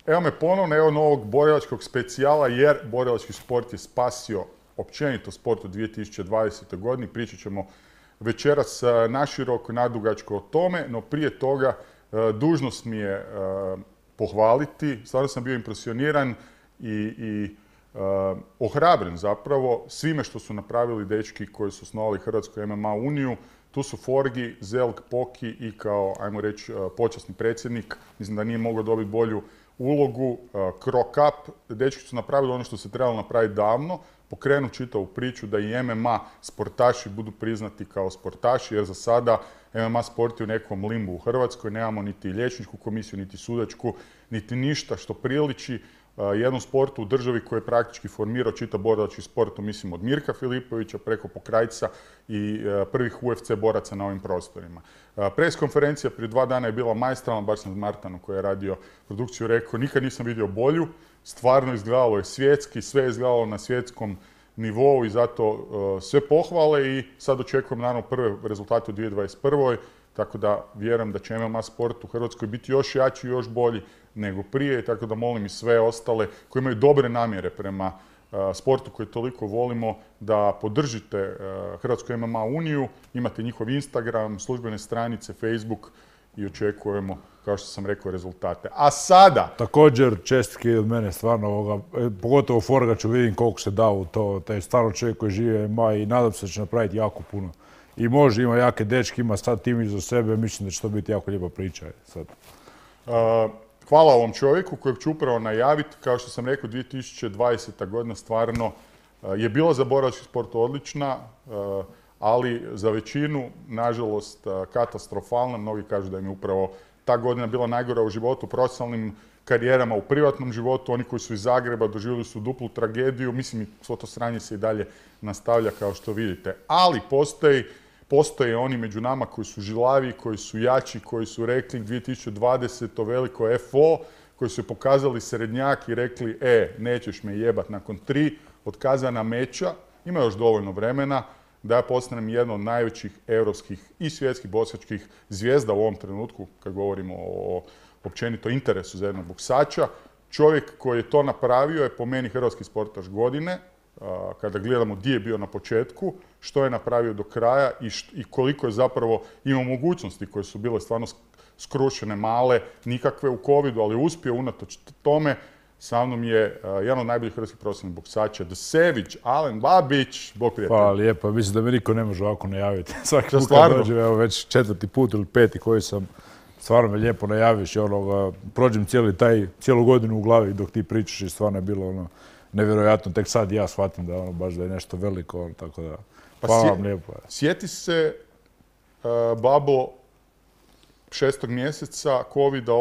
Evo me ponovno, evo novog borilačkog specijala, jer borilački sport je spasio općenito sport u 2020. godini. Pričat ćemo večeras naširoko, nadugačko o tome, no prije toga dužnost mi je pohvaliti. Stvarno sam bio impresioniran i ohrabren zapravo svime što su napravili dečki koji su osnovali Hrvatsku MMA uniju. Tu su Forgi, Zelk, Poki i kao, ajmo reći, počasni predsjednik. Mislim da nije mogao dobiti bolju ulogu. Krokap, dečki su napravili ono što se trebalo napraviti davno, pokrenu čitavu priču da i MMA sportaši budu priznati kao sportaši, jer za sada MMA sport je u nekom limbu u Hrvatskoj, nemamo niti liječničku komisiju, niti sudačku, niti ništa što priliči jednom sportu u državi koji je praktički formirao čitav borilački sport, mislim od Mirka Filipovića preko Pokrajca i prvih UFC boraca na ovim prostorima. Pres konferencija prije 2 dana je bila maestralna, baš sam Martanu koji je radio produkciju rekao, nikad nisam vidio bolju, stvarno izgledalo je svjetski, sve je izgledalo na svjetskom nivou i zato sve pohvale i sad očekujem naravno prve rezultate u 2021. Tako da vjerujem da će MMA sport u Hrvatskoj biti još jači i još bolji nego prije, tako da molim i sve ostale koji imaju dobre namjere prema sportu koji toliko volimo da podržite Hrvatsku MMA uniju, imate njihov Instagram, službene stranice, Facebook i očekujemo, kao što sam rekao, rezultate. A sada... Također, čestitke od mene, stvarno, pogotovo Forgaču, vidim koliko se da u to, taj stvarno čovjek koji žive MMA i nadam se da će napraviti jako puno. I može, ima jake dečke, ima sad tim iza sebe, mislim da će to biti jako lijepa priča sad. Hvala ovom čovjeku kojeg ću upravo najaviti. Kao što sam rekao, 2020. godina stvarno je bila za borilački sport odlična, ali za većinu, nažalost, katastrofalna. Mnogi kažu da im je upravo ta godina bila najgora u životu, profesionalnim karijerama, u privatnom životu. Oni koji su iz Zagreba doživjeli su duplu tragediju. Mislim, svo to sranje se i dalje nastavlja, kao što vidite. Ali postoje oni među nama koji su žilavi, koji su jači, koji su rekli 2020. veliko FO, koji su pokazali srednjak i rekli nećeš me jebat nakon 3 otkazana meča. Ima još dovoljno vremena da ja postanem jedan od najvećih europskih i svjetskih boksačkih zvijezda u ovom trenutku, kad govorimo o općenito interesu za jednog boksača. Čovjek koji je to napravio je po meni hrvatski sportaš godine, kada gledamo gdje je bio na početku, što je napravio do kraja i koliko je zapravo imao mogućnosti koje su bile stvarno skrušene, male, nikakve u covidu, ali uspio unatoč tome. Sa mnom je jedan od najboljih hrvatskih profesionalnih boksača, The Savage, Alen Babić. Bog prijatelj. Hvala lijepa, mislim da me niko ne može ovako najaviti. Svaki put kad dođem, evo već 4. put ili 5. koji sam, stvarno me lijepo najaviš i prođem cijelu godinu u glavi dok ti pričaš i stvarno je bilo nevjerojatno. Tek sad ja shvatim da baš da je nešto veliko, tako da hvala vam lijepo. Sjeti se, babo, 6. mjeseca, covida,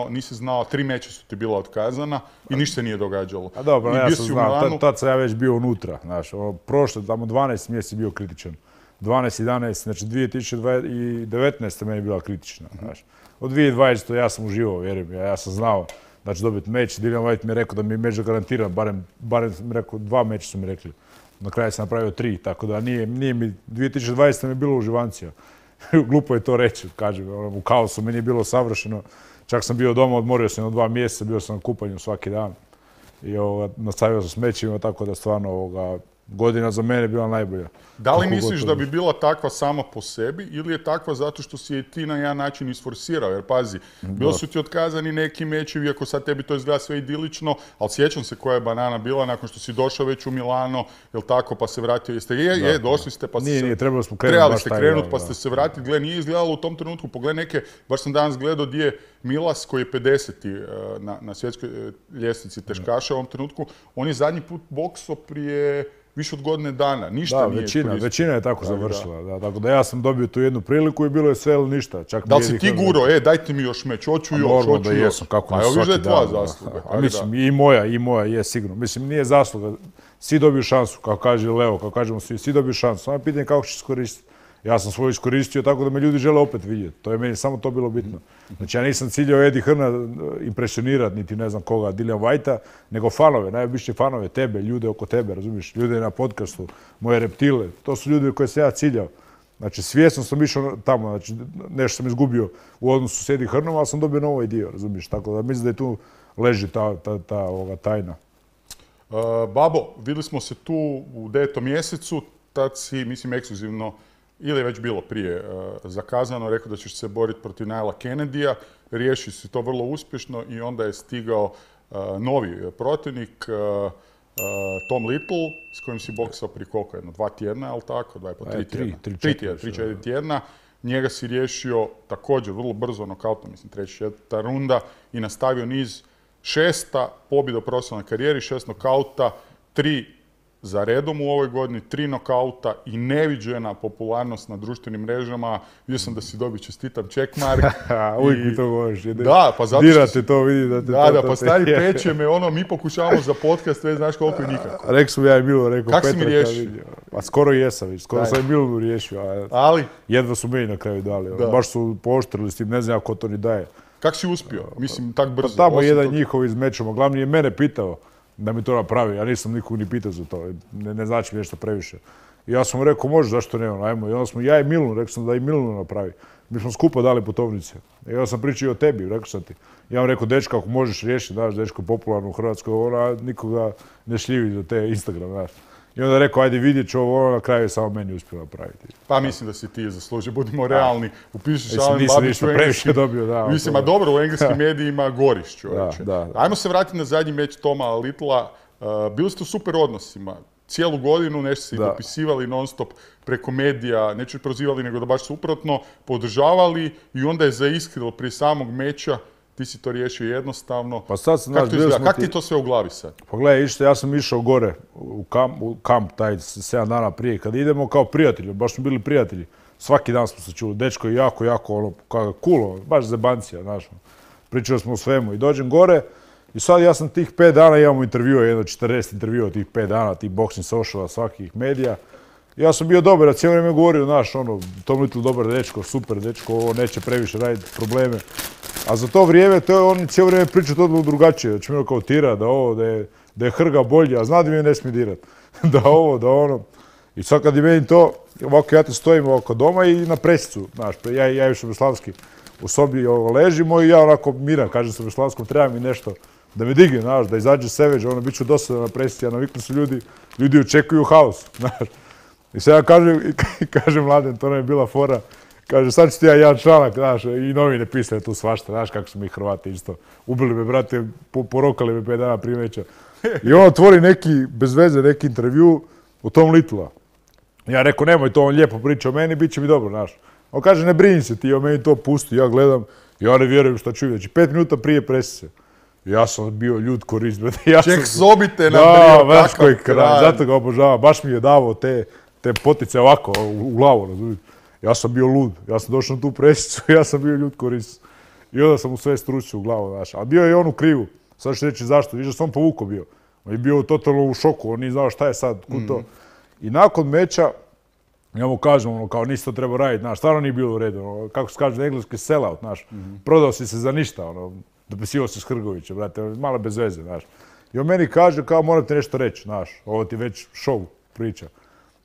nisi znao, 3 meča su ti bila otkazana i ništa se nije događalo. A dobro, ja sam znao, tad sam ja već bio unutra, znaš, prošle, tamo 12 mjeseci bio kritičan. 12, 11, znači 2019. meni je bila kritična, znaš. Od 2020. ja sam uživao, vjerujem, ja sam znao da ću dobiti meč. Dillian Whyte mi je rekao da mi je meč garantiran, barem mi rekao, 2 meča su mi rekli. Na kraju sam napravio 3, tako da nije mi, 2020. mi je bilo uživancija. Glupo je to reći, kažem, u kaosu meni je bilo savršeno. Čak sam bio doma, odmorio sam 2 mjeseca, bio sam na kupanju svaki dan. I nastavio sam s mečima, tako da stvarno godina za mene je bila najbolja. Da li misliš da bi bila takva sama po sebi ili je takva zato što si je ti na jedan način isforsirao? Jer pazi, bilo su ti otkazani neki mečevi, iako sad tebi to izgleda sve idilično, ali sjećam se koja je banana bila nakon što si došao već u Milano, jel tako, pa se vratio. Došli ste pa trebali ste krenuti pa ste se vratili. Gle, nije izgledalo u tom trenutku. Pogledaj neke, baš sam danas gledao gdje je Milas koji je 50. na svjetskoj ljestvici teškaša u ovom trenutku. On je zadnji put boksao prije više od godine dana, ništa nije koristio. Većina je tako završila. Tako da ja sam dobio tu jednu priliku i bilo je sve ili ništa. Da li si ti guro, dajte mi još meč, hoću još. Normalno da jesam, kako ne svaki dan. A evo tvoja zasluga. Mislim, i moja je sigurno. Mislim, nije zasluga. Svi dobiju šansu, kao kaže Leo, kao kažemo svi dobiju šansu. Samo je pitanje kako ćeš iskoristiti. Ja sam svoju iskoristio tako da me ljudi žele opet vidjeti. To je meni samo to bilo bitno. Znači ja nisam ciljao Eddie Hearna impresionirati, niti ne znam koga, Dillian Whytea, nego fanove, najobičnije fanove, tebe, ljude oko tebe, razumiješ, ljude na podcastu, moje reptile. To su ljudi koje sam ja ciljao. Znači svjesno sam išao tamo, znači nešto sam izgubio u odnosu s Eddie Hearnom, ali sam dobio novo dio, razumiješ. Tako da mislim da je tu leži ta tajna. Babo, vidjeli smo se tu u 9. mjesecu, tad si, mislim, ekskluzivno, ili je već bilo prije zakazano, rekao da ćeš se boriti protiv Nila Kennedy-a, riješio si to vrlo uspješno i onda je stigao novi protivnik, Tom Little, s kojim si boksao prije koliko, 2 tjedna, ali tako? 3 tjedna. 3-4 tjedna. Njega si riješio također vrlo brzo nokautom, mislim 3. runda i nastavio niz 6. pobjeda u profesionalnoj karijeri, 6 nokauta, 3 za redom u ovoj godini, 3 nokauta i neviđena popularnost na društvenim mrežama. Vidio sam da si dobio čestitam checkmark. Uvijek mi to govoriš. Da, pa zato dirate to, vidi da te da, pa stari peče me, mi pokušavamo za podcast, već znaš koliko je nikako. Rekao sam ja i Milo, rekao Petra. Kako si mi riješio? Pa skoro jesam, skoro sam i Milonu riješio, ali jedva su meni na kraju dali. Baš su pooštrili s tim, ne znam ko to ni daje. Kako si uspio? Mislim, tak brzo. Pa tamo jedan njihov iz mečama, glavni je mene pitao da mi to napravi, ja nisam nikog ni pitao za to, ne znači mi nešto previše. I ja sam mu rekao, može, zašto ne, ajmo. I onda smo, ja i Milunu, rekao sam da i Milunu napravi. Mi smo skupa dali putovnice. I onda sam pričao o tebi, rekao sam ti. Ja vam rekao, dečka, ako možeš riješiti, znaš, dečko je popularno u Hrvatskoj, ona nikoga ne šljivi za te Instagram, znaš. I onda je rekao, ajde vidjet ću ovo, na kraju je samo meni uspio napraviti. Pa mislim da si ti zaslužio, budimo realni. Upišeš Alen Babić u engleski. Mislim, a dobro, u engleskim medijima goriš, čovječe. Ajmo se vratiti na zadnji meč Toma Littlea. Bili ste u super odnosima. Cijelu godinu nešto se dopisivali non stop preko medija, neću prozivali nego da baš suprotno, podržavali i onda je zaiskrilo prije samog meča. Ti si to riješio jednostavno. Pa sad sam, Kako ti to sve u glavi sad? Pa gledaj, ja sam išao gore u kamp taj 7 dana prije. Kad idemo kao prijatelji, baš smo bili prijatelji. Svaki dan smo se čuli. Dečko je jako, cool, baš zebancija, znaš. Pričali smo o svemu i dođem gore i sad ja sam tih 5 dana imamo intervjua, 40 intervjua tih 5 dana, tih boxing sociala, svakih medija. Ja sam bio dobar, a cijelo vrijeme govorio, znaš, Tom Little dobar dečko, super dečko, ovo neće previše raditi probleme. A za to vrijeme, on cijelo vrijeme priča to drugačije, da će mi kao tira, da je Hrga bolji, a zna da mi ne smije dirat. Da ovo, da ono. I sad kad je meni to, ovako ja te stojim ovako doma i na presicu, znaš, ja i Šubeslavski u sobi ležimo i ja onako miran, kažem Šubeslavskom, treba mi nešto da me digne, znaš, da izađe Savage, bit ću dosadan na presici, a naviknu su ljudi očekuju haos, znaš. I sad ja kažem Mladen, to nam je bila fora, kaže, sad ću ti ja jedan članak, znaš, i novine pisale tu svašta, znaš kako su mi Hrvati isto. Ubili me, brate, porokali me 5 dana prije meča. I on otvori bez veze, neki intervju o Tom Littlea. Ja rekao, nemoj to, on lijepo priča o meni, bit će mi dobro, znaš. On kaže, ne brini se ti, on meni to pusti, ja gledam, ja ne vjerujem šta ću vidjeti. 5 minuta prije presice. Ja sam bio ljud korist, brate. Ček sobite na brio, takav kraj. Zato ga obožavam, baš mi je davao te potice ovako u glavu, razumijete. Ja sam bio lud, ja sam došao na tu presicu, ja sam bio ljud korist. I onda sam mu sve stručio u glavu, znaš. A bio je on u krivu, sad ću reći zašto, vidiš da sam povukao bio. On je bio totalno u šoku, on nije znao šta je sad, kud to. I nakon meča, ja mu kažem, kao nisi to trebao raditi, znaš, stvarno nije bilo u redu, kako se kaže na engleski sell-out, znaš. Prodao si se za ništa, dopisivao se s Hrgovića, brate, malo bez veze, znaš. I on meni kaže, kao morate nešto reći, znaš, ovo ti već show priča.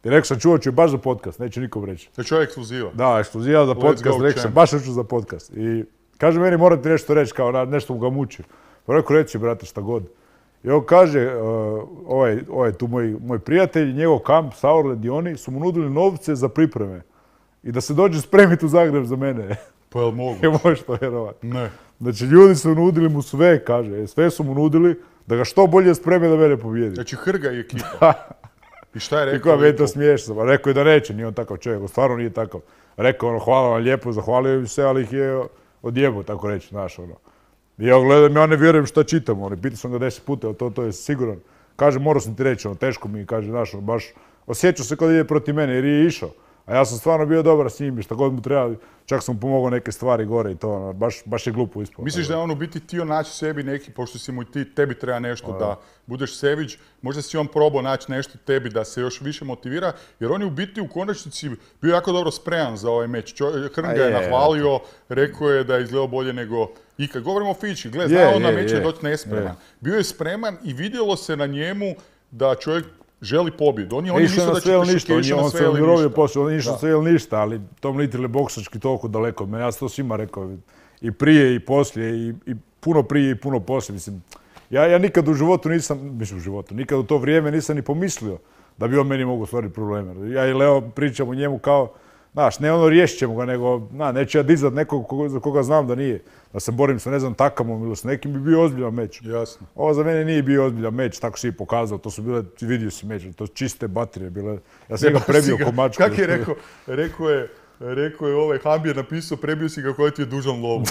I rekao sam, čuvat ću baš za podcast, neće nikom reći. To je čovjek ekskluziva. Da, ekskluziva za podcast, rekao sam, baš ću za podcast. I kaže meni, morate nešto reći, kao nešto mu ga muči. Pa rekao, reći, brate, šta god. I on kaže, ovaj tu moj prijatelj, njegov kamp, Sauerland i oni su mu nudili novce za pripreme. I da se dođe spremiti u Zagreb za mene. Pa jel mogu? Je možeš to vjerovati. Ne. Znači, ljudi su nudili mu sve, kaže, sve su mu nudili da ga što bolje spreme da mene pobijedi. Znači, Hrga i ekipa. I šta je rekao? I koja mi je to smiješno. Rekao je da neće, nije on takav čovjek, stvarno nije takav. Rekao hvala vam lijepo, zahvalio im se, ali ih je odjebao, tako reći, znaš, I ja gledam, ja ne vjerujem šta čitam, pitao sam ga 10 puta, ali to je siguran. Kaže, morao sam ti reći, teško mi, kaže, znaš, baš osjećao se kad ide protiv mene, jer je išao. A ja sam stvarno bio dobar s njim i šta god mu treba, čak sam mu pomogao neke stvari gore i to, baš je glupo ispao. Misliš da je on u biti htio naći sebi neki, pošto si mu tebi treba nešto da budeš Savage, možda si on probao naći nešto tebi da se još više motivira, jer on je u biti u konačnici bio jako dobro spreman za ovaj meč. Hrga je nahvalio, rekao je da je izgledao bolje nego ikad. Govorimo o Fići, gledaj, zna on na meč je doći nespreman. Bio je spreman i vidjelo se na njemu da čovjek želi pobjedu. Oni misle da će išao na sve ili ništa. On je išao sve ili ništa, ali Tom Little je boksački toliko daleko od mene. Ja sam to svima rekao. I prije i poslije. I puno prije i puno poslije. Mislim, ja nikad u životu nikad u to vrijeme nisam ni pomislio da bi on meni mogao stvoriti probleme. Ja i Leo pričam o njemu kao, znaš, ne ono riješit ćemo ga, nego, neću ja dizat nekog za koga znam da nije. Da se borim sa, ne znam, Takamom ili s nekim bi bio ozbiljan meč. Jasno. Ovo za mene nije bio ozbiljan meč, tako si i pokazao. To su bile, vidio si meč, to čiste baterije bile. Ja sam ga prebio ko mačku. Kak je rekao je ovaj Hambi je napisao, prebio si ga koji ti je dužan lovu.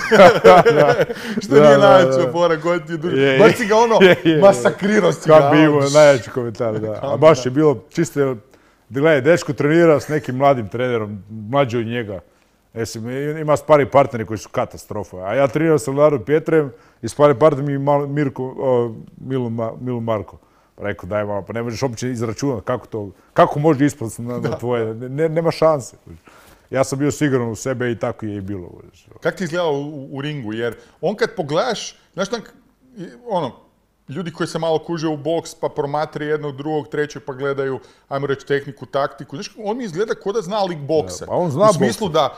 Što nije najjača fora, koji ti je dužan. Baš si ga ono, masakrirao si ga. Hambi imao najjači komentar, da. A baš je bilo čiste, gledaj, dečko trenira s nekim mladim trenerom, mlađi od njega. Ima spari partneri koji su katastrofa. A ja trenirao sa Leonardom Pietrem i spari partner mi Milu Marko. Rekao, daj malo, pa ne možeš uopće izračunati kako može ispasti na tvoje, nema šanse. Ja sam bio siguran u sebe i tako je i bilo. Kako ti izgledao u ringu? Jer on kad pogledaš, znaš ljudi koji se malo kuže u boks pa promatraju jednog, drugog, trećeg pa gledaju, ajmo reći, tehniku, taktiku. Znaš, on mi izgleda ko da zna lik boksa. Pa on zna u smislu da,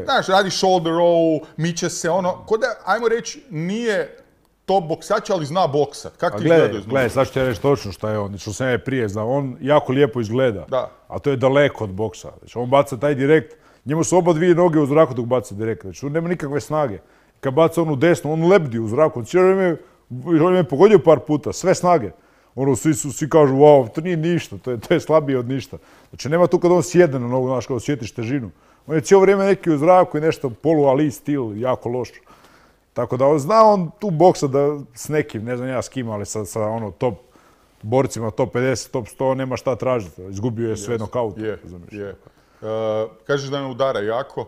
znaš, radi shoulder roll, miče se, ko da, ajmo reći, nije top boksač, ali zna boksat. Kako ti izgledaju? Gledaj, sad ću ti reći točno šta je on, što sam ja prije znao. On jako lijepo izgleda, a to je daleko od boksa. Znači, on baca taj direkt, njemu su oba dvije noge u zraku dok baca direkt. Znači, on nema nikakve snage. Kad baca onu desnu, on lebdi u zraku. On je pogodio par puta, sve snage. Svi kažu, wow, to nije ništa, to je slabije od ništa. Znači, nema tu kad on sjedne na nogu, znaš, kad osjetiš težinu. On je cijelo vrijeme neki u zraku i nešto polu-ali stil, jako loš. Tako da zna on tu boksa da s nekim, ne znam ja s kim, ali sa top borcima, top 50, top 100, nema šta tražiti. Izgubio je sve nokaut. Kažeš da ne udara jako.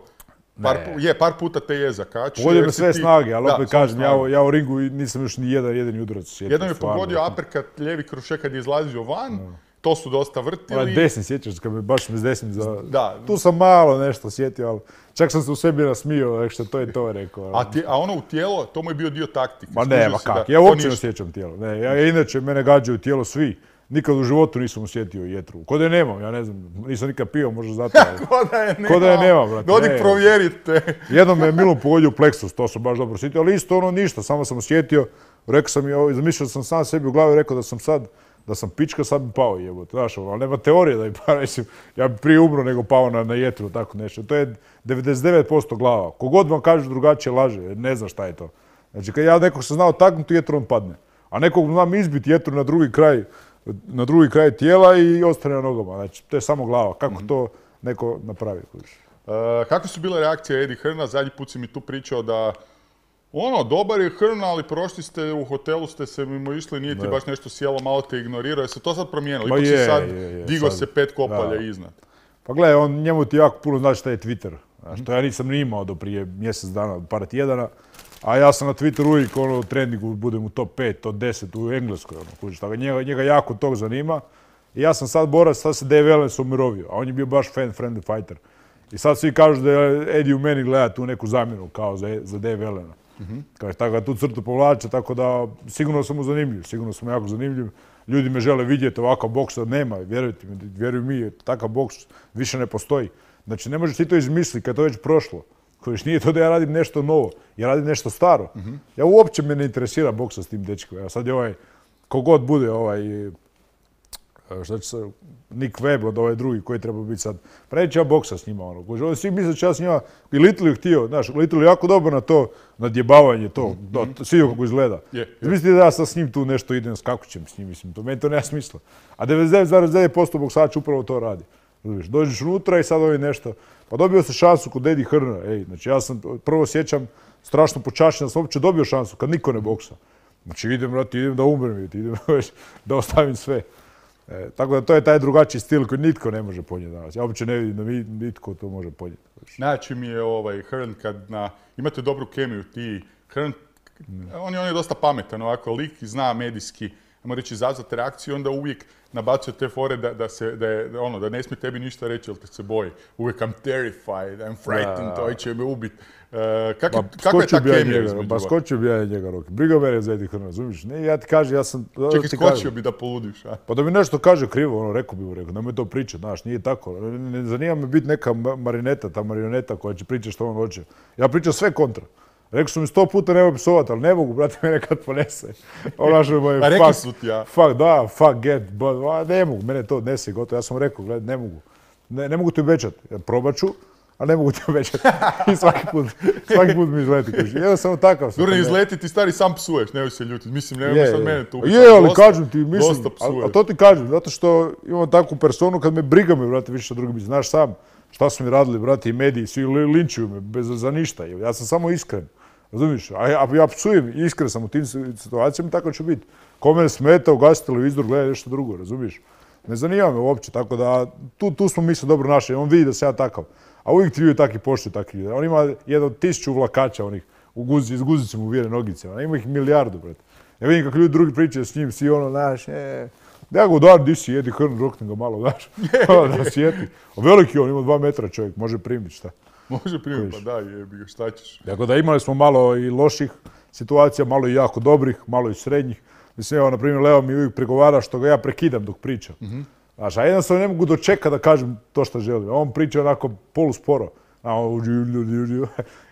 Par puta te je zakačio. Pogodio me sve snage, ali opet kažem, ja u ringu nisam još ni jedan udarac sjetio. Jednom je pogodio uppercut, lijevi krušek kad je izlazio van, to su dosta vrtili. Desni sjećaš, kad me baš s desnim tu sam malo nešto sjetio, ali čak sam se u sebi nasmio, što to je to rekao. A ono u tijelo, to mu je bio dio taktike. Ma ne, kak, ja uopće ne osjećam tijelo. Inače, mene gađaju tijelo svi. Nikad u životu nisam osjetio jetru. Ko da je nemam, ja ne znam, nisam nikad pio, možda zato. Ko da je nemam, brate. Odi provjerite. Jednom me je Milun pogodio pleksus, to sam baš dobro osjetio, ali isto ništa, samo sam osjetio. Rekao sam i zamišljao sam sam sebi u glavi, rekao da sam pička, sad bi pao jebote. Znaš, ali nema teorije da bi pao, mislim, ja bi prije umro nego pao na jetru, tako nešto. To je 99% glava. Kogod vam kaže drugačije laže, ne zna šta je to. Znači, kad ja nekog sam znao taknuti jetru, on padne. A nekog znam izbiti jetru na drugi kraj tijela i ostane na nogama. Znači, to je samo glava. Kako to neko napravi? Kako su bile reakcije Eddie Hearna? Zadnji put si mi tu pričao da dobar je Hearn, ali prošli ste u hotelu, ste se mimo išli, nije ti baš nešto sjelo, malo te ignorirao. Je se to sad promijenilo? Ipak si sad digao se 5 kopalja iznad. Pa gledaj, njemu ti jako puno znači šta je Twitter. Što ja nisam ni imao do prije mjesec dana, par tjedana. A ja sam na Twitteru uvijek u trendingu budem u top 5, top 10 u Engleskoj. Njega jako tog zanima. I ja sam sad borac, sad se Dave Ellens umirovio, a on je bio baš fan-friendly fighter. I sad svi kažu da je Eddie u meni gleda tu neku zamjenu kao za Dave Ellena. Tako da tu crtu povlače, tako da sigurno sam mu zanimljiv, sigurno sam jako zanimljiv. Ljudi me žele vidjeti, ovakav boks nema, vjerujte mi, vjeruj mi, takav boks više ne postoji. Znači ne možeš ti to izmisliti kad je to već prošlo. Kojiš nije to da ja radim nešto novo, ja radim nešto staro. Ja uopće me ne interesira boksa s tim dečkom. Sad je kogod bude Nick Webb od ovaj drugi koji treba biti sad. Pa neće ja boksa s njima. Svi misle će ja s njima, i Little je htio, znaš, Little je jako dobro na to, nadjebavanje to, svi kako izgleda. Mislite da ja sad s njim tu nešto idem, skakućem s njim, mislim, meni to nema smisla. A 99,9% boksača upravo to radi. Dođeš unutra i sad nešto, pa dobio se šansu kod Eddie Hearna. Znači ja sam prvo sjećam strašno počašćen da sam uopće dobio šansu kad niko ne boksa. Znači idem da umrem, idem da ostavim sve. Tako da to je taj drugačiji stil koji nitko ne može ponijeti danas. Ja uopće ne vidim da nitko to može ponijeti. Znači mi je Hearn kad imate dobru kemiju ti. Hearn, on je dosta pametan ovako lik i zna medijski, ajmo reći, izazvati reakciju, onda uvijek nabacuje te fore da ne smije tebi ništa reći, jer te se boji. Uvijek I'm terrified, I'm frightened, to će me ubiti. Kakva je ta kemija između? Pa skočio bi ja njega ruke. Briga mene za Eddie Hearna, razumiješ? Ne, ja ti kažem, ja sam... Čekaj, skočio bi da poludiš, a? Pa da mi nešto kaže krivo, rekao bi mu, nemoj to pričati, znaš, nije tako. Ne zanima me biti neka marineta, ta marioneta koja će pričati što on hoće. Ja pričam sve kontra. Rekao su mi 100 puta nemoj psovati, ali ne mogu, brate, mene kad ponese. A rekli su ti ja. Fuck, get, but, ne mogu, mene to odnese gotovo. Ja sam rekao, gledaj, ne mogu. Ne mogu ti obećati, probat ću, ali ne mogu ti obećati. I svaki put mi izleti. Jednostavno takav sam. Dobro, izleti ti stari sam psuješ, nemoj se ljutiti. Mislim, nemoj sad mene tu. Ali kažem ti, mislim, a to ti kažem, zato što imam takvu personu kad me briga me, brate, više što drugi. Znaš sam šta su mi radili, brate, i mediji, svi linčuju me za ništa. Ja sam samo iskren, razumiješ? A ja psujem, iskren sam u tim situacijama, tako će biti. Ko mene smeta, ugasi televizor, gleda nešto drugo, razumiješ? Ne zanima me uopće, tako da tu smo mi se dobro našli, on vidi da sam ja takav. A uvijek ti ljudi takvi poštuju takvi. On ima jedno 1000 vlakača onih, iz guzice mu vire nogice, ima ih milijardu, brate. Ja vidim kako ljudi drugi pričaju s njim, svi ono, znaš, ja ga udar, di si, jedi hrnu, roknem ga malo, znaš, da sjeti. Veliki on, ima 2 metra čovjek, može primiti, šta? Može primiti, pa da, jebi ga, šta ćeš. Tako da imali smo malo i loših situacija, malo i jako dobrih, malo i srednjih. Mislim, evo, na primjer, Leo mi uvijek pregovara što ga ja prekidam dok pričam. Znaš, a jednostavno ne mogu dočekati da kažem to što želim. On priča onako polusporo.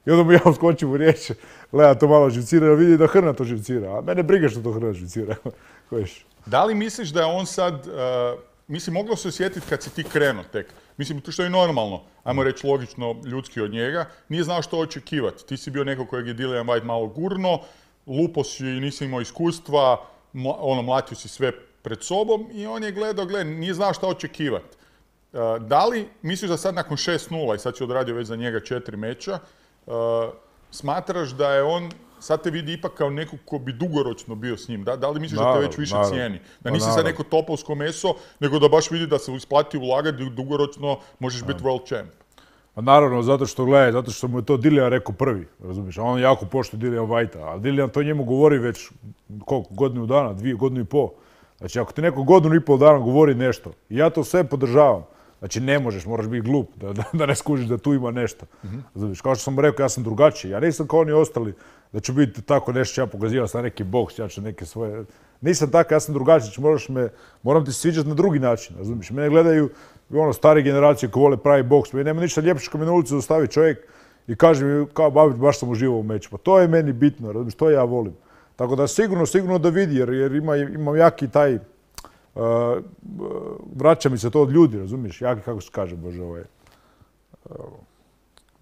I onda mu ja uskočim u riječ, Lea to malo živcira, vidi da Hrna to živcira. A mene briga što to Hrna živcira. Da li misliš da je on sad, mislim, moglo se osjetiti kad si ti krenuo tek? Mislim, to što je normalno, ajmo reći logično, ljudski od njega, nije znao što očekivati. Ti si bio neko kojeg je Dillian Whyte malo gurno, lupo si i nisi imao iskustva, mlatio si sve pred sobom i on je gledao, nije znao šta očekivati. Da li misliš da sad nakon 6-0, i sad si odradio već za njega 4 meča, smatraš da je on, sad te vidi ipak kao neko ko bi dugoročno bio s njim, da li misliš da te već više cijeni? Da nisi sad neko topovsko meso, nego da baš vidi da se isplati ulagati, dugoročno možeš biti world champ? Pa naravno, zato što mu je to Dillian rekao prvi, razumiješ, a on jako poštuje Dillian Whytea, a Dillian to njemu govori već koliko, godinu dana, 2 godine i pol. Znači, ako ti neko godinu i pol dana govori nešto, i ja to sve podržavam, znači ne možeš, moraš biti glup da ne skužiš da tu ima nešto. Razumiješ, kao što sam rekao, ja sam drugačiji, ja nisam kao oni ostali da ću biti tako nešto, ja pokazivam sam neki boks, ja ću neke svoje... Nisam tako, ja sam drugačiji, moram ti sviđati na drugi način, razumiješ, mene gledaju stare generacije koji vole pravi boks, meni nema ništa ljepše kad me na ulicu dostavi čovjek i kaže mi kao Babić, baš sam uživao u meču. Pa to je meni bitno, razumiješ, to ja volim. Tako da sigurno da vidi, jer imam jaki taj, vraća mi se to od ljudi, razumiješ, jaki, kako se kaže, Bože,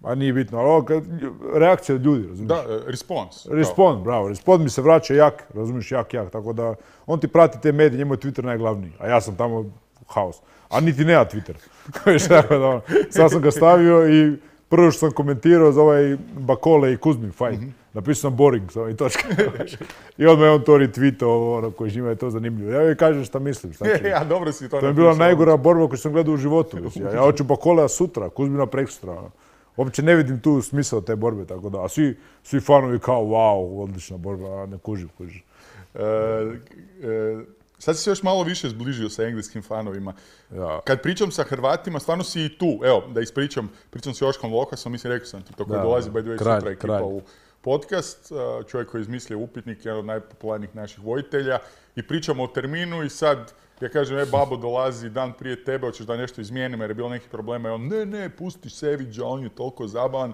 a nije bitno, ali reakcija od ljudi, razumiješ. Da, response. Bravo, respons mi se vraća jak, razumiješ, jak, tako da on ti prati te medije, njemu je Twitter najglavniji, a ja sam tamo haos. A niti nema Twitter. Sad sam ga stavio i prvo što sam komentirao za ovaj Bakole i Kuzmin fight. Napisao sam boring i točka. I odmah je on to retweetao, koji njima je to zanimljivo. Ja joj kažem šta mislim. Ja, dobro si to napisao. To je bila najgora borba koju sam gledao u životu. Ja hoću Bakolea sutra, Kuzmina preksutra. Uopće ne vidim tu smisao te borbe, tako da. A svi fanovi kao, wow, odlična borba, ne kužim. Sad si se još malo više zbližio sa engleskim fanovima. Kad pričam sa Hrvatima, stvarno si i tu. Evo, da ispričam s Joškom Lokasom, mislim, rekao sam ti to, koji dolazi, by the way, sutra ekipa u podcast. Čovjek koji je izmislio upitnik, jedan od najpopularnijih naših vojitelja. I pričamo o terminu i sad, ja kažem, babo dolazi dan prije tebe, hoćeš da nešto izmijenimo jer je bilo nekih problema. I on, ne, pusti Seviđa, on je toliko zabavan.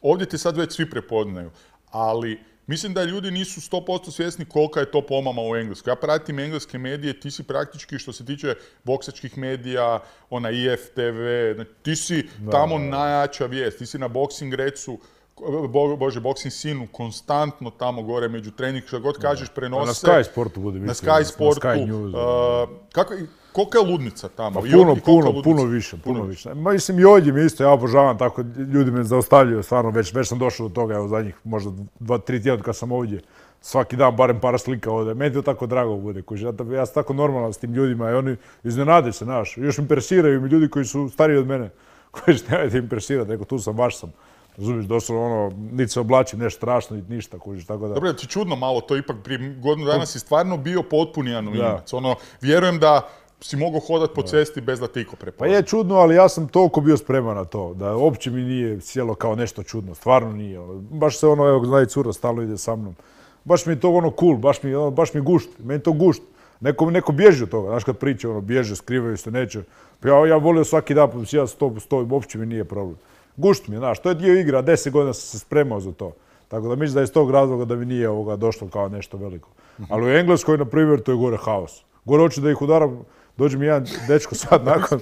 Ovdje te sad već svi prepoznaju. Ali mislim da ljudi nisu 100% svjesni kolika je to pomama u Engleskoj. Ja pratim engleske medije, ti si praktički, što se tiče boksačkih medija, IFTV, ti si tamo najjača vijest. Ti si na Boxing Recu, Boxing Sinu, konstantno tamo gore među trening, što god kažeš, prenose. Na Sky Sportu bude na Sky Sportu. Kolika je ludnica tamo? Puno više. Mislim i ovdje mi isto, ja obožavam tako, ljudi me zaustavljaju, stvarno, već sam došao do toga, evo zadnjih možda 2-3 tjedna kad sam ovdje, svaki dan barem par slika ovdje, meni to tako drago bude, ja sam tako normalan s tim ljudima i oni iznenade se, znaš, još impresiraju mi ljudi koji su stariji od mene, koji što nemojte impresirati, neko tu sam, baš sam. Razumiješ, doslovno niti se oblačim nešto strašno, niti ništa, kužiš, tako da... Dobro, ti čudno malo, to ipak prije godinu dana si stvarno bio potpuni anonimac. Vjerujem da si mogao hodati po cesti bez da te iko prepozna. Pa je čudno, ali ja sam toliko bio spreman na to, da uopće mi nije sjelo kao nešto čudno, stvarno nije. Baš se evo, zna i cura, stalno ide sa mnom. Baš mi je to cool, baš mi gušt, meni to gušt. Neko bježi od toga, znaš kad priče, bježe, skrivaju se, neće. Ja volio svaki dan, ja stojim, uopće mi nije problem. Gušt mi je, znaš, to je dio igra, 10 godina sam se spremao za to. Tako da mislim da je iz tog razloga da mi nije došlo kao nešto veliko. Ali u Engleskoj, na primjer, to je gore haos. Gore hoću da ih udaram, dođe mi jedan dečko sad nakon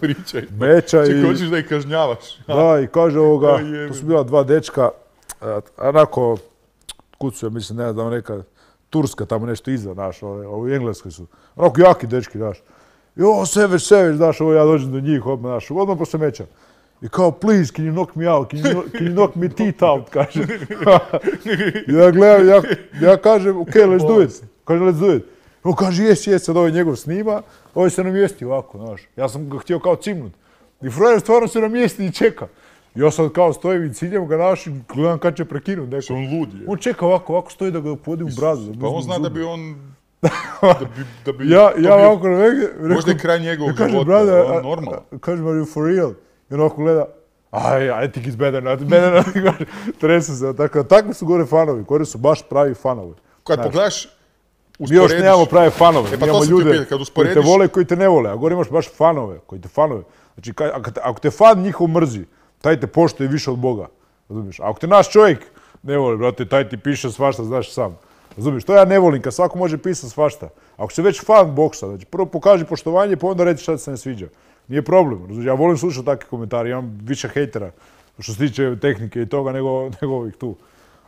meča i... hoćeš da ih kažnjavaš. Da, i kaže to su bila dva dečka, onako, kucuje, mislim, ne znam, neka Turska tamo nešto iza, znaš, ovi Engleskoj su. Onako jaki dečki, znaš. Savage, znaš, ja dođem do njih, odmah posle meča. I kao, please, can you knock me out? Can you knock me teeth out? Kaže. Ja gledam, ja kažem, ok, let's do it. Kaže, let's do it. On kaže, yes, sad ovaj njegov snima, ovaj se namjesti ovako, znaš. Ja sam ga htio kao cimnut. I frajer stvarno se namjesti i čeka. Ja sad kao stojim i ciljam ga našim, gledam kad će prekinut neko. On lud je. On čeka ovako stoji da ga podi u bradu. Pa on zna da bi on... Ja ovako rekao... Možda je kraj njegovog života, on normalno. Kažem, are you for real? I on ovako gleda, I think it's better not. Tresu se, takvi su gore fanovi, gore su baš pravi fanovi. Kad pogledaš, mi još nemamo prave fanove, imamo ljude koji te vole i koji te ne vole, a gore imaš baš fanove, koji te fanove. Znači, ako te fan njihov mrzi, taj te poštuje više od Boga, razumiješ? Ako te naš čovjek ne voli, brate, taj ti piše svašta, znaš sam. Razumiješ, to ja ne volim, kad svako može pisati svašta. Ako si već fan boksa, znači prvo pokaži poštovanje, pa onda reći šta ti se ne sviđa. Nije problem, razumiješ, ja volim slušati takve komentare, imam više hejtera što se tiče tehnike i toga nego ovih tu.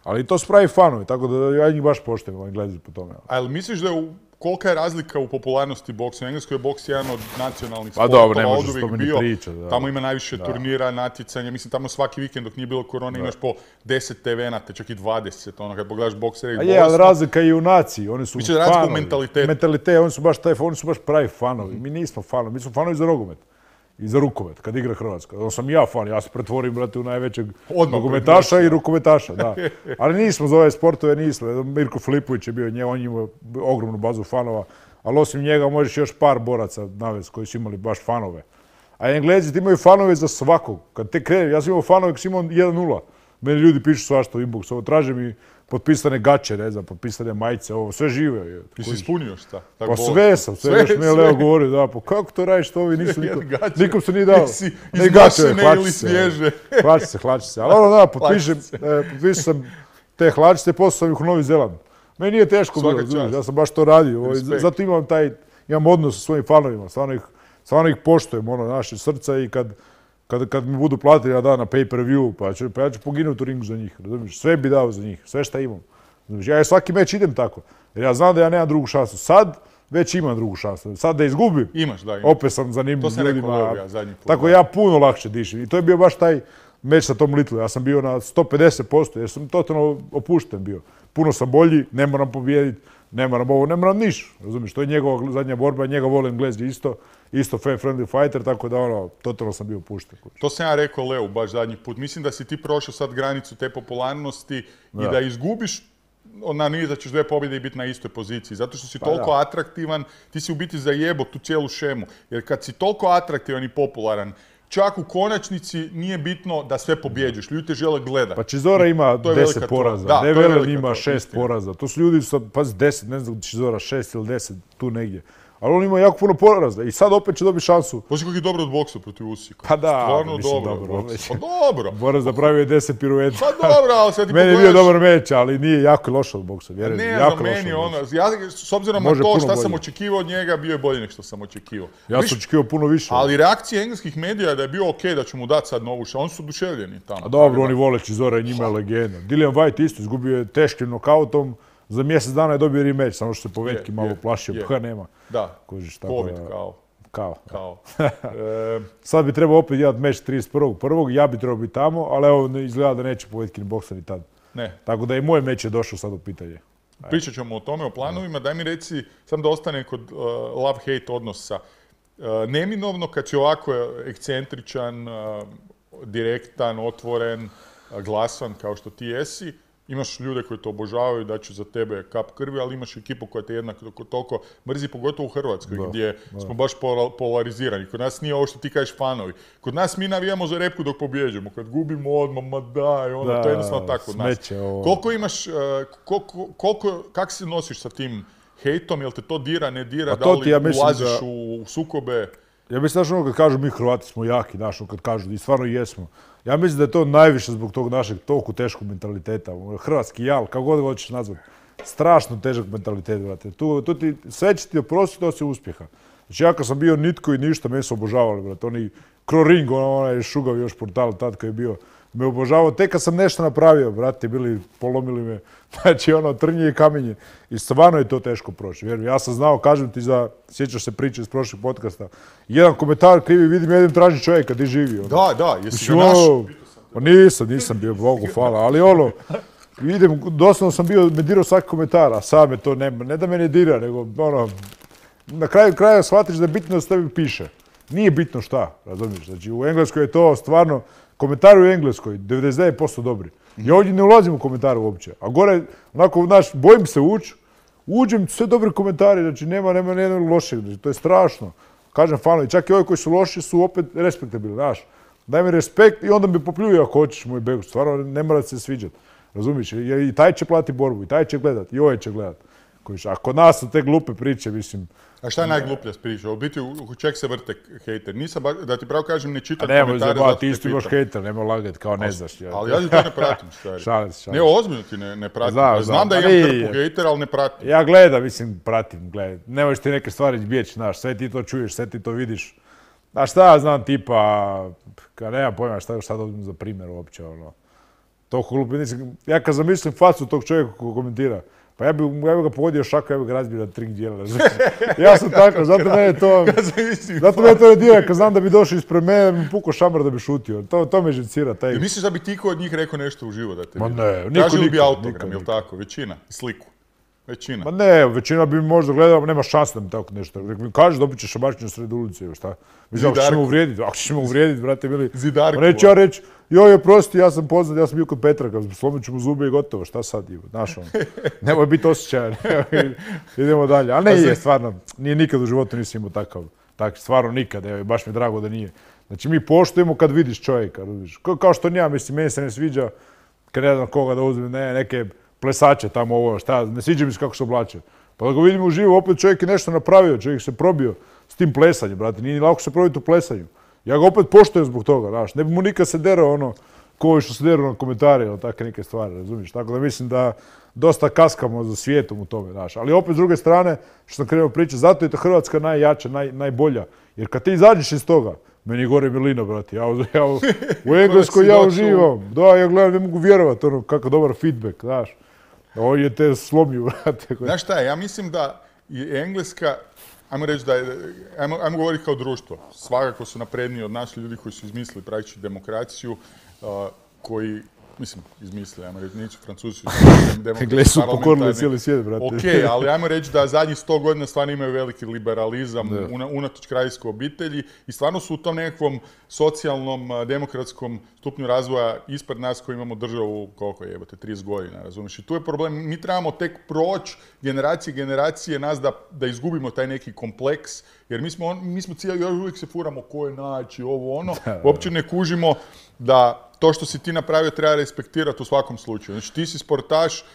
Ali to su pravi fanovi, tako da ja njih baš poštujem, oni gledaju po tome. Ali misliš da je kolika je razlika u popularnosti boksa? U Engleskoj je boks jedan od nacionalnih sportova, oduvijek bio. Tamo ima najviše turnira, natjecanja. Mislim, tamo svaki vikend dok nije bilo korone imaš po 10 TV-nata, čak i 20. Ono, kad pogledaš boksere i bolesno. Ali razlika je i u naciji. Oni su fanovi. Razlika u mentalitetu. Mentalitet, oni su baš pravi fanovi. Mi nismo fanovi, mi smo fanovi za nogomet. I za rukomet, kad igra Hrvatska. Ono sam ja fan, ja se pretvorim, brate, u najvećeg nogometaša i rukometaša, da. Ali nismo za ove sportove, nismo. Mirko Filipović je bio, on ima ogromnu bazu fanova, ali osim njega možeš još par boraca navesti koji su imali baš fanove. A Englezi imaju fanove za svakog. Kad te krene, ja sam imao fanove kad sam imao 1-0. Meni ljudi pišu svašta u inbox, ovo traže mi potpisane gaće, ne znam, potpisane majice, ovo, sve žive. Ti si ispunio šta? Pa sve sam, sve još mi je Leo govorio, da, pa kako to radiš, to ovi nisu nikom se nije dao. Izmašene ili svježe. Hlači se, ali ono da, potpišem sam te hlačice i poslao sam ih u Novi Zeland. Meni nije teško bilo, ja sam baš to radio, zato imam odnos sa svojim fanovima, stvarno ih poštujem, naše srca i kad mi budu platili ja da na pay-per-view, pa ja ću poginuti u ringu za njih, razumiješ? Sve bi dao za njih, sve šta imam. Ja svaki meč idem tako, jer ja znam da ja nemam drugu šansu. Sad već imam drugu šansu. Sad da izgubim, opet sam zanimljiv ljudima. Tako ja puno lakše dišem. I to je bio baš taj meč sa Tom Little. Ja sam bio na 150% jer sam totalno opušten bio. Puno sam bolji, ne moram pobijediti, ne moram ovo, ne moram niš. Razumiješ, to je njegova zadnja borba, njega vole Englezi isto fan-friendly fighter, tako da totalno sam bio pušten. To sam ja rekao Leu baš zadnji put. Mislim da si ti prošao sad granicu te popularnosti i da izgubiš, nije da ćeš 2 pobjede i biti na istoj poziciji. Zato što si toliko atraktivan, ti si u biti zajebo tu cijelu šemu. Jer kad si toliko atraktivan i popularan, čak u konačnici nije bitno da sve pobjeđuješ. Ljudi te žele gledati. Pa Chisora ima 10 poraza, Develen ima 6 poraza. To su ljudi, pazi 10, ne znam Chisora 6 ili 10, tu negdje. Ali on ima jako puno poraza i sad opet će dobiti šansu. Pošto kako je dobro od boksa protiv Usika. Pa da, stvarno dobro. Pa dobro. Borac napravio je 10 pirueta. Pa dobro, ali sad ti pogledaš... Meni je bio dobar meč, ali nije jako loš od boksa. Ne znam, meni ono, s obzirom na to šta sam očekivao od njega, bio je bolji nego što sam očekivao. Ja sam očekivao puno više. Ali reakcija engleskih medija da je bio okej da će mu dati sad novu šansu, oni su oduševljeni tamo. A dobro, oni vole Chisora i njima je legenda. Dillian Whyte isto izgubio je teškim nokautom. Za mjesec dana je dobio rematch, samo što se Povetki malo plašio, pa nema. Da, COVID kao. Sad bi trebao opet imati meč 31.1. Ja bi trebao biti tamo, ali evo izgleda da neće Povetkin boksa ni tad. Ne. Tako da i moj meč je došao sad u pitanje. Pričat ćemo o tome, o planovima. Daj mi reci, sam da ostane kod love-hate odnosa. Neminovno kad si ovako ekscentričan, direktan, otvoren, glasan kao što ti jesi, imaš ljude koji te obožavaju, da će za tebe kap krvi, ali imaš ekipu koja te jednako toliko mrzi, pogotovo u Hrvatskoj, gdje smo baš polarizirani. Kod nas nije ovo što ti kažeš fanovi. Kod nas mi navijamo za repku dok pobjeđujemo. Kad gubimo odmah, ma daj, to je jednostavno tako kod nas. Koliko imaš, kako se nosiš sa tim hejtom, jel te to dira, ne dira, da li ulaziš u sukobe? Ja mislim, znaš, ono kad kažu mi Hrvati smo jaki, znaš, ono kad kažu, i stvarno jesmo. Ja mislim da je to najviše zbog tog našeg toliko teškog mentaliteta. Hrvatski jal, kako god hoćeš nazvati. Strašno težak mentalitet, brate. Sve će ti oprostiti osim uspjeha. Znači ja kad sam bio nitko i ništa, me su obožavali, brate. Oni Kroring, onaj šugav još portal tad koji je bio, me obožavao. Tek kad sam nešto napravio, brate, polomili me. Znači ono, trnje i kamenje. I stvarno je to teško proći. Ja sam znao, kažem ti sjećaš se priče iz prošlih podcasta, jedan komentar krivi, vidim, jedem traži čovjeka, di živi. Ono. Da, jesi ga našao? Nisam bio, Bogu hvala, ali ono, vidim, doslovno sam bio, me dirao svaki komentar, a sad me to ne da me ne dira, nego ono, na kraju kraja shvatiš da je bitno da se tebi piše. Nije bitno šta, razumiješ, znači u Engleskoj je to stvarno, komentari u Engleskoj 99% dobri. Ja ovdje ne ulazim u komentare uopće, a gore, onako, znaš, bojim se uđem, sve dobri komentari, znači nema nijednog lošeg, znači to je strašno. Kažem fanovi, čak i ovi koji su loši su opet respektabilni, znaš. Daj mi respekt i onda mi popljuje ako hoćeš moj Begović, stvarno ne mora se sviđati. Razumiješ, jer i taj će plati borbu, i taj će gledat, i ovaj će gledat. A kod nas su te glupe priče, mislim. A šta je najgluplja priča? U biti, u čeg se vrte hejter? Nisam, da ti pravo kažem, ne čitam komentare. Nemoj zabavati, ti isto imaš hejter, nemoj lagati kao ne znaš. Ali ja ti to ne pratim, stari. Šalim. Ne, ozbiljno ti ne pratim. Znam da imam trpu hejtera, ali ne pratim. Ja gledam, mislim, pratim. Ne možeš ti neke stvari izbjeći, znaš, sve ti to čuješ, sve ti to vidiš. A šta ja znam, tipa, nemam pojma šta da uzmem za primjer uopće, ono. Toliko glupo, ja kad zamislim facu tog čovjeka koji komentira, pa ja bi ga pogodio šaka, ja bi ga razbio na 3 dijela. Ja sam tako, zato mene to ne dira, kad znam da bi došao ispred mene, da bi pukao šamar da bi šutio. To me živcira. Misliš da bi ti od njih rekao nešto uživo da te vidi? Ma ne, tražili bi autogram, jel tako? Većina, sliku. Većina. Ma ne, većina bi možda gledala, nema šanse da mi tako nešto. Mi kaže, dobit ćeš šamarčinu sred ulice, šta? Mislim, ako ćeš me uvrijediti, brate, bili... Zidarku. Neću ja reći, joj, prosti, ja sam poznat, ja sam bio kod Petraka, slomit ću mu zube i gotovo, šta sad, znaš ono. Nemoj biti osjećajan, idemo dalje. A ne, stvarno, nikad u životu nisam imao takav, stvarno nikad, baš mi je drago da nije. Znači, mi poštujemo kad vidiš čovjeka, kao što ja, mislim, meni se ne sviđa, kad ne znam koga da uzmem, neke plesače tamo ovo, šta, ne sviđa mi se kako se oblače. Pa da ga vidimo uživo, opet čovjek je nešto napravio, čovjek se probio s tim plesanjem, brate, nije ni lako se probiti u plesanju. Ja ga opet poštujem zbog toga, znaš, ne bi mu nikad se derao ono, koji što se derao na komentare, ili takve neke stvari, razumiješ? Tako da mislim da dosta kaskamo za svijetom u tome, znaš. Ali opet s druge strane, što sam krenuo pričati, zato je to Hrvatska najjača, najbolja. Jer kad ti izađeš iz toga, meni je gore milina, brate, u Engleskoj ja uživam. Da, ja gledam, ne mogu vjerovati, ono, kakav dobar feedback, znaš. Ovo je te slomio, brate. Znaš šta je, ja mislim da je Engleska, ajmo reći da je, ajmo govoriti kao društvo, svakako su napredniji od nas ljudi koji su izmislili praktički demokraciju, koji, mislim, izmislili, ajmo reći, nisu Francuzi, Englesi su pokorili cijeli svijet, brate. Ok, ali ajmo reći da zadnjih 100 godina stvarno imaju veliki liberalizam unatoč kraljevskoj obitelji i stvarno su u tom nekakvom socijalnom, demokratskom stupnju razvoja ispred nas koji imamo državu, koliko je, 30 godina, razumiješ? I tu je problem, mi trebamo tek proći generacije nas da izgubimo taj neki kompleks, jer mi smo cijeli, uvijek se furamo ko je najjači, ovo ono, uopće ne kužimo da to što si ti napravio treba respektirati u svakom slučaju. Znači ti si sportaš,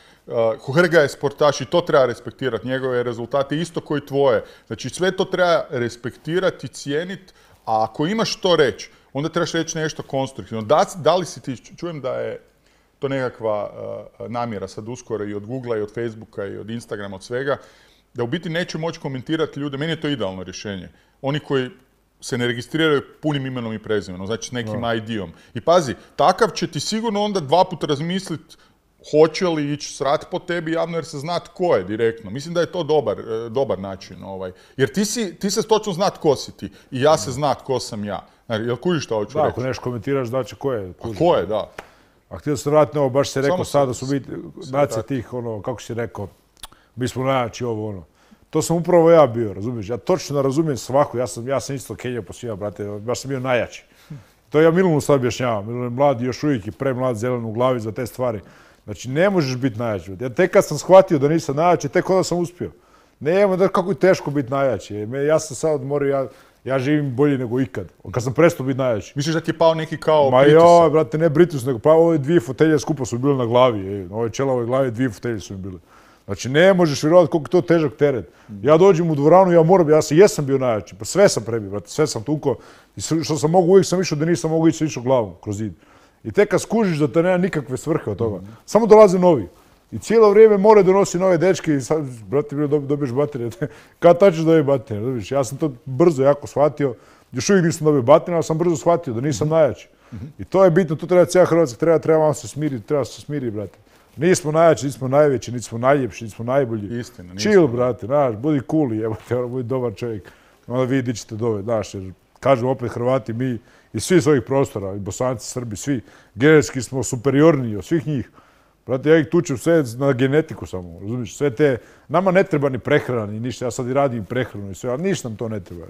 Hrga je sportaš i to treba respektirati, njegove rezultate isto koji tvoje. Znači sve to treba respektirati, cijeniti, a ako imaš što reći, onda trebaš reći nešto konstruktivno. Da li si ti, čujem da je to nekakva namjera sad uskoro i od Googlea i od Facebooka i od Instagrama, od svega, da u biti neće moći komentirati ljude, meni je to idealno rješenje. Oni koji se ne registriraju punim imenom i prezimenom, znači s nekim ID-om. I pazi, takav će ti sigurno onda 2 puta razmisliti hoće li ići srat po tebi javno jer se zna tko je direktno. Mislim da je to dobar način. Jer ti se točno zna tko si ti i ja se zna tko sam ja. Jel kužiš šta hoću reći? Da, ako nešto komentiraš znači ko je. Ko je, da. A htio sam vratiti ovo, baš se rekao sad da su biti nacije tih, kako si rekao, mi smo najjači ovo, ono. To sam upravo ja bio, razumiješ? Ja točno razumijem svaku, ja sam isto Kenija po svima, brate, baš sam bio najjači. To ja Milanu sad objašnjavam, Milan je mlad još uvijek i premlad, zelen u glavi za te stvari. Znači, ne možeš biti najjači. Ja tek kad sam shvatio da nisam najjači, tek onda sam uspio. Nema da kako je teško biti najjači. Ja sam sad odmorio, ja živim bolje nego ikad. Kad sam prestao biti najjači. Misliš da ti je pao neki kao pritisak? Ma joj, brate, ne pritisak, nego pa ove 2 fotelje skupa su bile na glavi. Ove čelove glavi 2 fotelje su mi bile. Znači, ne možeš vjerovati koliko je to težak teret. Ja dođem u dvoranu, ja jesam bio najjači, pa sve sam prebio, brate, sve sam tuko. I što sam mogu, uvijek sam išao, da nisam mogu ići, sam išao glavom kroz zid. I tek kad skužiš da te nema nikakve svrhe od toga, samo dolaze novi. I cijelo vrijeme more donosi nove dečke i sad, brate, dobiješ baterije. Kad tačeš dobiješ baterije, ja sam to brzo jako shvatio. Još uvijek nisam dobio baterije, ali sam brzo shvatio da nisam najjači. I to je bitno, tu treba cijela Hrvatska, treba malo se smiriti, treba se smiriti, brate. Nismo najjači, nismo najveći, nismo najljepši, nismo najbolji. Istina, chill, brate, znaš, budi cool, jebote, budi dobar čovjek. Onda vi dičite dove, znaš, jer kažu opet Hrvati, mi iz svih svojih prostora, i Bosanci, Srbi, svi, genetski smo superiorniji od svih njih. Brate, ja ih tučem sve na genetiku samo, razumiješ, sve te, nama ne treba ni prehrana, ni ništa, ja sad i radim prehranu i sve, ali ništa nam to ne treba.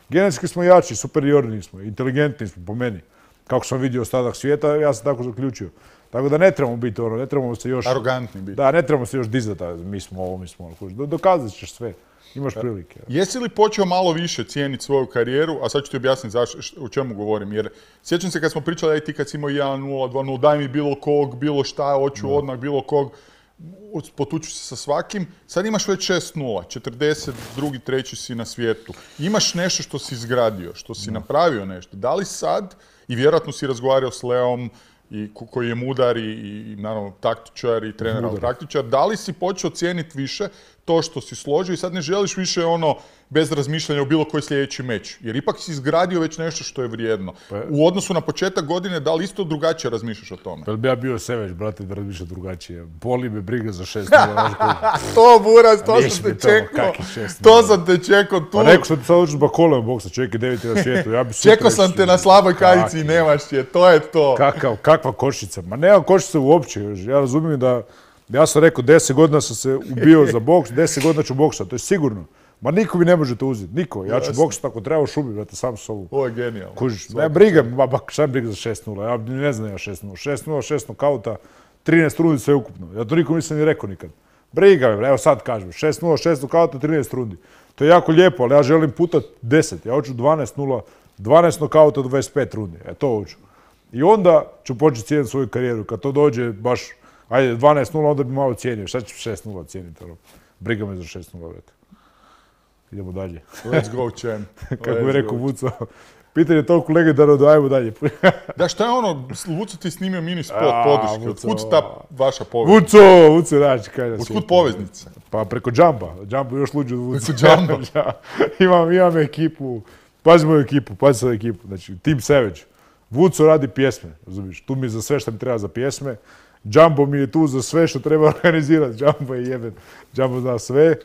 Genetski smo jači, superiorniji smo, inteligentni smo po meni. Kako sam vidio ostatak svijeta, ja sam tako zaključio. Tako da ne trebamo biti ne trebamo se još... Arogantni biti. Da, ne trebamo se još dizati, mi smo ovo, mi smo ono. Dokazat ćeš sve, imaš prilike. Jesi li počeo malo više cijeniti svoju karijeru, a sad ću ti objasniti o čemu govorim, jer sjećam se kad smo pričali, aj ti kad si imao 1-0, 2-0, daj mi bilo kog, bilo šta, hoću odmah bilo kog, potuču se sa svakim, sad imaš već 6-0, 42. treći si na svijetu. Imaš nešto što si izgradio, što si napravio nešto. Da li sad, i vjerojatno si razgovarao s Leom, koji je mudar i naravno taktičar i trener, ali taktičar, da li si počeo cijeniti više to što si složio i sad ne želiš više bez razmišljanja u bilo koji sljedeći meč? Jer ipak si izgradio već nešto što je vrijedno. U odnosu na početak godine, da li isto drugačije razmišljaš o tome? Pa bi ja bio Seveć, brate, da razmišljam drugačije. Boli me briga za 6-0. To, Buraz, to sam te čekao. To sam te čekao tu. Pa neko što ti sad učiš bakolem boksa, čovjek je 9. na svijetu. Čekao sam te na slaboj kajici i nemaš je, to je to. Kakva koščica? Ma nema koščice uopće. Ja razumijem da, ja sam rekao 10 godina sam se ubio za boks, 10 godina ću boksati, to je sigurno. Ma niko mi ne može to uzeti, niko. Ja ću boksati ako treba u šubi, brate, sam s sobom. Ovo je genijalno. Kužiš, ne briga, šta mi briga za 6-0, ja ne znam ja 6-0. 6-0, 6 nokauta, 13 rundi sve ukupno. Ja to nikom nisam ni rekao nikad. Briga me, evo sad kažem, 6-0, 6 nokauta, 13 rundi. To je jako lijepo, ali ja želim puta 10, ja hoću 12-0, 12 nokauta, 25 rundi, to hoću. I onda ću početi cijeniti svoju karijeru, kad to dođe baš, ajde, 12-0, onda bi malo cijenio, šta ću 6-0 cijeniti, briga me za 6-0, brate. Idemo dalje. Let's go, champ. Kako bi rekao Vuco, pitanje toliko legendarno da ajmo dalje. Da, šta je Vuco ti snimio mini spot podrške, otkud ta vaša poveznica? Vuco, znači, kaj da si. Otkud poveznica? Pa preko Jumpa, Jump još luđe od Vuco. Imam ekipu, pazi moju ekipu, pazi sad ekipu, znači Team Savage. Vuco radi pjesme, razumiješ, tu mi je za sve što mi treba za pjesme. Jumbo mi je tu za sve što treba organizirati, Jumbo je jeben, Jumbo zna sve.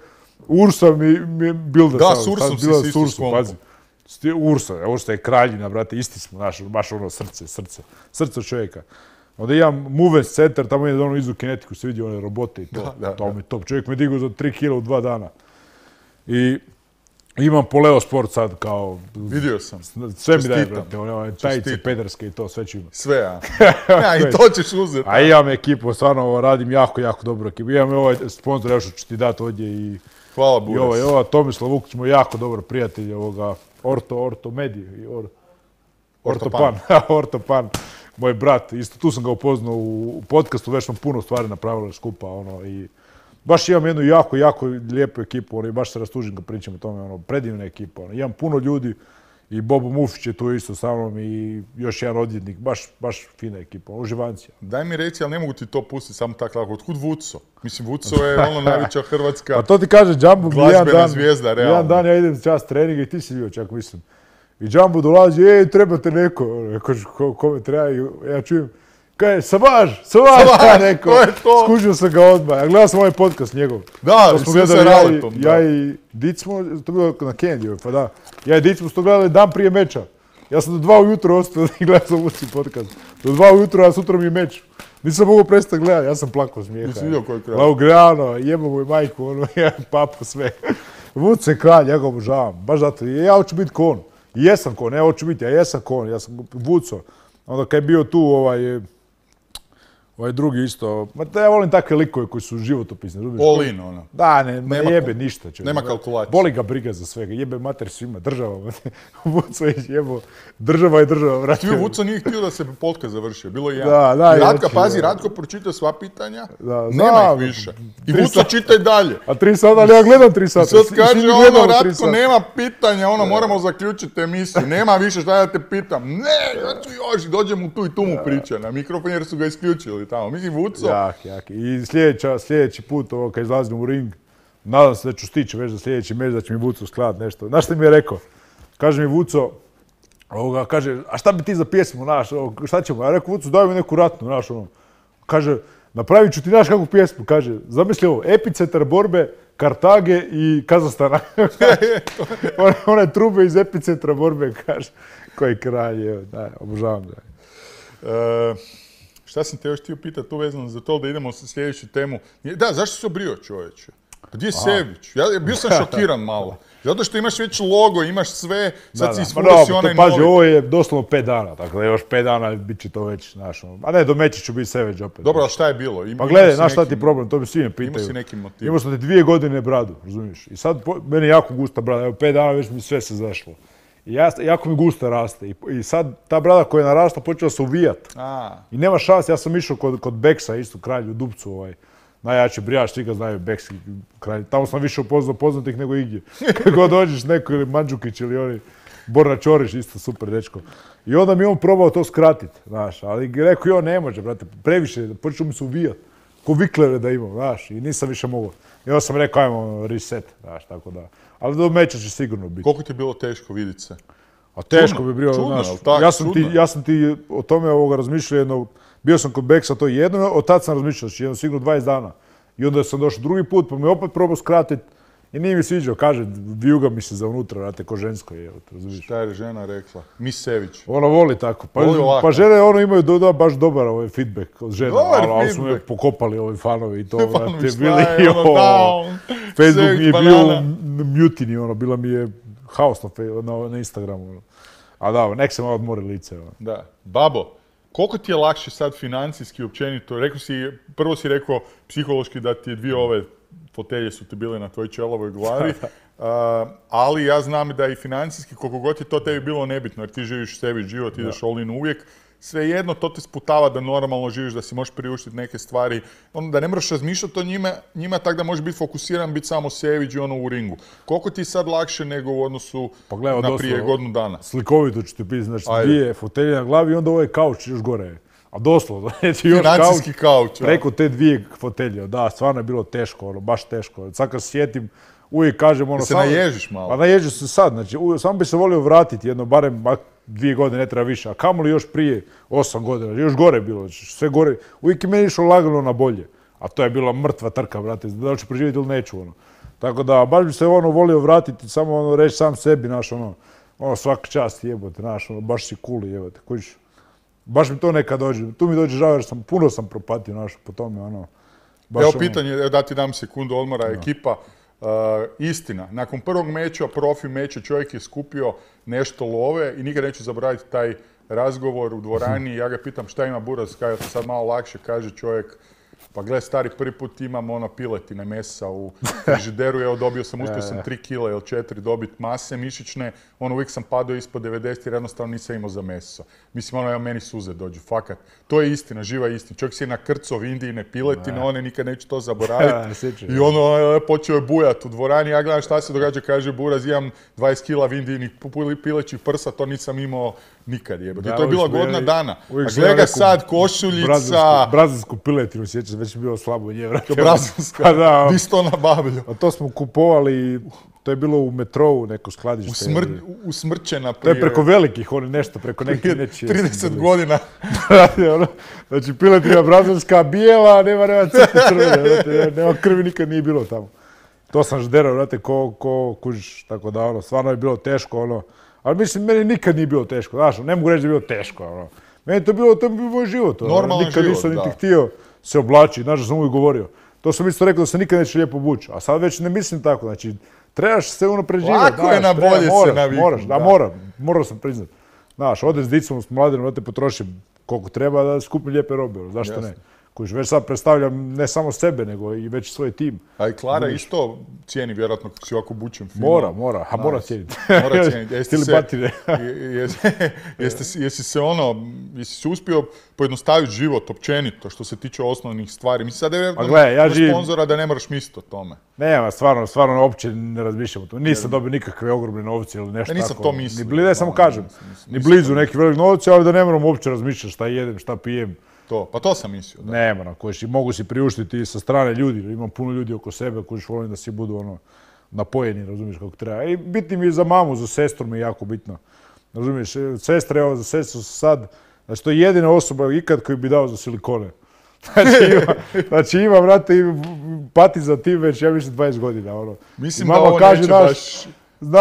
Ursa mi bilda. Da, s Ursom si isto pazi. Ursa je kraljina, brate, isti smo, baš srce čovjeka. Onda imam Movement Center, tamo je izu kinetiku, se vidi one robote i to. To mi je top. Čovjek me digao za 3 kila u 2 dana. I imam Poleo Sport sad kao... Vidio sam. Sve mi daje, brate, one tajice, pederske i to, sve ću imati. Sve, a? I to ćeš uzeti. A imam ekipu, stvarno radim jako dobro ekipu. Imam ovaj sponsor, još ću ti dati ovdje i... Hvala, Buras. I ova Tomislav Vukić, moj jako dobar prijatelj ovoga Ortomedije. Ortopan. Ortopan, moj brat. Isto tu sam ga upoznao u podcastu, već smo puno stvari napravili skupa. I baš imam jednu jako lijepu ekipu, i baš se rastužim kad pričam o tome, predivna ekipa. Imam puno ljudi i Bobo Mufić je tu isto sa mnom i još jedan odvjetnik, baš fina ekipa, uživancija. Daj mi reci, ali ne mogu ti to pustiti samo tako lako, otkud Vuco? Mislim, Vuco je najveća hrvatska pa to ti kaže Jumbo, glazbena zvijezda, realno. Jedan dan ja idem čas treninga i ti si bio čak, mislim. I Jumbo dolazi, trebate neko, kome treba, ja čujem, kaj, Savaž, neko, skužio sam ga odmah, ja gledao sam ovaj podcast njegov. Da, smo se Raletom. Ja i Dic smo, to bilo na Candy, pa da, ja i Dic smo to gledali dan prije meča. Ja sam do 2 ujutro ostao i gledao sam Vuci podcast. Do 2 ujutro, a sutra mi je meč. Nisam mogao prestati gledati, ja sam plakao smijeha. Nisi vidio koji je kralj? Laugrano, jebo moj majku, papu, sve. Vuci je kralj, ja ga obožavam, baš zato. Ja hoću biti ko on. I jesam ko on, ja hoću biti, ja jesam ko on, ja sam Vuco. Onda kad je bio tu Ovaj drugi isto, ja volim takve likove koji su životopisni. All in, ono. Da, ne jebe ništa. Nema kalkulacije. Boli ga briga za svega, jebe mater svima, država. Vuco je jebo, država je država, vrati. Vuco nije htio da se podcast završio, bilo je jedan. Ratka, pazi, Ratko pročitao sva pitanja, nema ih više. I Vuco čitaj dalje. A 3 sata, ali ja gledam 3 sata. Sad kaže ono, Ratko, nema pitanja, ono, moramo zaključiti emisiju, nema više šta da te pitam. Ne, ja ću još, dođem tu i tu mu priča na mikrofon jer su ga isključili tamo. Mislim, Vuco. Jak. I sljedeći put, kad izlazim u ring, nadam se da ću stići već za sljedeći meč, da će mi Vuco skladati nešto. Znaš što mi je rekao? Kaže mi Vuco, kaže, a šta bi ti za pjesmu, znaš, šta ćemo? Ja rekao, Vuco, daj mi neku ratnu, znaš, ono. Kaže, napravit ću ti, znaš kakvu pjesmu, kaže, zamisli ovo, epicentar borbe Kartage i Kazahstana. One trube iz epicentra borbe, kaže, koji kralj, evo, obožavam da. Šta sam te još htio pitati tu vezano za to da idemo u sljedeću temu. Da, zašto si obrio, čovječe? Pa gdje je Sević? Ja bio sam šokiran malo. Zato što imaš već logo, imaš sve, sad si isfurio si onaj novi. Paži, ovo je doslovno 5 dana, tako da još 5 dana bit će to već, znaš, a ne, do meća ću biti Sević opet. Dobro, ali šta je bilo? Pa gledaj, znaš šta ti je problem, to mi svi me pitaju. Imao si neki motiv. Imao sam ti 2 godine bradu, razumiješ? I sad, meni je jako gusta brada, evo 5 dana već mi sve se zašlo. I jako mi gusta raste. I sad ta brada koja je narasla počela se uvijat. I nema šanse, ja sam išao kod Beksa, isto kralj u Dupcu, najjači brijač, svi ga znaju, Bekski kralj. Tamo sam više upoznao poznatih nego igdje. Kako dođeš neko ili Mandžukić ili oni, Borna Čorić, isto super dečko. I onda mi on probao to skratiti, znaš, ali rekao, ne može, brate, previše, počeo mi se uvijat. Ko viklere da imam, znaš, i nisam više mogao. I onda sam rekao, ajmo reset, znaš, tako da. Ali do meča će sigurno biti. Koliko ti je bilo teško vidjeti se? A teško bi bilo, znaš, ja sam ti o tome razmišljao jedno, bio sam kod Beksa to jedno, od tad sam razmišljao, znači jedno sigurno 20 dana. I onda sam došao drugi put, pa mi opet probao skratiti i nije mi sviđao, kaže, vijuga mi se za unutra, vrate, ko žensko je, razumiješ. Šta je žena rekla? Miss Sević. Ona voli tako, pa žene imaju baš dobar feedback od žena, ali su me pokopali fanovi i to, vrate, bili Facebook mi je bio mutiny, bila mi je haos na Instagramu. A da, nek se malo odmori lice. Da. Babo, koliko ti je lakše sad financijski općenito? Prvo si rekao psihološki da ti 2 ove fotelje su ti bile na tvojoj čelovoj glavi, ali ja znam da i financijski, koliko god je to tebi bilo nebitno, jer ti živiš sebi život, ideš all in uvijek, svejedno to te sputava da normalno živiš, da si možeš priuštiti neke stvari, da ne moraš razmišljati o njima tako da možeš biti fokusiran, biti samo Sević i u ringu. Koliko ti je sad lakše nego u odnosu na prije godinu dana? Slikovito ću ti pisati, znači 2 fotelje na glavi i onda ovaj kauč još gore. A doslovno, znači još financijski kauč. Preko te 2 fotelje, da, stvarno je bilo teško, baš teško. Sad kad se sjetim, uvijek kažem Da se naježiš malo. Pa naježim se sad, znači samo bi se volio vratiti jedno, barem 2 godine, ne treba više, a kamoli još prije 8 godina, još gore bilo, sve gore. Uvijek je meni išlo lagano na bolje, a to je bila mrtva trka, brate, da li ću preživjeti ili neću, Tako da, baš bi se volio vratiti, samo reći sam sebi, svaka čast jebote, baš si cool jebote, kužiš. Baš mi to nekad dođe, tu mi dođe žao jer puno sam propatio po tome, Evo pitanje, da ti dam sekundu odmora, ekipa. Istina, nakon prvog meča, profi meča, čovjek je skupio nešto love i nikad neću zaboraviti taj razgovor u dvorani. Ja ga pitam šta ima Buraz, kada to sad malo lakše, kaže čovjek, pa gle stari, prvi put imam piletine mesa u frižideru, evo dobio sam, uspio sam 3 kila ili 4 dobiti mase mišićne, uvijek sam padao ispod 90 jer jednostavno nisam imao za meso. Mislim, meni suze dođu, fakat. To je istina, živa istina. Čovjek si je nakrcao Indijine piletine, nikad neću to zaboraviti. I počeo je bujat u dvorani, ja gledam šta se događa, kaže Buraz, imam 20 kila Indijinih pilećih prsa, to nisam imao nikad jebati. I to je bila godina dana. A gleda ga sad, košuljica... Brazilsku piletinu, sjećam, već je bilo slabo nje, vrati. Brazilska, di si to nabavljao? A to smo kupovali, to je bilo u metrou neko skladište. Usmrćena prije... To je preko velikih, nešto preko neke nečije. 30 godina. Znači, piletina brazilska, bijela, nema crvene, nema krvi, nikad nije bilo tamo. To sam žderao, vrati, ko kužiš, tako da, stvarno je bilo teško, ali mislim, meni nikad nije bilo teško, znaš, ne mogu reći da je bilo teško, Meni to je bio moj život, nikad nisam niti htio se oblačiti, znaš da sam uvijek govorio. To sam isto rekao da se nikad neće lijepo obući, a sad već ne mislim tako, znači, trebaš se unapređivati. Lako je na bolje se naviknuti. Morao sam priznat. Znaš, odem s dicom, s mladinom, da te potrošim koliko treba da skupim lijepe robe, zašto ne? Koji već sad predstavljam ne samo sebe, nego i već svoj tim. A i Klara isto cijeni, vjerojatno, kako si ovako bučen film. Mora cijeniti. Mora cijeniti. Jesi se uspio pojednostaviti život općenito, što se tiče osnovnih stvari? Mislim, sad je sponzora da ne moraš misliti o tome. Nema, stvarno, uopće ne razmišljam o tome. Nisam dobio nikakve ogromne novce ili nešto tako. Nisam to mislio. Ne, samo kažem, ni blizu neki velik novci, ali da ne moram uopće razmišljati šta jedem, šta pijem. Pa to sam mislio. Da. Ne moram, mogu si priuštiti i sa strane ljudi, imam puno ljudi oko sebe koji volim da si budu napojeni, razumiješ kako treba. I bitno mi je za mamu, za sestru mi je jako bitno. Razumiješ, sestra, za sestru sad, znači to je jedina osoba ikad koju bi dao za silikone. Znači ima, brate, pati za tim već, ja mislim, 20 godina. Mislim da ovo neće baš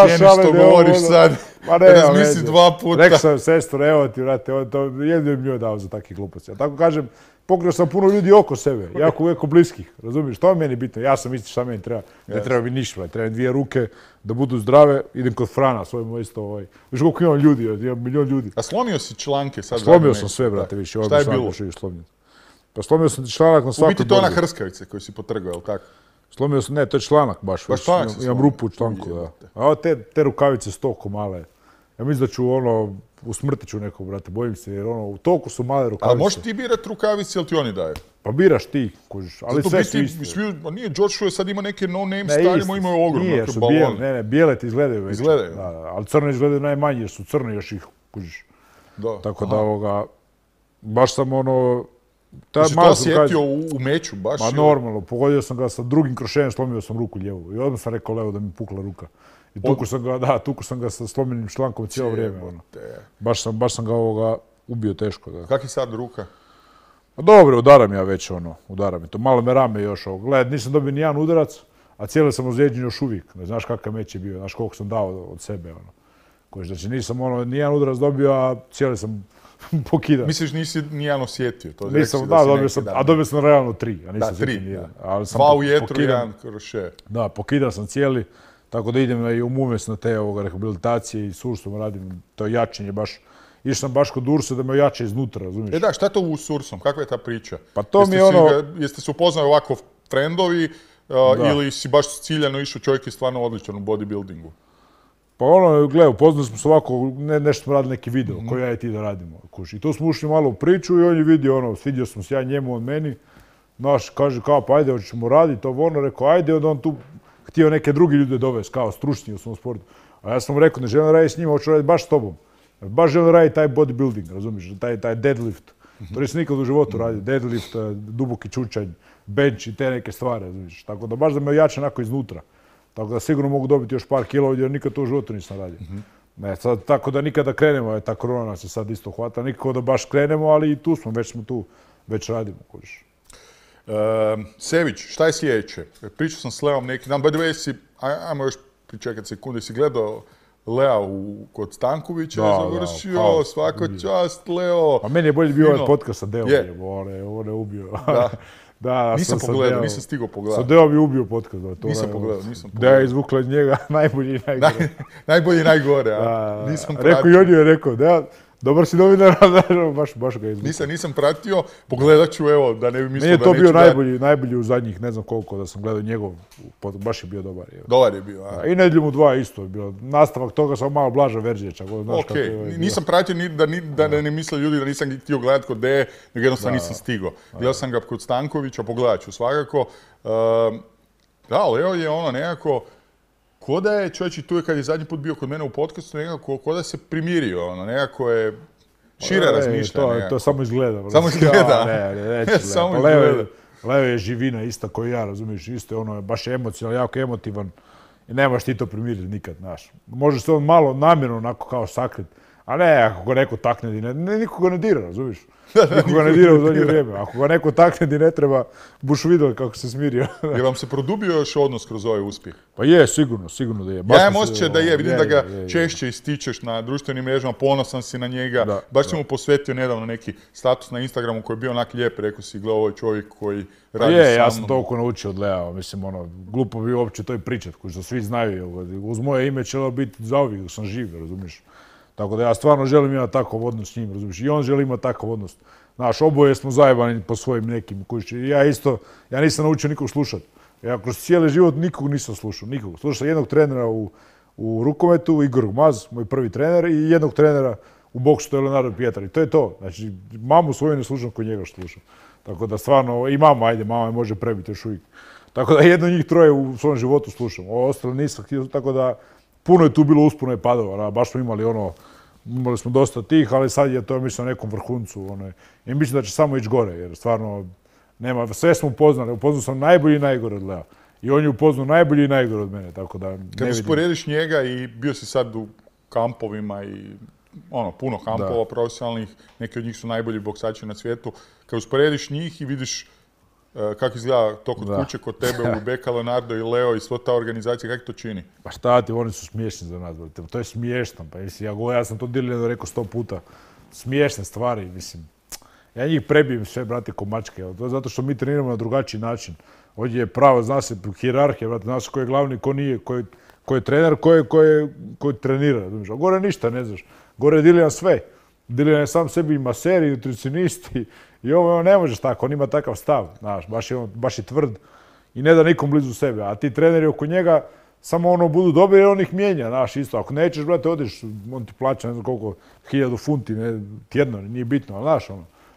cijeni što govoriš sad, razmisli 2 puta. Rekao sam sestru, evo ti, brate, jedino bi mi joj dao za takve gluposti. Ja tako kažem, pokrio sam puno ljudi oko sebe, jako bliskih, razumiješ, to je meni bitno, ja sam isti šta meni treba, ne treba mi ništa, treba mi 2 ruke, da budu zdrave, idem kod Frana, svojemu isto, viš koliko imam ljudi, imam milion ljudi. A slomio si članke sad? Slomio sam sve, brate, više, šta je bilo? Pa slomio sam članak na svaku dozu. U biti to je ona hrskavice koju si potrgao, jel tako? Slomio sam, ne, to je članak baš, imam rupu u članku, da. A ovo te rukavice su toliko male. Ja mislim da ću usmrtit ću nekog, brate, bojim se, jer toliko su male rukavice. Ali možeš ti birat rukavice ili ti oni daju? Pa biraš ti, kužiš, ali sve su iste. Nije, George Show sad ima neke no-name starima, imaju ogromne balone. Nije, bijele ti izgledaju već. Izgledaju? Ali crne izgledaju najmanje, jer su crni još ih, kužiš. Tako da baš sam Jesi to osjetio u meču baš? Ma normalno, pogodio sam ga sa drugim krošenjem, slomio sam ruku lijevu. I odmah sam rekao Leo da mi pukla ruka. I tuku sam ga sa slomljenim člankom cijelo vrijeme. Baš sam ga ubio teško. Kak je sad ruka? Dobro, udaram ja već udaram je to. Malo me rame još Gledaj, nisam dobio nijedan udarac, a cijeli sam ozlijeđen još uvijek. Ne znaš kakav meč je bio, znaš koliko sam dao od sebe. Znači nisam nijedan udarac dobio, a cijeli sam pokidan. Misliš nisi nijedan osjetio? Nisam, dobio sam realno 3, a nisam osjetio nijedan. 2 u jetru, 1 kroše. Da, pokidan sam cijeli, tako da idem i u Mumes na te rehabilitacije i sursom radim, to jačanje baš. Išao sam baš kod Ursa da me jače iznutra, razumiješ? Šta je to u Sursom? Kakva je ta priča? Pa to mi je Jeste se upoznali ovako trendovi ili si baš ciljano išao, čovjek je stvarno odličan u bodybuildingu? Pa gledaj, upoznali smo se ovako, nešto smo radili neki video koji ja i ti da radimo. I tu smo ušli malo u priču i on je vidio, svidio sam se ja njemu, on meni. Naš, kaže kao, pa ajde, hoćemo raditi, rekao, ajde, onda on tu htio neke druge ljude dovesti, kao stručni u svom sportu. A ja sam mu rekao, ne želim raditi s njima, hoću raditi baš s tobom. Baš želim raditi taj bodybuilding, razumiješ, taj deadlift. To nisam nikad u životu radio, deadlift, duboki čučanj, bench i te neke stvari, razumiješ. Tako da baš da me jače onako iznutra. Tako da sigurno mogu dobiti još par kilo, jer nikad to u životu nisam radio. Tako da nikada krenemo, ta korona nas je sad isto hvata, nikako da baš krenemo, ali i tu smo, već radimo. Sević, šta je sljedeće? Pričao sam s Leom neki dan, by the way, ajmo još pričekati sekunde, si gledao Lea kod Stankovića je završio, svaka čast, Leo. A meni je bolje bio ovaj podcast sa Deom, on je ubio. Nisam pogledao, nisam stigao pogledati. Sa Deom je ubio podcast. Nisam pogledao. Da je izvukla iz njega najbolji i najgore. Najbolji i najgore, a nisam pratio. Rekao i on je rekao, da, dobar si novinar, baš ga izvukla. Nisam pratio, pogledat ću, evo, da ne bi mislio da neću da... Meni je to bio najbolji u zadnjih, ne znam koliko, da sam gledao njegov podcast, baš je bio dobar. Dobar je bio, a? I Nedjelju mu 2 isto je bilo. Nastavak toga sam malo blaža verzija, čak. Okej, nisam pratio da ne misle ljudi da nisam htio gledati kod Deje, nego jednostavno nisam stigao. Gledao sam ga kod Stankovića, pogledat ću svakako. Da, Leo je nekako... Ko da je, čovječi, tu je kad je zadnji put bio kod mene u podcastu, nekako, ko da se primirio, nekako je šire razmišljanje. To samo izgleda. Samo izgleda? Ne, samo izgleda. Leo je živina ista koju ja, razumiješ, isto je baš emocionalno, jako emotivan i nemaš ti to primiriti nikad, znaš. Može se on malo namjerno onako kao sakrit, a ne, ako ga neko takne, niko ga ne dira, razumiješ? Niko ga ne dira u zadnje vrijeme. Ako ga neko takne di ne treba, buš vidio kako se smirio. Je vam se produbio još odnos kroz ovaj uspjeh? Pa je, sigurno da je. Ja imam osjećaj da je, vidim da ga češće ističeš na društvenim mrežama, ponosan si na njega. Baš si mu posvetio nedavno neki status na Instagramu koji je bio onak lijep, rekao si, gle, ovo je čovjek koji radi sa mnom. Ja sam toliko naučio od Lea, mislim, glupo bi uopće to i pričat, koji što svi znaju. Uz moje ime će biti zauvijek dok sam živ, razumiješ? Tako da ja stvarno želim imati takav odnos s njim, razumiješ? I on želi imati takav odnos. Znaš, oboje smo zajebani po svojim nekim kući. Ja nisam naučio nikog slušati. Ja kroz cijeli život nikog nisam slušao, nikog. Slušao sam jednog trenera u rukometu, Igor Maz, moj prvi trener, i jednog trenera u boksu, to je Leonardo Pietar. I to je to. Znači, mamu svoju ne slušam kod njega što slušam. Tako da stvarno, i mama me može prebiti još uvijek. Tako da jedno njih troje u svom životu slušam. Ovo ostalo nisam htio, tako da puno je tu bilo uspuno i padova. Baš smo imali smo dosta tih, ali sad je to, mislim, na nekom vrhuncu. I mislim da će samo ići gore, jer stvarno sve smo upoznali. Upoznao sam najbolji i najgore od Lea. I on je upoznao najbolji i najgore od mene, tako da ne vidim. Kad usporediš njega i bio si sad u kampovima i puno kampova profesionalnih, neki od njih su najbolji boksači na svijetu. Kad usporediš njih i vidiš kako izgleda to kod kuće, kod tebe, u Beka, Leonardo i Leo i sva ta organizacija, kako to čini? Pa šta ti, oni su smiješni za nas, to je smiješno. Pa ja sam to Dilljanu rekao 100 puta. Smiješne stvari, mislim. Ja njih prebijem sve, brate, ko mačke. To je zato što mi treniramo na drugačiji način. Ovdje je pravo, zna se, hijerarhija, brate, zna se ko je glavni, ko nije, ko je trener, ko trenira. A gore ništa ne znaš. Gore je Diljan sve. Diljan je sam sebi i maser, i nutricionist, i ovo ne možeš tako, on ima takav stav, znaš, baš je tvrd i ne da nikom blizu sebe. A ti treneri oko njega samo budu dobri jer on ih mijenja, znaš, isto. Ako nećeš, brate, odeš, on ti plaća ne znam koliko, 1000 funti, tjedno, nije bitno, ali znaš,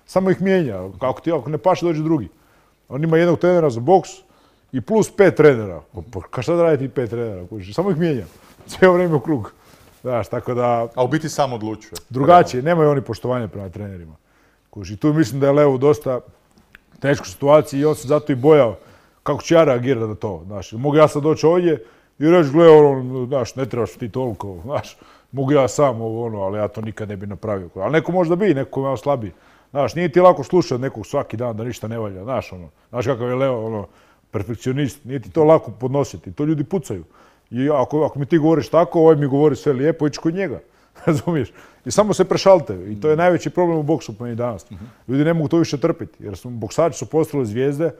samo ih mijenja. Ako ne paše, dođe drugi. On ima jednog trenera za boks i plus 5 trenera. Pa šta da radi ti 5 trenera? Samo ih mijenja. Cijelo vrijeme u krug. Znaš, tako da... A u biti sam odlučuje. Drugačije, nemaju oni poštovanja prema trenerima. I tu mislim da je Leo u dosta teškoj situaciji i on se zato i bojao kako će ja reagirati na to. Znaš, mogu ja sad doći ovdje i reći, gle, znaš, ne trebaš ti toliko, znaš, mogu ja sam ali ja to nikad ne bi napravio. Ali neko možda bi, neko je malo slabiji. Znaš, nije ti lako slušati nekog svaki dan da ništa ne valja, znaš kakav je Leo, perfekcionist, nije ti to lako podnositi, to ljudi pucaju. I ako mi ti govoriš tako, ovaj mi govori sve lijepo, ići kod njega, razumiješ? I samo se prešalte i to je najveći problem u boksu po meni danas. Ljudi ne mogu to više trpiti, jer boksači su postali zvijezde,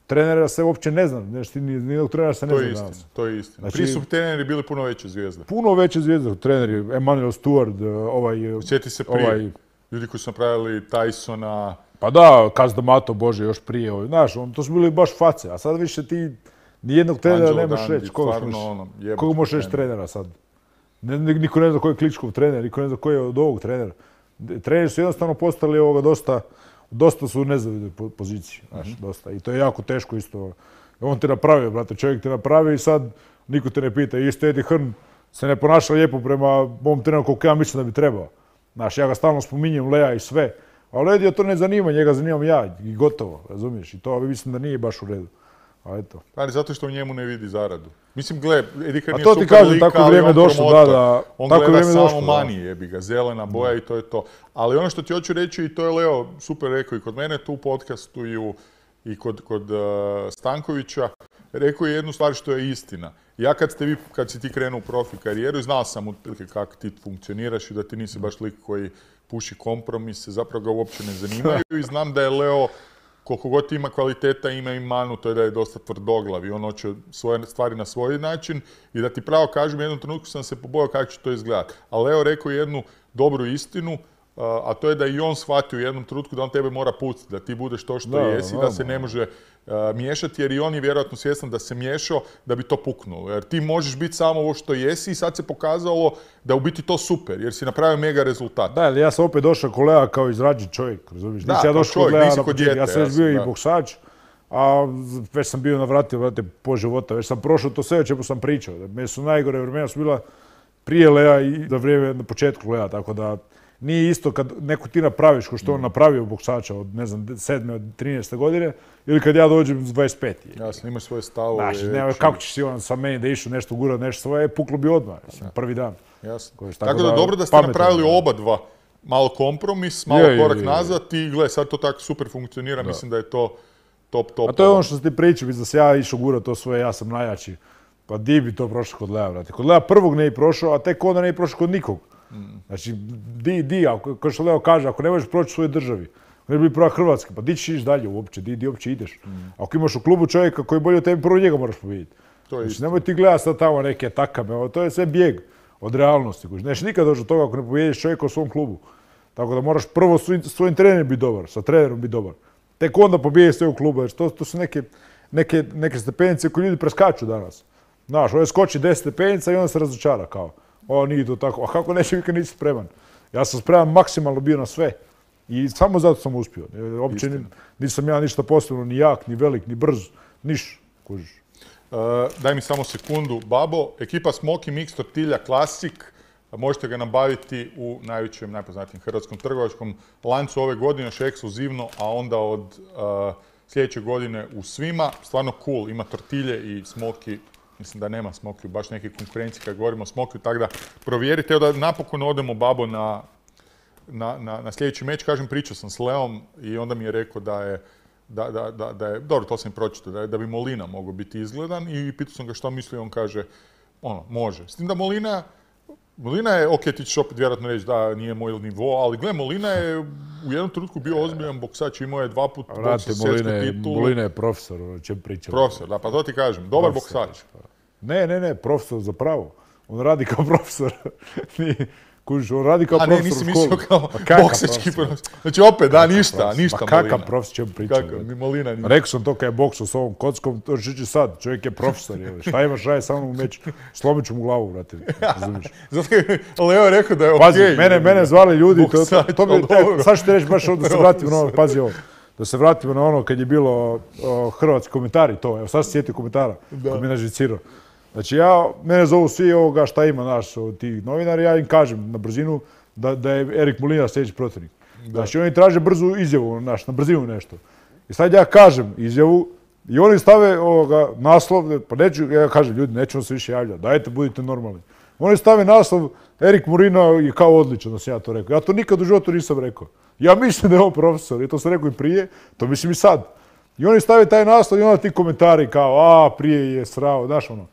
trenera se uopće ne zna, nijednog trenera se ne zna danas. To je istina. Prije su treneri bili puno veće zvijezde. Puno veće zvijezde, treneri, Emanuel Stewart, Sjeti se prije, ljudi koji su napravili Tysona. Pa da, Kazdamato, Bože, još prije. Znaš, to su bili baš face, a sad više ti nijednog trenera nemaš reći. Koga možeš reći trenera sad? Niko ne zna ko je Kličkov trener, niko ne zna ko je od ovog trenera. Treneri su jednostavno postali dosta su u nezavidnoj poziciji, znaš, dosta. I to je jako teško isto. On te napravio, brate, čovjek te napravio i sad niko te ne pita. Isto Eddie Hearn se ne ponaša lijepo prema mom treneru koliko ja mislim da bi trebao. Znaš, ja ga stalno spominjem, Lea i sve. Ali Eddie to ne zanima, njega zanimam ja i gotovo, razumiješ? I to mislim da nije baš u redu. Ali zato što u njemu ne vidi zaradu. Mislim, gle, Eddie Hearn je super lika, ali on promotor. On gleda samo money, jebi ga, zelena boja i to je to. Ali ono što ti hoću reći, i to je Leo super rekao i kod mene tu u podcastu i kod Stankovića, rekao je jednu stvar što je istina. Ja kad si ti krenuo u profi karijeru i znao sam otprilike kako ti funkcioniraš i da ti nisi baš lik koji puši kompromise, zapravo ga uopće ne zanimaju i znam da je Leo koliko god ima kvaliteta, ima i manu, to je da je dosta tvrdoglav i on hoće svoje stvari na svoj način i da ti pravo kažem, u jednom trenutku sam se pobojao kako će to izgledati. Ali Leo rekao jednu dobru istinu, a to je da i on shvatio u jednom trenutku da on tebe mora pustiti, da ti budeš to što jesi, da se ne može miješati, jer i on je vjerojatno svjestan da se miješao da bi to puknulo. Jer ti možeš biti samo ovo što jesi i sad se pokazalo da u biti to super, jer si napravio mega rezultat. Da, ali ja sam opet došao kod Lea kao izrađen čovjek, razumiješ? Da, kao čovjek, nisi kod djete. Ja sam već bio i boksač, a već sam bio navratio, brate, po života, već sam prošao to sve o čemu sam pričao. Meni su najgore vremena su bila prije Lea i za vrijeme na početku Lea, tako da nije isto kad neko ti napraviš ko što on napravio boksača od, ne znam, 7. od 13. godine ili kad ja dođem s 25. Jasno, imaš svoje stavove. Znaš, kako ćeš si on sa meni da išao nešto gurat, nešto svoje, puklo bi odmah, prvi dan. Jasno. Tako da dobro da ste napravili oba dva. Malo kompromis, malo korak nazad i gle, sad to tako super funkcionira, mislim da je to top. A to je ono što si ti pričao, da se ja išao gurat to svoje, ja sam najjači. Pa di bi to prošlo kod Lea, brate. Kod Lea prvog ne bi prošao, a tek onda ne bi prošao kod nikog. Znači, kao što Leo kaže, ako ne možeš proći u svojoj državi, ne bi prva Hrvatska, pa di ćeš ići dalje uopće, di uopće ideš. Ako imaš u klubu čovjeka koji je bolji od tebi, prvo njega moraš pobijediti. Znači, nemoj ti gledati sad tamo neke takame, to je sve bijeg od realnosti. Nećeš nikad doći do toga ako ne pobijediš čovjeka u svom klubu. Tako da moraš prvo svojim trenerom biti dobar, sa trenerom biti dobar. Tek onda pobiješ sve u klubu, jer to su neke stepenice koje ljudi preskaču danas. Znaš, ovaj skoči 10 stepenica i onda se razočara kao. O, nije to tako. A kako neće vi kad nisi spreman? Ja sam spreman maksimalno bio na sve. I samo zato sam uspio. Uopće nisam ja ništa posebno, ni jak, ni velik, ni brz, niš. Kužiš. Daj mi samo sekundu. Babo, ekipa Smoky Mix Tortilja Classic. Možete ga nabaviti u najvećem, najpoznatijem hrvatskom trgovačkom lancu ove godine, još ekskluzivno, a onda od sljedeće godine u svima. Stvarno cool, ima tortilje i Smoky. Mislim da nema Smoky, baš neke konkurencije kad govorimo o Smoky, tako da provjerite. Evo da napokon odemo, Babo, na sljedeći meč. Kažem, pričao sam s Leom i onda mi je rekao da je, dobro, to sam i pročitao, da bi Molina mogao biti izgledan i pitao sam ga što misli, on kaže, može. S tim da Molina je, ok, ti ćeš opet vjerojatno reći da nije moj nivo, ali gle, Molina je u jednom trenutku bio ozbiljan boksač, imao je 2 puta boksa svjetsku titulu. Molina je profesor, o čem pričamo. Profesor, da, pa to ti kažem, dobar boksač. Ne, profesor za pravo. On radi kao profesor. Kužiš, on radi kao profesor u školu. A ne, nisi mislio kao boksački profesor. Znači opet, da, ništa Molina. Kakav profesor, čem pričamo. Kakav, Molina ništa. Rekao sam to kad je boksao s ovom kockom, to će sad, čovjek je profesor. Šta imaš raje sa mnom u meč? Slomit ću mu glavu, brate. Zato je Leo je rekao da je okej. Pazi, mene zvali ljudi, sad ću ti reći baš da se vratimo na ono, pazi ovo. Da se vratimo na ono kad je bilo hrvatski komentari to, evo sad se sjetio komentara koji mi je nažicirao. Znači mene zovu svi ovoga šta ima naš od tih novinara, ja im kažem na brzinu da je Erik Molina sljedeći protivnik. Znači oni traže brzu izjavu, na brzinu nešto. I sad ja kažem izjavu i oni stave naslov, pa neću, ja kažem ljudi nećemo se više javljati, dajte budite normalni. Oni stave naslov Erik Molina je kao odličan, da sam ja to rekao. Ja to nikad u životu nisam rekao. Ja mislim da je on profesor, i to sam rekao i prije, to mislim i sad. I oni stave taj naslov i onda ti komentari kao, prije je srao, znaš ono.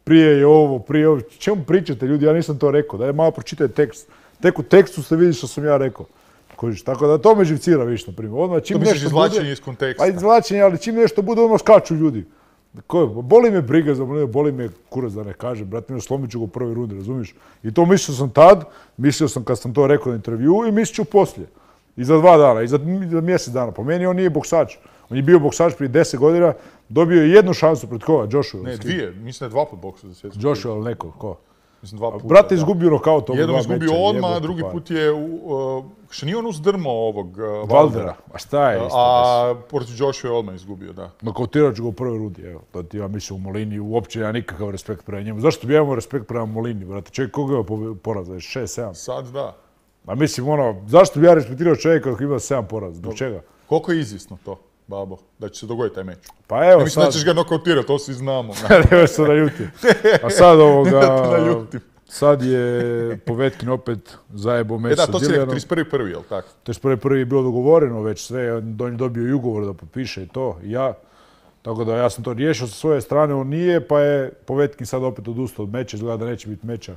Prije je ovo, prije ovo. Čemu pričate ljudi? Ja nisam to rekao. Daj malo pročitaj tekst. Tek u tekstu ste vidi što sam ja rekao. Kožiš, tako da to me živcira više, na primjer. Odmah čim to misliš izvlačenje iz konteksta? Pa izvlačenje, ali čim nešto bude, odmah skaču ljudi. Boli me briga za Molinu, boli me kurac da ne kažem. Brate, slomit ću ga u prvoj rundi, razumiješ? I to mislio sam tad, mislio sam kad sam to rekao na intervju i mislit ću poslije. I za 2 dana, i za mjesec dana. Po meni on nije boksač. On je bio boksač prije 10 godina, dobio je 1 šansu pred koga? Joshua. Ne, 2. Mislim da je 2 put boksao za svjetsku. Joshua ili neko, ko? Mislim 2 puta. Brat je izgubio nokaut ovog 2 meča. Jednom izgubio odmah, a drugi put je, što nije on uzdrmao ovog Valdera. A šta je isto? A protiv Joshua je odmah izgubio, da. Nokautirao ću ga u prvoj rundi, evo. To ti ja mislim u Molini, uopće ja nikakav respekt prema njemu. Zašto bi ja imao respekt prema Molini, brate? Čovjek koga je poraza? 6-7? Sad da. A mislim, zašto bi ja respektirao čovjeka koji ima 7 poraza? Zbog čega? Koliko je izvjesno to, Babo, da će se dogoditi taj meč? Pa evo sad... Mislim da ćeš ga nokautirati, to svi znamo. Evo se naljutim. A sad sad je Povetkin opet zajebao meč sa Dillianom. Da, to si rekao 31.1, jel tako? 31.1 je bilo dogovoreno već sve, on je dobio i ugovor da potpiše i to, i ja. Tako da ja sam to riješio sa svoje strane, on nije, pa je Povetkin sad opet odustao od meča, izgleda da neće biti meča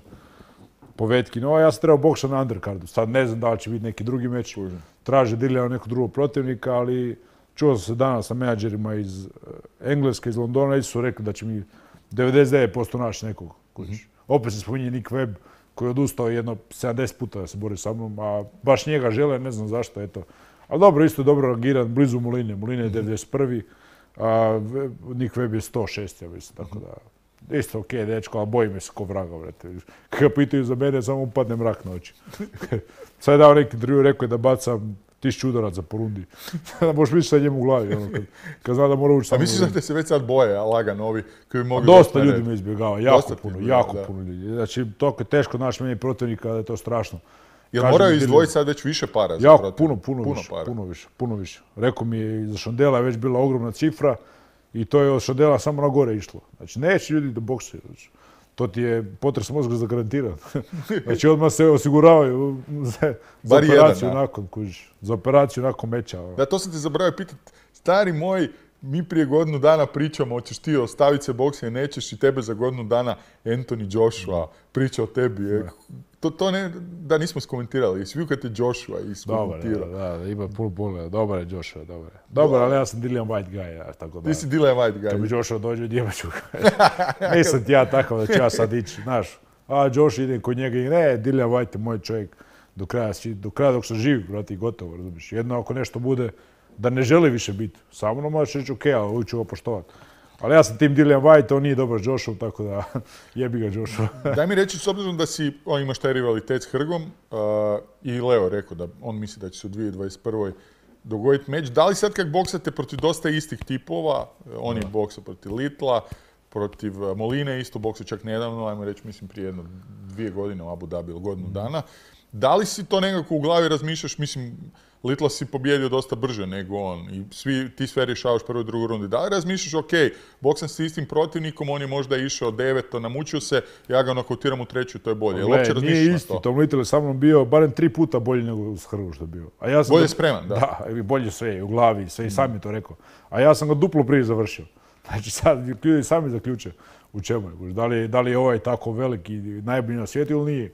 Povetkin. Ja sam trebao boksati na undercardu, sad ne znam da li će biti neki drugi meč. Traže Dillian nekog drugog protivnika, ali čuo sam se danas sa menadžerima iz Engleske, iz Londona, i su rekli da će mi 99% naći nekog. Opet se spominje Nick Webb, koji je odustao jedno 70 puta da se bori sa mnom, a baš njega žele, ne znam zašto, eto. Ali dobro, isto je dobro rangiran, blizu Moline. Molina je 91. A Nick Webb je 106, ja mislim, tako da... Isto okej, dečko, ali bojim se ko vraga, vrete. Kad ga pitaju za mene, samo upadne mrak na oči. Sad je dao neki intervju, rekao je da bacam 1000 udaraca po rundi. Da možeš misliti sa njemu u glavi, kad zna da mora ući samo... A misliš da te se već sad boje, lagano ovi koji bi mogli... Dosta ljudi me izbjegava, jako puno ljudi. Znači, toliko je teško naći meni protivnika da je to strašno. Jel moraju izdvojiti sad već više para za protivnika? Puno više. Rekao mi je, za Šandela je već bila ogromna cifra i to je od Šandela samo na gore išlo. Znači, neće ljudi da boksaju. To ti je potres mozga zagarantiran. Znači, odmah se osiguravaju za operaciju nakon, kužiš. Za operaciju nakon meča. Da, to sam te zaboravio pitati. Stari moj, mi prije godinu dana pričamo, hoćeš ti ostaviti se boksa i nećeš, i tebe za godinu dana Anthony Joshua priča o tebi. To ne, da nismo skomentirali. Jesi vidio kad je Joshua iskomentirao? Da, ima puno pogleda. Dobar je Joshua, dobar je. Dobar, ali ja sam Dillian White guy, tako da... Ti si Dillian White guy. Kad mi Joshua dođe, odjebat ću ga. Nisam ti ja takav da ću ja sad ići, znaš. A Josh idem kod njega i ne, Dillian White je moj čovjek. do kraja dok sam živ, brate, i gotovo, razumiješ. Jedno ako nešto bude da ne želi više biti sa mnom, možeš reći ok, ali uvijek ću ga poštovati. Ali ja sam tim Dillian Whyte, on nije dobar s Joshua, tako da jebi ga Joshua. Daj mi reći, s obzirom da imaš taj rivalitet s Hrgom, i Leo rekao da on misli da će se u 2021. dogoditi meč. Da li sad kak boksate protiv dosta istih tipova, on je boksao protiv Litla, protiv Moline, isto boksao čak nedavno, ajmo reći, mislim prije 2 godine u Abu Dhabi ili godinu dana. Da li si to nekako u glavi razmišljaš, mislim, Litla si pobjedio dosta brže nego on i ti sve rješavaš prvo i drugu rundi. Da li razmišljaš, ok, boksam s istim protivnikom, on je možda išao 9, namučio se, ja ga nokautiram u 3, to je bolje. Jel uopće razmišljaš nije na isti, to? Tom Little je sa mnom bio barem 3 puta bolji nego s Hrvom što je bio. A ja sam bolje spreman, da? Da, bolje sve, u glavi, sve i sam je to rekao. A ja sam ga duplo prije završio. Znači sad ljudi sami zaključe u čemu je. Da li je ovaj tako velik i najbolji na svijetu ili nije?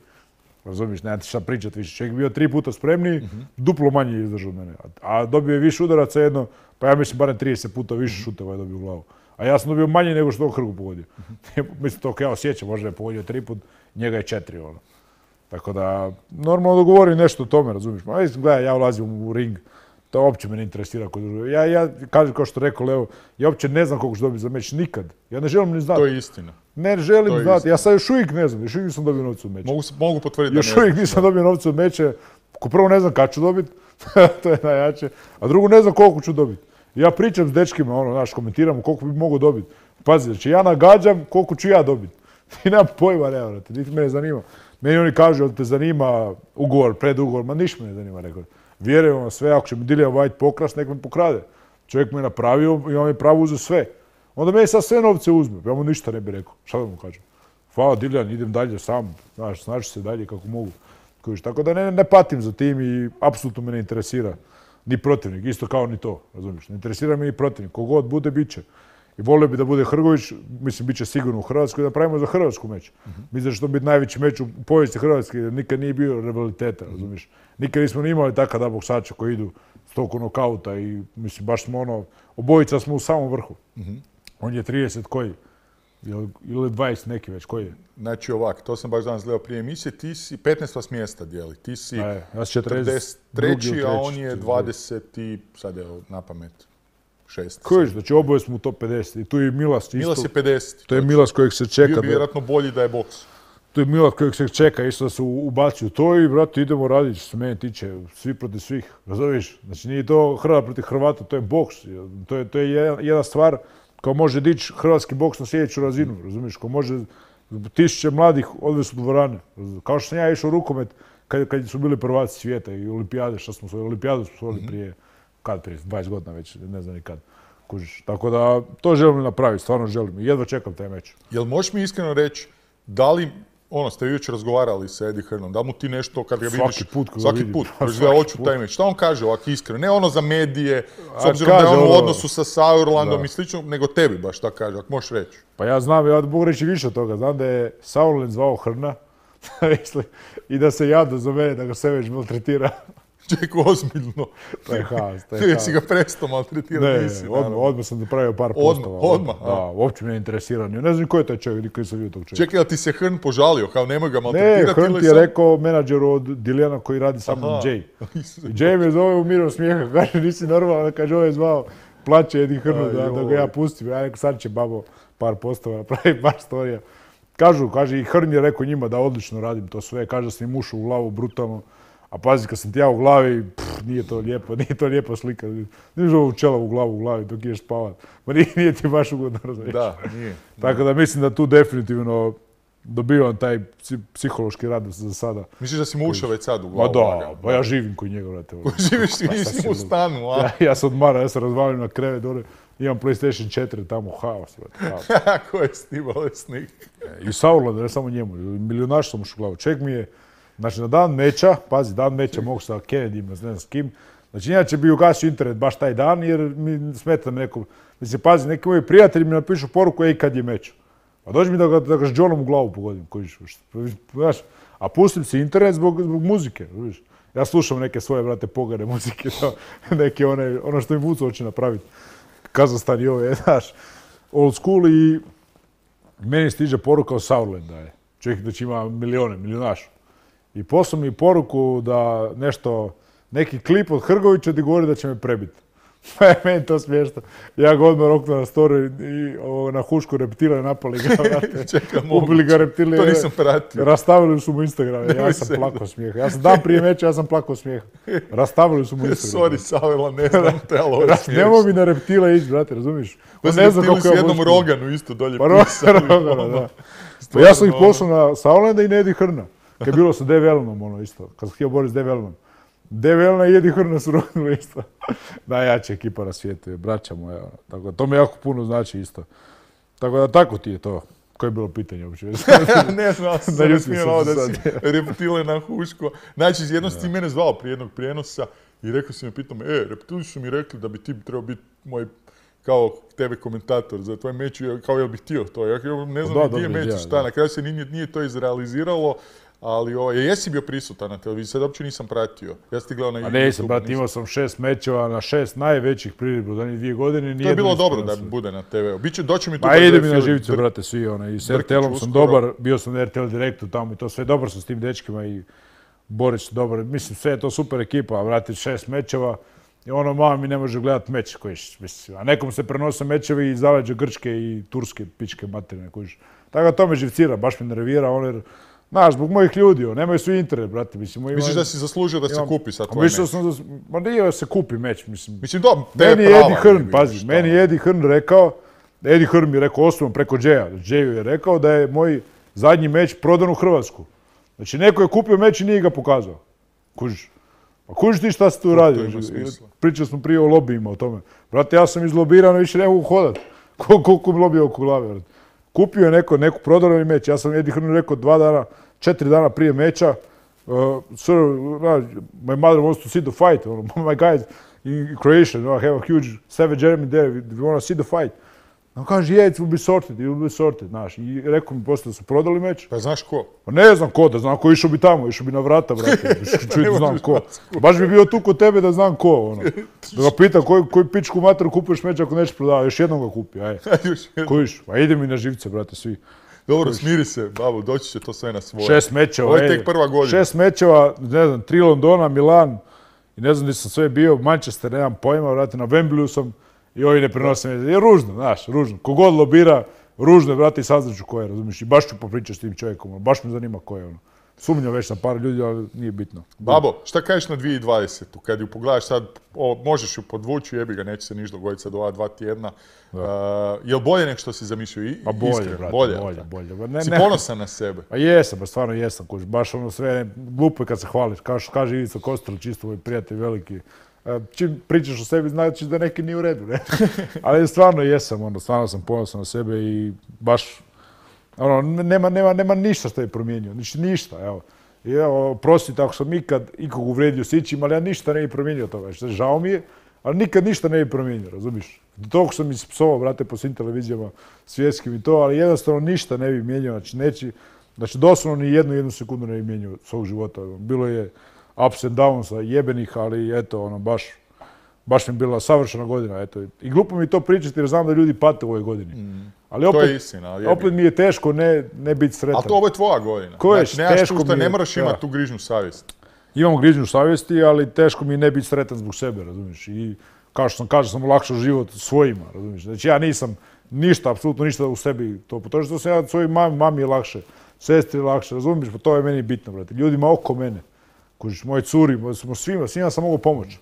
Razumiješ, nema ti šta pričati više. Čovjek je bio 3 puta spremniji, duplo manje je izdržao od mene. A dobio je više udaraca jedno, pa ja mislim barem 30 puta više šuteva je dobio u glavu. A ja sam dobio manje nego što Hrgu pogodio. Mislim, to ja osjećam, možda je pogodio 3 put, njega je 4. Ono. Tako da, normalno dogovorim nešto o tome, razumiješ. Ma, gledaj, ja ulazim u ring, to uopće me ne interesira. Ja kažem kao što rekao Leo, ja uopće ne znam koliko ću dobiti za meč, nikad. Ja ne želim ni znati. To je istina. Ne želim znati, ja sad još uvijek ne znam, još uvijek nisam dobio novca od meća. Mogu potvrditi da ne znam. Još uvijek nisam dobio novca od meća, ko prvo ne znam kad ću dobiti, to je najjače, a drugo ne znam koliko ću dobiti. Ja pričam s dečkima, komentiram koliko bi mogu dobiti. Pazi, znači ja nagađam koliko ću ja dobiti. Ti nema pojma, ne vrati, niti me ne zanima. Meni oni kažu, da te zanima ugovor, predugovor, ma ništa me ne zanima, rekao. Vjerujem vam sve, ako će mi Dillian Whyte pokrast, nek me pokrade. Čovjek me je napravio i on mi pravo uzeo sve. Onda meni sad sve novce uzme, ja mu ništa ne bi rekao. Šta da mu kažem? Hvala Dillian, idem dalje sam, snaći se dalje kako mogu. Tako da ne patim za tim i apsolutno me ne interesira ni protivnik, isto kao ni to, razumiješ. Ne interesira me ni protivnik, kogod bude, bit će. I volio bi da bude Hrgović, mislim, bit će sigurno u Hrvatskoj, da pravimo za Hrvatsku meč. Mislim da će to biti najveći meč u povijesti Hrvatske, jer nikad nije bio rivaliteta, razumiješ. Nikad nismo ni imali takav boksača koji idu s toliko nokauta i, mislim, baš smo obojica smo u samom vrhu. On je 30 koji? Ili 20 neki već, koji je? Znači ovak, to sam baš danas gledao prije emisije, ti si 15 vas mjesta dijeli, ti si ja sam 43, a on je 20 i sad je na pamet 6. Koji, znači oboje smo u top 50 i tu je Milas. Milas je 50. To je Milas kojeg se čeka. Bio bi vjerojatno bolji da je boks. To je Milas kojeg se čeka isto da se ubaci u to i brate idemo raditi što se mene tiče, svi protiv svih, razumiješ? Znači nije to Hrvat protiv Hrvata, to je boks. To je jedna stvar kao može dići hrvatski boks na sljedeću razinu, razumiješ? Ko može 1000 mladih odvesti u dvorane. Kao što sam ja išao u rukomet kad su bili prvaci svijeta i olimpijade, što smo svojili, olimpijadu smo svojili prije 20 godina već, ne znam ni kad. Kužiš. Tako da to želim napraviti, stvarno želim i jedva čekam taj meč. Jel možeš mi iskreno reći, da li, ste vi jučer razgovarali sa Eddie Hearnom, da mu ti nešto kad ga vidiš... Svaki put, hoću taj meč. Šta on kaže ovako iskreno? Ne ono za medije, s obzirom da je on u odnosu sa Sauerlandom i slično, nego tebi baš šta kaže, ako možeš reći. Pa ja znam, ja mogu reći više od toga. Znam da je Sauerland zvao Hrna i da se jada za mene, da ga se već maltretira. Čekaj, ozbiljno. To je haos. Jesi ga prestao maltretirati? Ne, odmah sam napravio par postava. Odmah? Da, uopće me ne interesira. Ne znam ko je taj čovjek, nikad nisam vidio tog čovjeka. Čekaj, ali ti se Hrn požalio, kao nemoj ga maltretirati? Ne, Hrn ti je rekao menadžeru od Dillijana koji radi sa mnom, Jay. Jay me zove u mirom smijeha, kaže nisi normalan, kaže ovo je zvao, plaće Eddie Hrnu da ga ja pustim. Ja rekao sad će babo par postava napraviti, par storija. Kaže i Hrn je rekao njima da odlično radim to sve, kaže da sam im ušao u glavu brutalno. A pazi, kad sam ti ja u glavi, nije to lijepa slika. Niš ovu čelavu glavu u glavi dok ideš spavat. Ma nije ti baš ugodno, razumiješ. Da, nije. Tako da mislim da tu definitivno dobivam taj psihološki rad za sada. Misliš da si mu ušao već sad u glavu? Ma da, pa ja živim kod njega, vrate. Živiš s njim u stanu, a? Ja se odmaram, ja se razvalim na krevet dole. Imam PlayStation 4 tamo, haos, vrate. Kako je s tim bolesnik? I Sauerland, ne samo njemu. Milionaš sam ušao u glavu. Čovjek mi je, znači na dan meča, pazi, dan meča mogu sa Kennedyjem, ne znam s kim. Znači inače bi ugasio internet baš taj dan jer mi smeta me neko... Mislim, pazi, neki moji prijatelji mi napišu poruku, ej, kad je meč. A dođi mi da ga s Johnom u glavu pogodim, znaš. A pustim si internet zbog muzike, vidiš. Ja slušam neke svoje, brate, pogane muzike, neke ono što mi Vuco hoće napraviti. Kazahstan i ove, znaš, old school i meni stiže poruka o Sauerland, da je. Čovjek znači ima milionaš. I poslao mi poruku da neki klip od Hrgovića ti govori da će me prebiti. Meni to smiješno. Ja ga odmah roknuo na story i na Hušku reptile napali ga. Ubili ga reptile. To nisam pratio. Rastavili su mu Instagram. Ja sam plakao smijeha. Ja sam dan prije meča, ja sam plakao smijeha. Rastavili su mu Instagram. Sorry, Savela, ne znam te, ali ovo je smiješno. Nemoj mi na reptile ići, brate, razumiješ? Ne znam kako je jednom Roganu isto dolje pisali. Da. Pa ja sam ih poslao na Saulenda i na Eddie Hearna. Kad je bilo sa Dave Allenom, ono isto. Kad sam htio boriti s Dave Allenom. Dave Allena i Eddie Hearna su rognuli isto. Najjača ekipa na svijetu je, braća moja. Tako, to mi jako puno znači isto. Tako da tako ti je to. Koje je bilo pitanje uopće? Ne znam, sam smijelo da si reptile na Huško. Znači, jednom si ti mene zvao prije jednog prijenosa i rekao si mi, pitao me, reptili su mi rekli da bi ti trebao biti moj kao tebe komentator za tvoj meč, kao jel bih htio to. Ja ne znam gdje je meč, šta, na kraju se nije to izrealiziralo. Ali jesi bio prisutan na televiziji, sad uopće nisam pratio. Ja sam ti gledao na YouTube. A nisam, brate, imao sam 6 mečeva na 6 najvećih priredbi u zadnjih 2 godine. To je bilo dobro da bude na TV-u. Doći mi tu... Pa ide mi na živce, brate, svi. I s RTL-om sam dobar, bio sam na RTL Direktu tamo i to sve dobar sam s tim dečkima i Borić dobar. Mislim, sve je to super ekipa, brate, 6 mečeva. I mama mi ne može gledati meč, kojiš, mislim. A nekom se prenose mečevi iz zaleđa Grčke i Turske, pičke materine, kojiš. Tako da to me živcira, baš me nervira, jer znaš, zbog mojih ljudi, nemaju svi internet, brate. Misliš da si zaslužio da se kupi sad tvoj meč? Ma nije da se kupi meč, mislim. Meni je Eddie Hearn, pazi, meni je Eddie Hearn rekao, Eddie Hearn mi je rekao osobno preko Jaya, Jayu je rekao da je moj zadnji meč prodan u Hrvatsku. Znači, neko je kupio meč i nije ga pokazao. Kužiš. Pa kužiš ti šta si tu radio? Pričali smo prije o lobijima o tome. Brate, ja sam izlobiran i više ne mogu hodat. Koliko mi lobija oko glave, brate. Kupio je neku prodali meč. Ja sam Eddie Hearn rekao 4 dana prije meča. Sir, my mother wants to see the fight. My guys in Croatia, I have a huge savage enemy there. We want to see the fight. On kaže, it will be sorted, znaš. I rekao mi poslije da su prodali meč. Pa znaš ko? Pa ne znam ko, da znam ko, išao bi tamo, išao bi na vrata, brate. Čuj, znam ko. Baš bi bio tu kod tebe da znam ko, Da ga pitam koju pičku materu kupuješ meč ako nećeš prodavati, još jednom ga kupi, aj. Kojiš, pa ide mi na živce, brate, svi. Dobro, smiri se, babo, doći će to sve na svoje. 6 mečeva, ovo je tek prva godina. 6 mečeva, ne znam, 3 Londona, Milan, i ne znam gdje sam sve bio, Manchester, nemam pojma, vrati, na Wembleyu sam, i ovi ne prenose me. Je ružno, znaš, ružno. Kogod lobira, ružno je, vrati, i saznaću ko je, razumiješ, i baš ću popričati s tim čovjekom, baš me zanima ko je, Sumnjam već na par ljudi, ali nije bitno. Babo, šta kažeš na 2020. Kad ju pogledaš sad, možeš ju podvući, jebi ga, neće se ništa dogoditi sad ova 2 tjedna. Je li bolje nek što si zamišljao? Pa bolje, brate, bolje. Si ponosan na sebe? Pa jesam, ba stvarno jesam, baš sve glupo je kad se hvališ. Kaže Ivica Kostel, čisto moj prijatelj veliki. Čim pričaš o sebi, znači da neki nije u redu, ne? Ali stvarno jesam, stvarno sam ponosan na sebe i baš nema ništa što je promijenio, ništa, evo. I evo, prostite ako sam ikog uvrijedio s ičim, ali ja ništa ne bi promijenio toga, žao mi je, ali nikad ništa ne bi promijenio, razumiješ? Toliko sam ispsovao, brate, po svim televizijama svjetskim i to, ali jednostavno ništa ne bi mijenjao, znači doslovno ni jednu sekundu ne bi mijenjao svog života. Bilo je ups and downsa, jebenih, ali eto, baš mi je bila savršena godina, eto. I glupo mi to pričati jer znam da ljudi pate u ovoj godini. Ali opet mi je teško ne biti sretan. Ali to ovo je tvoja godina. Ne moraš imati tu grižnju savjesti. Imam grižnju savjesti, ali teško mi je ne biti sretan zbog sebe, razumiješ. I kao što sam kažem, sam olakšao život svojima, razumiješ. Znači ja nisam ništa, apsolutno ništa u sebi to. To što sam ja svojoj mami je lakše, sestri je lakše, razumiješ, pa to je meni bitno, brate. Ljudima oko mene, moje curi, svima sam mogu pomoći.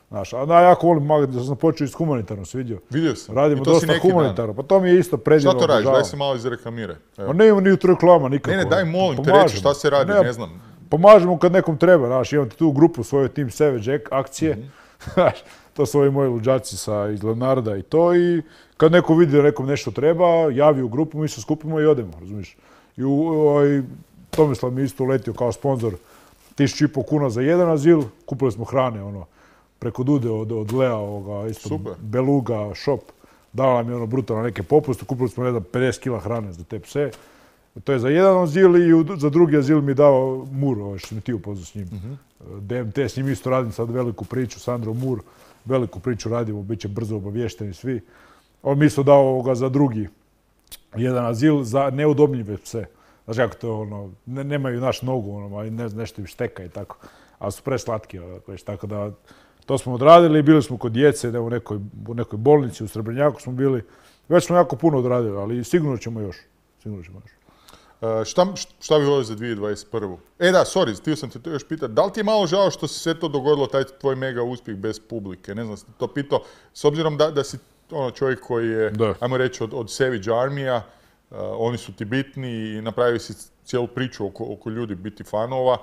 Znaš, a ja jako volim magazin, da sam počeo iz humanitarno, si vidio? Vidio sam. Radimo dosta humanitarno, pa to mi je isto predivno. Šta to radiš? Daj se malo izreklamiraj. Pa ne imamo ni reklama nikako. Ne, daj molim te reći šta se radi, ne znam. Pomažemo kad nekom treba, znaš, imam tu grupu svoju Team Savage akcije, znaš, to su ovi moji luđaci iz Leonarda i to, i kad neko vidi da nekom nešto treba, javi u grupu, mi se skupimo i odemo, razumiješ. I Tomislav mi isto uletio kao sponsor 1.500 kuna za jedan azil, kupili smo hrane, preko Dude od Lea, isto Beluga shop, dala nam je brutalno neke popuste, kupili smo 50 kila hrane za te pse. To je za jedan azil i za drugi azil mi je dao Mur, što mi ti upoznao s njim. DMT, s njim isto radim sad veliku priču, Sandro Mur, veliku priču radimo, bit će brzo obavješteni svi. On mi isto dao za drugi jedan azil za neudobnjive pse. znaš kako to, ono, nemaju naš nogu, ono, nešto im šteka i tako. Ali su preslatki, tako da, to smo odradili, bili smo kod djece, u nekoj bolnici, u Srebrnjaku smo bili. Već smo jako puno odradili, ali sigurno ćemo još. Šta bi volio za 2021. Da, sorry, htio sam te to još pitati. Da li ti je malo žao što se sve to dogodilo, taj tvoj mega uspjeh bez publike? Ne znam, sam to pitao, s obzirom da si čovjek koji je, ajmo reći, od Savage Armija, oni su ti bitni i napravili si cijelu priču oko ljudi, biti fanova.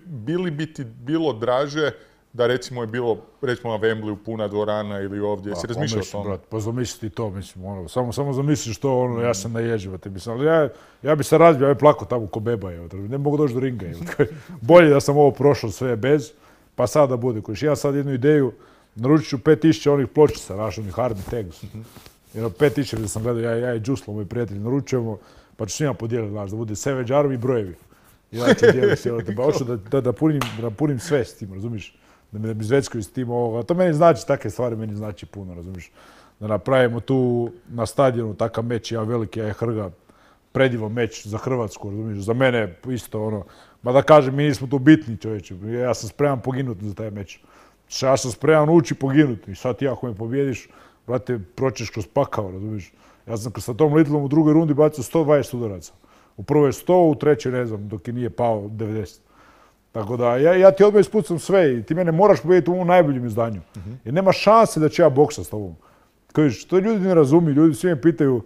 Bi li ti bilo draže da recimo je bilo, recimo na Wembleyu puna dvorana ili ovdje, jesi razmišljao o tome? Pa zamisli ti to, mislim, samo zamisliš to, ja sam naježiva, ali ja bi se razbio, ja bi plako tamo ko beba, ne mogu doći do ringa. Bolje da sam ovo prošao sve bez, pa sad da bude. Ja sad jednu ideju, naručit ću 5000 onih pločica, onih Hardy Tags. 5000 da sam gledao, ja i Džuslo, moj prijatelj, naručujemo, pa ću s njima podijeliti, da bude Savage Army i brojevi. Ja ću dijeliti, pa hoću da punim sve s tim, razumiješ? Da mi zveckaju s tim ovoga. To meni znači, takve stvari meni znači puno, razumiješ? Da napravimo tu na stadionu takav meč, ja veliki, ja Hrga, predivan meč za Hrvatsku, razumiješ? Za mene isto ono, ma da kažem, mi nismo tu bitni čovječe, ja sam spreman poginuti za taj meč. Ja sam spreman ući poginuti i sad ti ako me pobjediš, brate, proćeš kroz pakao, razumiješ? Ja sam sa tom Littlom u drugoj rundi bacio 120 udaraca. U prvoj 100, u trećoj ne znam, dok je nije pao 90. Tako da, ja ti odmah ispucam sve i ti mene moraš pobjediti u ovom najboljem izdanju. Jer nema šanse da ću ja boksat s tobom. Kažeš, to ljudi ne razumiju, ljudi svi me pitaju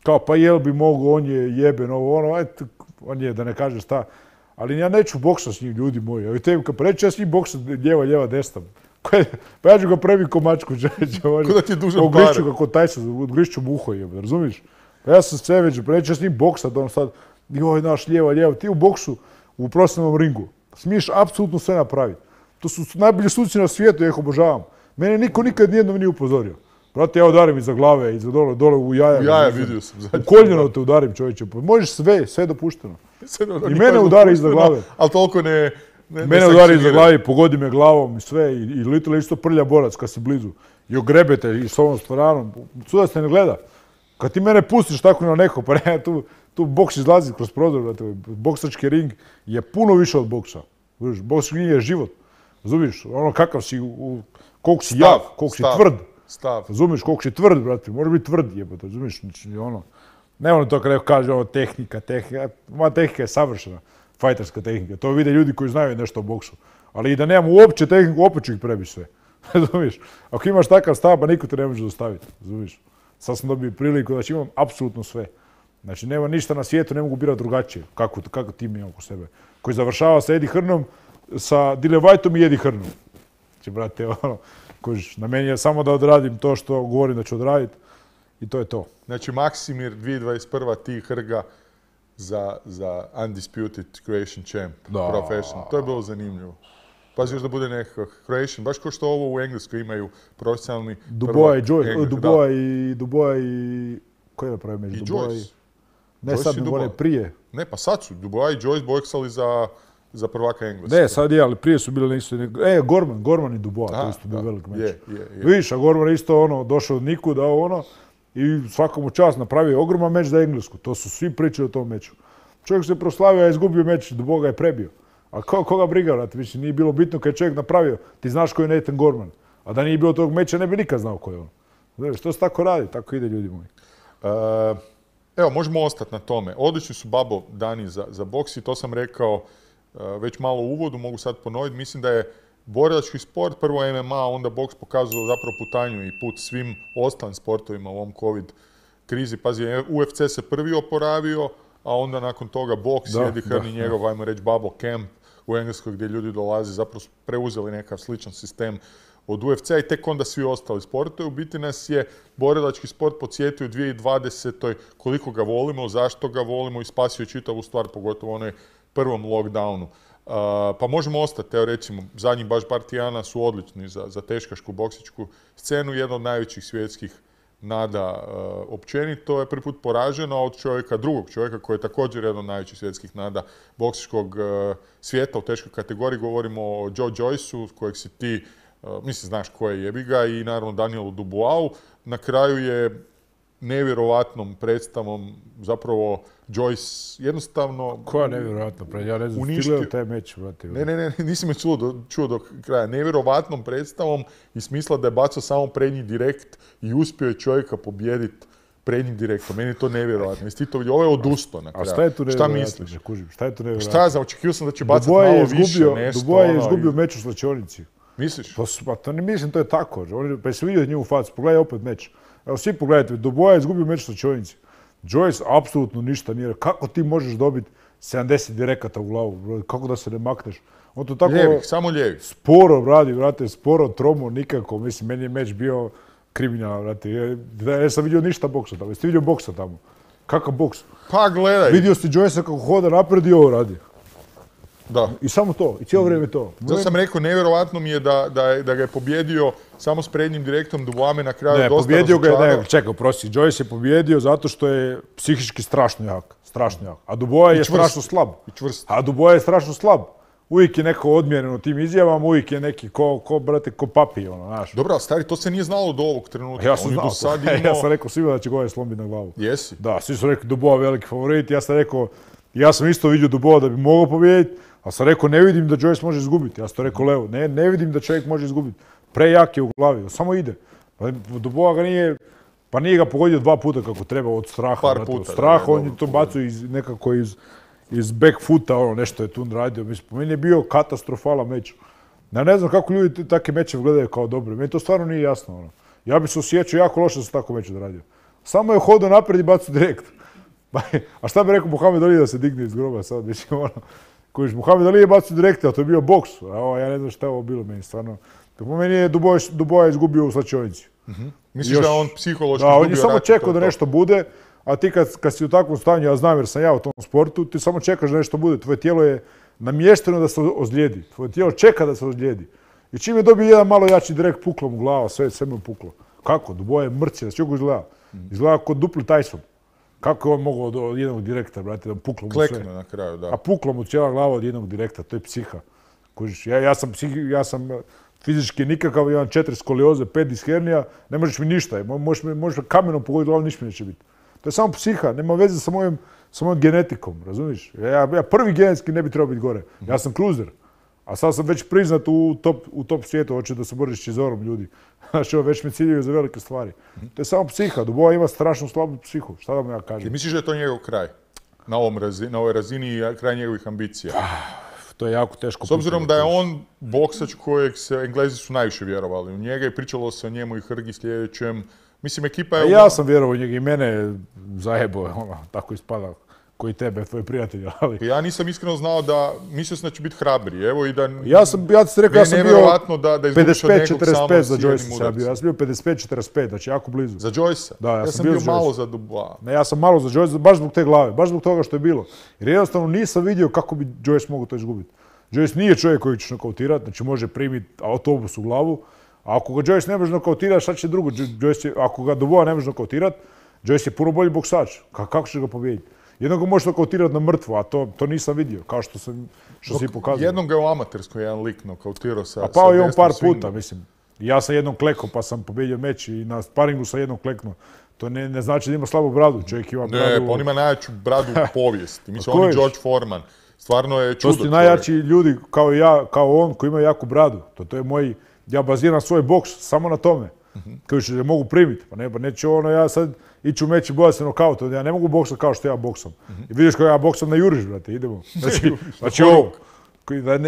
kao pa jel bi mogo, on je jeben, on je, da ne kažeš šta. Ali ja neću boksat s njim, ljudi moji. Evo tebi kad preći, ja s njim boksat lijeva, desna. Pa ja ću ga prebi ko mačku, Kuda ti je dužan pare? Ugrišću ga ko Tyson, ugrišću mu uho, razumiješ? Pa ja sam sve već, preći, ja s njim boksat, on sad, joj, naš lijeva, ti u boksu, u profesionalnom ringu. Smiješ apsolutno sve napraviti. To su najbolji suci na svijetu, ja ih obožavam. Mene niko nikad nijednom nije upozorio. Brate, ja udarim iza glave, iza dole u jaja. U jaja vidio sam. U koljeno te udarim, čovječe. Možeš sve je dopušteno. I mene udari iza glave. Ali toliko ne... Mene udari iza glave, pogodi me glavom i sve. I Little je isto prlja borac kad si blizu. I ogrebete i s ovom stvaranom. Sudac te ne gleda. Kad ti mene pustiš tako na neko, pa ne, tu boks izlazi kroz prozor, brate. Boksački ring je puno više od boksa. Boksački ring je život. Razumiješ? Ono kakav si, koliko si jak, koliko si tvrd. Razumiješ? Koliko si tvrd, brate. Može biti tvrd, jebote. Razumiješ? Ne ono to kad neko kaže, tehnika. Moja tehnika je savršena. Fajterska tehnika. To vide ljudi koji znaju nešto o boksu. Ali i da nemam uopće tehniku, opet ću ih prebići sve. Razumiješ? Ako imaš takav stav, pa niko te ne može dostaviti. Razumiješ? Sad sam dobio priliku da imam apsolutno sve. Znači, nema ništa na svijetu, ne mogu birati drugačije. Kako tim imam oko sebe. Koji završava sa Eddie Hearnom, sa Dillian Whiteom i Eddie Hearnom. Znači, brate, na meni je samo da odradim to što govorim da ću odraditi i to je to. Znači, Maksimir 2021. ti Hrga za Undisputed Croatian Champ, Professional. To je bilo zanimljivo. Pazi još da bude nekakav Croatian, baš kao što ovo u Engleskoj imaju profesionalni... Dubois i... Ko je napravio među? I Joyce. Ne, sad mi one prije. Ne, pa sad su Dubois i Joyce boksali za prvaka Engleske. Ne, sad je, ali prije su bili isto... Gorman i Dubois, to isto bio velik meč. Vidiš, a Gorman je isto došao od nikuda, i svakom u čast napravio ogroman meč za Englesku. To su svi pričali o tom meču. Čovjek se proslavio, a izgubio meč, Dubois ga je prebio. A koga briga, vrati, više nije bilo bitno kad je čovjek napravio. Ti znaš ko je Nathan Gorman. A da nije bilo tog meča, ne bi nikad znao ko je on. Znaš, to se tako radi, tako ide, ljudi moji. Evo, možemo ostati na tome. Odlični su babo dani za boks i to sam rekao već malo u uvodu, mogu sad ponoviti. Mislim da je borilački sport, prvo MMA, onda boks pokazao zapravo putanju i put svim ostalim sportovima u ovom COVID krizi. Pazi, UFC se prvi oporavio, a onda nakon toga boks, Eddie Hearn i njegov, ajmo reći, bubble camp u Engleskoj gdje ljudi dolaze, zapravo su preuzeli nekakav sličan sistem od UFC-a i tek onda svi ostali sportovi. U biti nas je borilački sport podsjetio u 2020. koliko ga volimo, zašto ga volimo i spasio čitavu stvar, pogotovo u onoj prvom lockdownu. Pa možemo ostati, evo recimo, zadnjih baš par tjedana su odlični za teškašku boksičku scenu, jedna od najvećih svjetskih nada općenito je prvi put poražena od drugog čovjeka koji je također jedan od najvećih svjetskih nada boksičkog svijeta u teškoj kategoriji. Govorimo o Joe Joyceu, kojeg si ti, mislim, znaš ko je, jebi ga, i naravno Danielu Duboisu. Na kraju je nevjerovatnom predstavom, zapravo Joyce jednostavno... Koja nevjerovatno predstava? Ja ne znam, stigledao taj meč, brate. Ne, nisi me čuo do kraja. Nevjerovatnom predstavom i smisla da je bacao samo prednji direkt i uspio je čovjeka pobijediti prednjim direktom. Meni je to nevjerovatno. Jesi ti to vidio? Ovo je odustao na kraju. A šta je tu nevjerovatno? Šta misliš? Šta je tu nevjerovatno? Šta ja znam, očekivao sam da će bacati malo više nešto. Dubois je izgubio meč u slačionici. Misliš? Pa to ne mislim, to je tako. Pa jesi vidio njemu facu, pogledaj opet meč. Evo svi pogledajte, Dubois je izgubio meč u slačionici. Joyce apsolutno ništa nije. Kako ti možeš dobiti 70 direkata u glavu? Kako da se ne makneš? On to tako... Lijevih, samo lijevih. Sporo radi, vrate, sporo, tromo, nikako. Mislim, meni je meč bio kriminalan, vrate. Ja sam vidio ništa boksa tamo. Jeste vidio boksa tamo? Kakav boks? Pa gledaj. Vidio si Joyce kako hoda napred i ovo radi. Da. I samo to, i cijelo vrijeme to. Zato sam rekao, nevjerovatno mi je da ga je pobjedio samo s prednjim direktom, Dubois na kraju dosta razočarao. Čekaj, prosti, Joyce je pobjedio zato što je psihički strašno jak. A Dubois je strašno slab. A Dubois je strašno slab. Uvijek je neko odmjeren u tim izjavama, uvijek je neki ko papi, ono, znaš. Dobro, ali stari, to se nije znalo do ovog trenutka. Ja sam znao, ja sam rekao svima da će Goje slomiti na glavu. Jesi? Da, svi su rekli Dubois veliki favorit, ja sam rekao, ja sam isto vidio Dubois da bi mogao pobijediti, a sam rekao ne vidim da Joyce može izgubiti. Ja sam to rekao Leo, ne vidim da čovjek može izgubiti. Prejak je u glavi, samo ide. Dubois ga nije ga pogodio 2 puta kako treba od straha. Par puta. Od straha on je to bacio nekako iz back foota, ono nešto je tu radio. Mislim, po meni je bio katastrofalan meč. Ja ne znam kako ljudi takve mečeve gledaju kao dobre. Meni to stvarno nije jasno. Ono. Ja bi se osjećao jako loše da sam tako meč odradio. Samo je hodao naprijed i bacio direkt. A šta bi rekao Muhammed Ali da se digne iz groba sad? Mislim, ono, kojiš, Muhammed Ali je bacio direkt, a to je bio boks. Ja ne znam šta je ovo bilo meni, stvarno. Po meni je Dubois izgubio u slačionici. Misliš da on psihološki izgubio? Da, on je samo čekao da nešto bude, a ti kad si u takvom stanju, ja znam jer sam ja u tom sportu, ti samo čekaš da nešto bude. Tvoje tijelo je namješteno da se ozlijedi. Tvoje tijelo čeka da se ozlijedi. I čim je dobio jedan malo jači direkt, puklo mu glava, sve mu je puklo. Kako? Dubois je mrci, da se čovjek izgleda. Izgleda kod dupli Tyson. Kako je on mogao od jednog direkta, brate, da puklo mu sve? Klekne na kraju, da. A puklo mu cijela glava od jednog direkta, to je psiha. Ja sam fizički nikakav, imam 4 skolioze, 5 diskernija, ne možeš mi ništa, možeš kamenom pogoditi glavu, ništa mi neće biti. To je samo psiha, nema veze sa mojom genetikom, razumiješ? Ja prvi genetski ne bi trebao biti gore, ja sam cruiser, a sad sam već priznat u top svijetu, hoće da se boriš s Čizorom ljudi. Znači, već me ciljaju za velike stvari. To je samo psiha, Dubois ima strašno slabu psihu, šta da mu ja kažem? I misliš da je to njegov kraj? Na ovoj razini i kraj njegovih ambicija? To je jako teško. S obzirom da je on boksač kojeg Englezi su najviše vjerovali u njega i pričalo se o njemu i Hrgi sljedećem. Mislim, ekipa je... Ja sam vjerovao u njega i mene zajebo, tako ispada, koji tebe, tvoj prijatelj, ali... Ja nisam iskreno znao mislio sam da će biti hrabri, evo i da... Ja sam bio 55-45 za Joyce, ja sam bio 55-45, znači jako blizu. Za Joyce? Da, ja sam bio malo za Dubois. Ne, ja sam malo za Joyce, baš zbog te glave, baš zbog toga što je bilo. Jer jednostavno nisam vidio kako bi Joyce mogao to izgubiti. Joyce nije čovjek koji će nokautirati, znači može primiti autobus u glavu, a ako ga Joyce ne može nokautirati, šta će drugo? Ako ga Dubois ne može nokautirati, Joyce je puno bolji boksač. Kako će ga pobijediti? Jednog ga može nokautirati na mrtvo, a to nisam vidio, kao što si pokazao. Jednom ga je u amaterskoj jedan lik nokautirao sa... A pao je on par puta, mislim. Ja sam jednom klekao pa sam pobjedio meč i na sparingu sam jednom kleknuo. To ne znači da ima slabu bradu, čovjek ima bradu... Ne, pa on ima najjaču bradu u povijesti. Mislim, on je George Foreman. Stvarno je čudo. To su najjači ljudi kao ja, kao on, koji imaju jaku bradu. To je moj... Ja baziram svoj boks samo na tome. Koji će mogu primiti. Pa neće ja sad ići u meč i boja se nokauta. Ja ne mogu boksati kao što ja boksam. I vidiš kako ja boksam na juriš, brate, idemo. Znači ovo.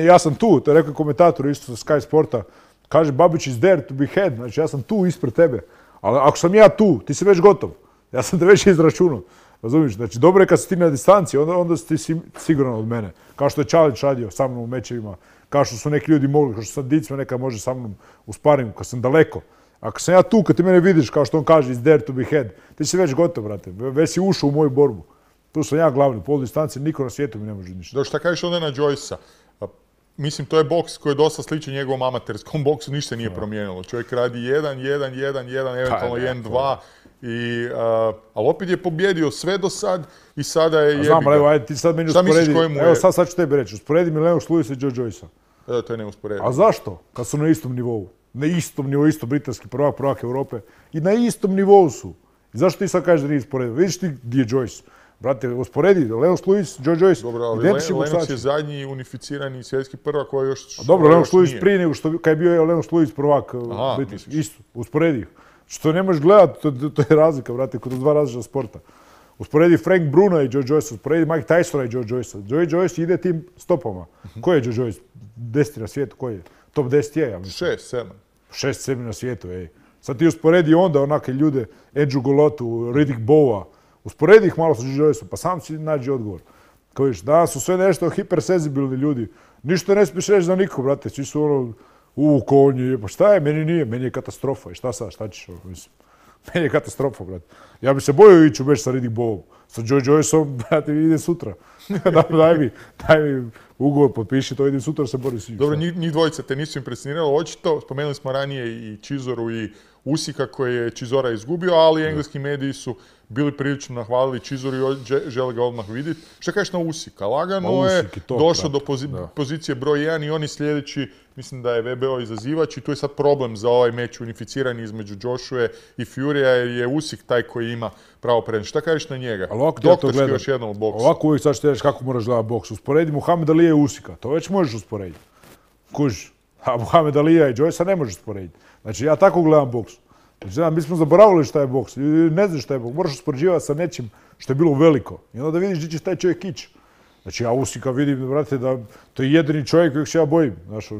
Ja sam tu, to je rekao komentator isto sa Sky Sporta. Kaže, Babić is there to be had. Znači ja sam tu ispred tebe. Ali ako sam ja tu, ti si već gotov. Ja sam te već izračunao. Razumiješ? Znači dobro je kad si ti na distanci, onda si ti siguran od mene. Kao što je Čalić radio sa mnom u mečevima. Kao što su neki ljudi mogli, kao što sam Dicma nekad može sa mnom u sparingu, kad sam daleko. Ako sam ja tu, kad ti mene vidiš, kao što on kaže, is there to be had, ti si već gotov, brate. Već si ušao u moju borbu. Tu sam ja glavni, u polu distanci, niko na svijetu mi ne može ništa. Dobro, šta kažeš onda na Joyce-a? Mislim, to je boks koji je dosta sličan njegovom amaterskom boksu, ništa nije promijenilo. Čovjek radi 1, eventualno 1-2. Ali opet je pobjedio sve do sad i sada je jebiga. Znam, ali evo, ajde, ti sad meni usporedi. Evo, sad ću tebi reći, usporedi mi Lennox Lewisa i Joe Joyce-a. To je neusporedivo. A zašto? Kad su na istom nivou. Na istom nivou, isto britanski prvak Europe. I na istom nivou su. I zašto ti sad kažeš da nije usporedio? Vidiš ti gdje je Joyce? Brate, usporedi, Lenos Lewis, Joe Joyce. Dobro, ali Lenos je zadnji unificirani svjetski prvak koji još... Dobro, Lenos Lewis prije nego što kad je bio Lenos Lewis prvak, isto, usporedi ih. Što ne možeš gledati, to je razlika, brate, kod dva različita sporta. Usporedi Frank Bruna i Joe Joyce, usporedi Mike Tysona i Joe Joyce. Joe Joyce ide tim stopama. Ko je Joe Joyce? 10 na svijetu, ko je? Top 10 je, ja mislim. 6, 7. 6, 7 na svijetu, ej. Sad ti usporedi onda onake ljude, Andrew Golotu, Riddick Bowa, usporedi ih malo sa Joe Joyceom, pa sam si nađi odgovor. Kao viš, danas su sve nešto hipersenzibilni ljudi. Ništa ne smiješ reći za niko, brate. Svi su ono, konji, pa šta je, meni nije, meni je katastrofa. I šta sad, šta ćeš, mislim. Meni je katastrofa, brate. Ja bi se bojio ići u meč sa Riddick Bowom. Sa Joe Joyceom, brate, ide sutra. daj mi ugovor, potpiši to, ide sutra, se bori svi. Dobro, njih dvojica te nisu impresioniralo, očito. Spomenuli smo ranije i Chizoru i Usika koje je Chizora izgubio, ali engleski mediji su bili prilično nahvalili Chizoru i žele ga odmah vidjeti. Šta kažeš na Usika? Lagano je došao do pozicije broj 1 i on je sljedeći, mislim da je VBO izazivač i tu je sad problem za ovaj meč unificirani između Joshua i Furya jer je Usyk taj koji ima pravo prednost. Šta kažeš na njega? Doktorski još jednom u boksu. Ovako uvijek sad što reći kako moraš gledati boks. Usporedi Muhammed Alija i Usika. To već možeš usporediti. Kužiš. A Muhammed Alija i Joyce ne možeš usporediti. Znači ja tako gledam boks. Znači, mi smo zaboravili šta je boks. Ne znaš šta je boks. Moraš uspoređivati sa nečim što je bilo veliko. I onda da vidiš gdje će taj čovjek ići. Znači ja Usika vidim, brate, da to je jedini čovjek kojeg se ja bojim. Znači,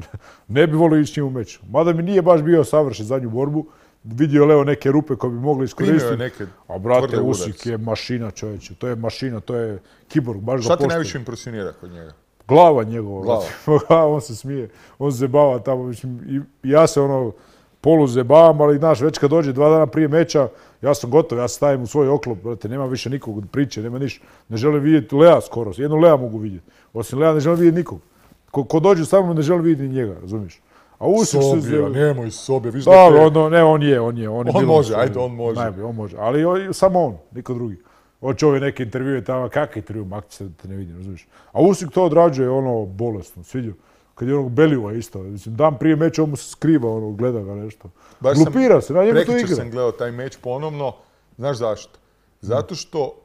ne bi volio ići s njim u meč. Mada mi nije baš bio savršen zadnju borbu. Vidio Leo neke rupe koje bi mogli iskoristiti. A brate, Usyk je mašina, čovječe. To je mašina, to je kiborg. Baš ga postoji. Šta te najviše impresionira kod njega? Glava njegova. On se smije, on se zebava tamo. Mislim, ja se polu zebavam, ali znaš, već kad dođe 2 dana prije meča, ja sam gotov, ja se stavim u svoj oklop, brate, nema više nikog od priče, nema ništa. Ne želim vidjeti Lea skoro, jedno Lea mogu vidjeti. Osim Lea ne želim vidjeti nikog. Ko dođe sa mnom ne želim vidjeti njega, razumiješ? A Usyk Sobija, nemoj Sobija, viš da te... Ne, on je. On može, ajde, on može. Najbolje, on može, ali samo on, niko drugi. Hoće ove neke intervjue tamo, kakve intervju, makti se da te ne vidim, razumiješ? A Usyk to odrađuje bolesno, sviđa. Kad je Beliva isto, mislim, dan prije meča on mu se skriva, gleda ga nešto. Glupira se, na njemu to igra. Prekjučer sam gledao taj meč ponovno, znaš zašto? Zato što,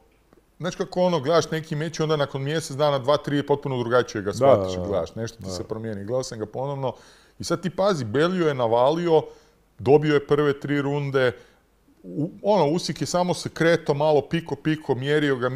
znaš kako gledaš neki meč i onda nakon mjesec dana, 2-3 potpuno drugačije ga shvatiš i gledaš, nešto ti se promijeni. Gledao sam ga ponovno i sad ti pazi, Belio je navalio, dobio je prve 3 runde, Usyk je samo se kretao malo piko, mjerio ga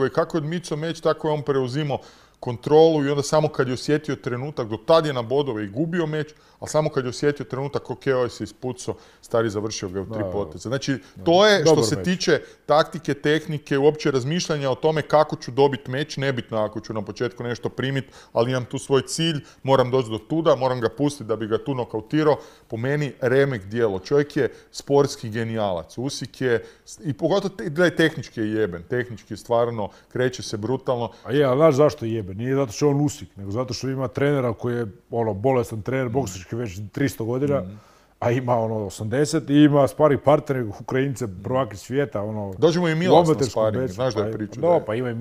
i kako je odmicao meč, tako je on preuzimao kontrolu i onda samo kad je osjetio trenutak, do tad je na bodove i gubio meč, ali samo kad je osjetio trenutak, ok, ovaj se ispucao, stari završio ga u 3 poteza. Znači, to je što se tiče taktike, tehnike, uopće razmišljanja o tome kako ću dobiti meč, nebitno ako ću na početku nešto primiti, ali imam tu svoj cilj, moram doći do tuda, moram ga pustiti da bi ga tu nokautirao. Po meni remek djelo. Čovjek je sportski genijalac. Usyk je, i pogotovo tehnički je jeben, tehnički je stvarno, kreće se brutalno. A je, ali znaš zašto je jeben? Nije zato što je on Usyk, nego zato što ima trenera koji je bolestan trener, boksački već 300 godina, a ima 80 i ima sparing partner, Ukrajince, prvaki svijeta. Dođemo i Milas na sparing, znaš da je priča. Da, pa ima i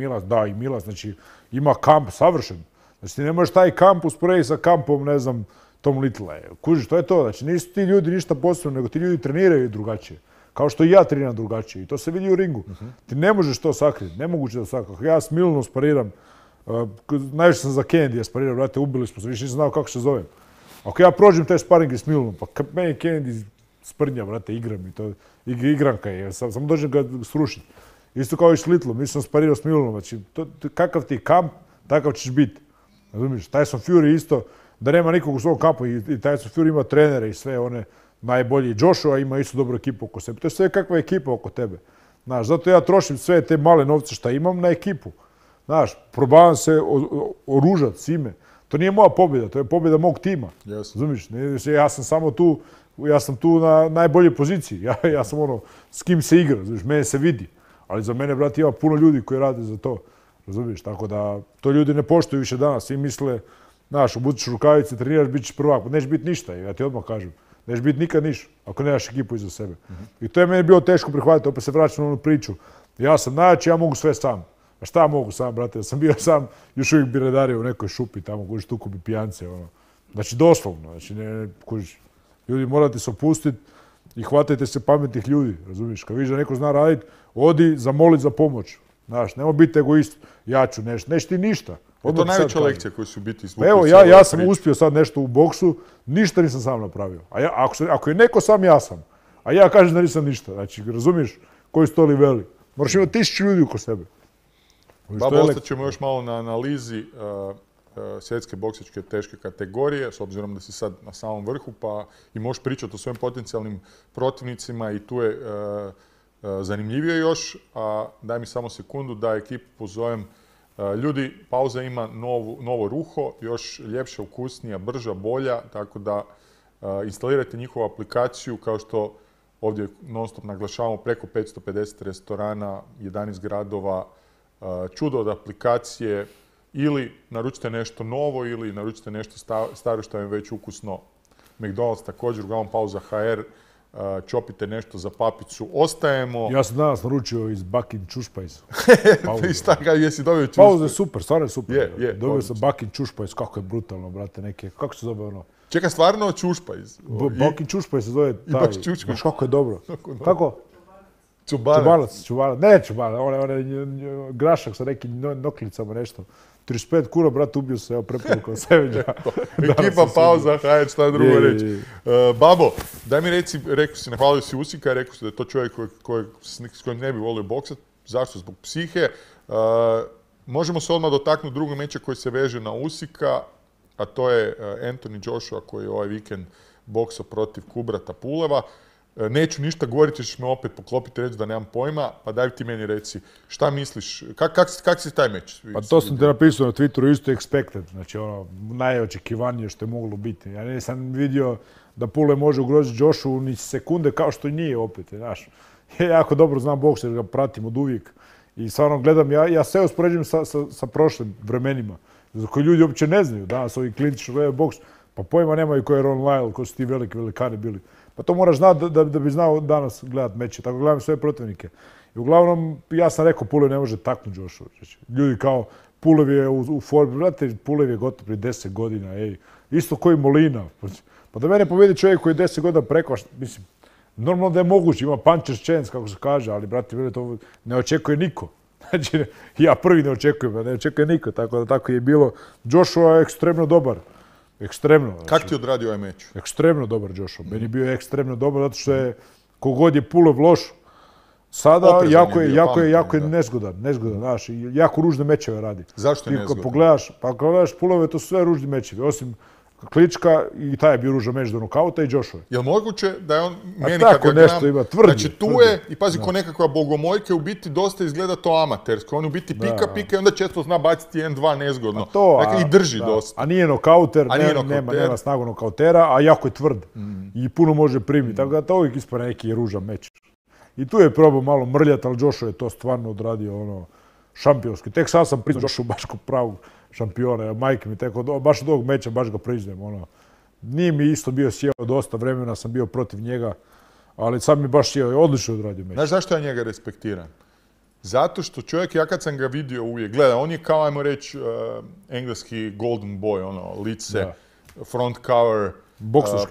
Milas, znači ima kamp savršen. Znači ti ne možeš taj kamp usporediti sa kampom, ne znam, Tom Little. Kužiš, to je to, znači nisu ti ljudi ništa posebno, nego ti ljudi treniraju drugačije. Kao što i ja treniram drugačije i to se vidi u ringu. Ti ne možeš to sakriti, nemoguće da sakriti. Ja s Milanom spariram, najviše sam za Kennedy sparirao, brate, ubili smo se, više nisam znao kako se zovem. Ako ja prođem te sparinge s Milanom, pa meni Kennedy sprnja, brate, igram i to, igranka je, samo dođem ga srušiti. Isto kao i s Littlom, nisam sparirao s Milanom, znači, kakav ti kamp, takav ćeš biti. Razumiješ, Tyson Fury isto, da nema nikog u svom kampu i Tyson Fury ima trenere i sve one najbolji. Joshua ima isto dobru ekipu oko sebe. To je sve kakva ekipa oko tebe. Znaš, zato ja trošim sve te male novce što imam na ekipu. Znaš, probavam se oružati s ime. To nije moja pobjeda, to je pobjeda mog tima. Razumiješ, ja sam samo tu, ja sam tu na najboljoj poziciji. Ja sam s kim se igra, razumiješ, mene se vidi. Ali za mene, brate, ima puno ljudi koji rade za to. Razumiješ, tako da to ljudi ne poštuju više danas. Svi misle, znaš, obučiš rukavice, treniraš, bit ćeš prvak. Nećeš biti ništa, ja ti odmah kažem. Nećeš biti nikad ništa, ako nemaš ekipu iza sebe. I to je meni bilo teško prihvatiti, opet se vraćam na onu priču. Ja sam najjači, ja mogu sve sam. A šta mogu sam, brate? Ja sam bio sam, još uvijek bi redario u nekoj šupi tamo, kužiš, tuku bi pijance, Znači, doslovno, znači, kužiš, ljudi morate se opustiti i hvatajte se pametnih ljudi, razumiješ? Kad vidiš da neko zna raditi, odi zamolit za pomoć. Znaš, nemoj biti egoist, ja ću nešto, neš ti ništa. Je to najveća lekcija koju su biti izvukli? Evo, ja sam uspio sad nešto u boksu, ništa nisam sam napravio. Ako je neko sam, ja sam. A ja kažem da nisam ništa. Znači, razumiješ koji su to niveli. Moraš imati 1000 ljudi oko sebe. Babo, ostat ćemo još malo na analizi svjetske boksačke teške kategorije, s obzirom da si sad na samom vrhu, pa i možeš pričati o svojim potencijalnim protivnicima i tu je zanimljivije još. Daj mi samo sekundu da ekipu pozovem. Ljudi, pauza ima novo ruho, još ljepša, ukusnija, brža, bolja, tako da instalirajte njihovu aplikaciju, kao što ovdje non stop naglašavamo, preko 550 restorana, 11 gradova, čudo od aplikacije, ili naručite nešto novo ili naručite nešto staro što je već ukusno. McDonald's također, uglavnom pauza HR, čopite nešto za papicu. Ostajemo... Ja sam danas naručio iz Bakin Čušpajs. Jesi dobio Čušpajs? Pauza je super, stvarno je super. Dobio sam Bakin Čušpajs, kako je brutalno, brate, neke. Kako se zove ono? Čekaj, stvarno Čušpajs? Bakin Čušpajs se zove taj. I baš Čušpajs. Znaš kako je dobro. Kako? Čubanac. Ne čubanac, on je grašak sa nekim noklicama, nešto. 35 kuna, brat, ubio se, evo preporukom Sevenja. Ekipa pauza, hajde, šta drugo reći. Babo, daj mi reci, rekao si, nahvalio si Usika, rekao si da je to čovjek s kojim ne bi volio boksat. Zašto? Zbog psihe. Možemo se odmah dotaknuti drugog meča koji se veže na Usika, a to je Anthony Joshua koji je ovaj vikend boksao protiv Kubrata Puleva. Neću ništa govoriti, ćeš me opet poklopiti reći da nemam pojma, pa daj ti meni reci, šta misliš, kak si taj meč? Pa to sam te napisao na Twitteru, isto expected, znači ono, najočekivanije što je moglo biti. Ja nisam vidio da Pulev može ugroziti Joshua ni sekunde kao što i nije opet, znaš. Ja jako dobro znam boks jer ga pratim od uvijek i stvarno gledam, ja sve uspoređujem sa prošlim vremenima, za koje ljudi uopće ne znaju, danas ovi klinično gledaju boks, pa pojma nemaju ko je Ron Lyle, ko su ti veliki velikani bili. Pa to moraš znati da bi znao danas gledat meče. Tako gledam sve protivnike. I uglavnom, ja sam rekao, Pulev ne može taknuti Joshua. Ljudi kao, Pulev je u formi, znate, Pulev je gotov prije 10 godina, ej. Isto koji Molina. Pa da mene pobjedi čovjek koji je 10 godina preko, mislim, normalno da je moguće, ima puncher's chance, kako se kaže, ali, brate, mene to ne očekuje niko. Znači, ja prvi ne očekujem, ne očekuje niko, tako da tako je bilo. Joshua je ekstremno dobar. Ekstremno. Kako ti odradio ovaj meč? Ekstremno dobar Joshua. Meni je bio ekstremno dobar zato što je kogod je Pulev loš, sada jako je nezgodan, znaš, jako ružne mečeve radi. Zašto je nezgodan? Kad pogledaš Puleve, to su sve ružni mečevi, osim Klička i taj je bio ružan meč do nokauta i Joshua. Je li moguće da je on, meni kad ga gledam, znači tu je, i pazi ko nekakva bogomojka, u biti dosta izgleda to amatersko, on u biti pika i onda često zna baciti 1-2 nezgodno. Dakle, i drži dosta. A nije nokauter, nema snagu nokautera, a jako je tvrd i puno može primiti, tako da to uvijek ispane neki ružan meč. I tu je probao malo mrljati, ali Joshua je to stvarno odradio ono šampionski. Tek sad sam priznao Joshua baš kao pravog šampiona, majke mi teko, baš od ovog meča baš ga priznajem, ono. Nije mi isto bio sjeo dosta vremena, sam bio protiv njega, ali sad mi baš sjeo i odlično odradio meč. Znaš zašto ja njega respektiram? Zato što čovjek, ja kad sam ga vidio uvijek, gleda, on je kao, ajmo reći, engleski golden boy, ono, lice, front cover,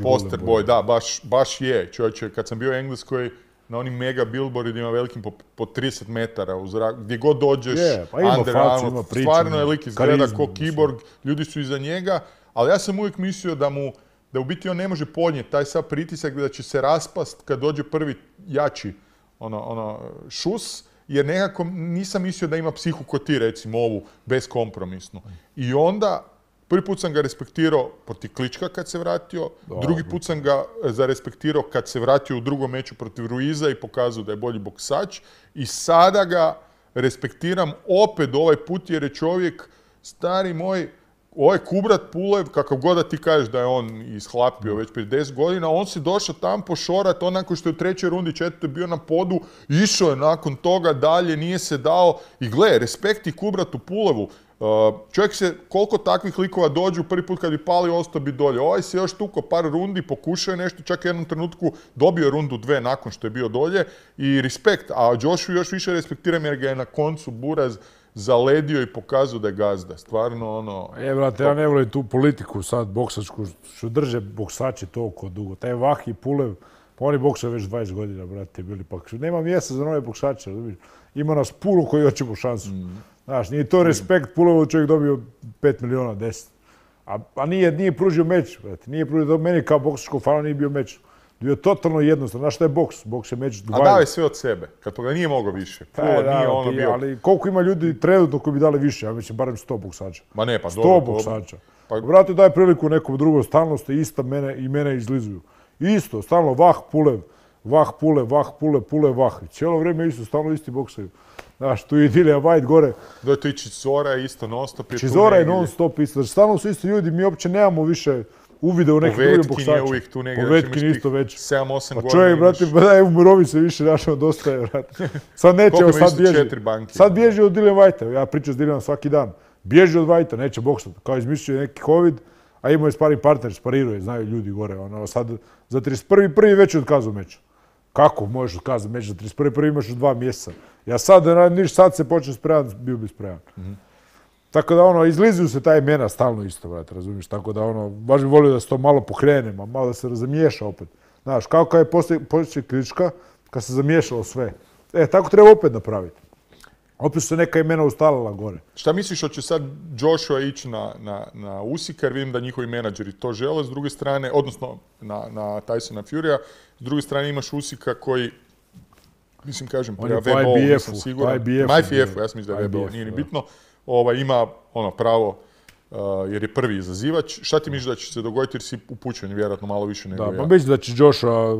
poster boy, da, baš je. Čovječe, kad sam bio u Engleskoj, na onim mega billboardima velikim po 30 metara u zraku, gdje god dođeš, underground, stvarno je lik izgleda ko kiborg, ljudi su iza njega, ali ja sam uvijek mislio da u biti on ne može podnijeti taj sav pritisak, da će se raspast kad dođe prvi jači šus, jer nekako nisam mislio da ima psihu ko ti, recimo ovu, beskompromisnu. I onda, prvi put sam ga respektirao protiv Klička kad se vratio, drugi put sam ga zarespektirao kad se vratio u drugom meču protiv Ruiza i pokazao da je bolji boksač. I sada ga respektiram opet ovaj put jer je čovjek, stari moj, ovaj Kubrat Pulev, kakav god da ti kažeš da je on ishlapio već prije 10 godina, on si došao tam pošorat, onako što je u trećoj rundi, četvrtoj bio na podu, išao je nakon toga dalje, nije se dao. I gle, respekt i Kubratu Pulevu. Čovjek se, koliko takvih likova dođu, prvi put kad bi palio, ostao bi dolje. Ovaj se još tuko par rundi, pokušao je nešto, čak u jednom trenutku dobio rundu 2 nakon što je bio dolje i respekt. A Joshua još više respektiram jer ga je na koncu buraz zaledio i pokazao da je gazda. Stvarno ono... Brate, ja ne volim tu politiku sad boksačku, što drže boksači toliko dugo. Taj Vahi Pulev, Pa oni boksaju već 20 godina, brate, bili pa. Nema mjesta za nove boksače, razumiješ? Ima nas puno koji hoćemo šansu. Znaš, nije to respekt, puno čovjek dobio 5 miliona, 10. A nije pružio meč, brate. Nije pružio, meni kao boksačkom fanu nije bio meč. Bio totalno jednostavno. Znaš šta je boks? Boks je meč 20. A dao je sve od sebe, kad toga nije mogao više. Nije ono bio... Ali koliko ima ljudi trenutno koji bi dali više? Ja mislim, barem 100 boksača. Ma ne, pa 100 boksača. Brate, daj priliku nekom drugom, stalno ste ista mene izlizuju. Isto, stalno vah, pule, vah. I cijelo vrijeme isto, stalno isti boksaju. Znaš, tu je Dillian Whyte gore. Da, tu i Chisora isto non-stop je tu Chisora je non-stop isto. Znači, stalno su isti ljudi, mi uopće nemamo više uvide u neke druge boksače. Povetkin je uvijek tu negdje. Povetkin isto već. 7-8 godina. Čovjek, brate, daj umirovi se više, našao dosta je, brate. Sad neće, sad bježi. Sad bježi od Dillian Whytea. Ja pričam s Dillianom svaki dan. Bježi od Whytea, neće boksati. Kao izmislio neki COVID, a imao je sparing partner, spariruje, znaju ljudi gore. Sad za 31.1. već je otkazao meč. Kako možeš otkazati meč za 31.1. imaš još 2 mjeseca? Ja sad se počne spreman, bio bi spreman. Tako da izlizuju se ta imena stalno isto, brate, razumiješ? Tako da baš bi volio da se to malo pokrene, malo da se razmiješa opet. Znaš, kao kad je poslije Klička, kad se zamiješalo sve. Tako treba opet napraviti. Opet su se neka imena ustalila gore. Šta misliš, hoće sad Joshua ići na Usika, jer vidim da njihovi menadžeri to žele, s druge strane, odnosno na Tysona Furya, s druge strane imaš Usika koji, mislim kažem, prema WBO, nisam siguran. Na IBF-u, ja sam mislim da je WBO, nije ni bitno. Ima pravo, jer je prvi izazivač. Šta ti misliš da će se dogoditi, jer si upućen vjerojatno malo više nego ja? Da, pa mislim da će Joshua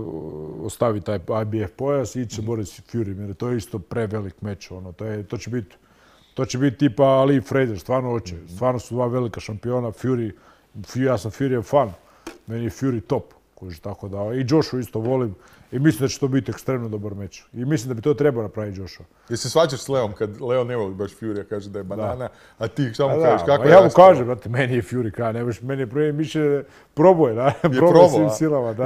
ostaviti taj IBF pojas i ići se boriti s Fury, jer to je isto prevelik meč. To će biti tipa Ali Fraser, stvarno hoće. Stvarno su 2 velika šampiona, ja sam Fury fan, meni je Fury top. Tako da, i Joshua isto volim i mislim da će to biti ekstremno dobar meč. I mislim da bi to trebao napraviti Joshua. Jel se svađaš s Leom kad Leo ne voli baš Furya, kaže da je banana, a ti šta mu kažeš, kako je ja mu kažem, brate, meni je Fury kraj, meni je prije više proboj, da, proboj svim silama, da.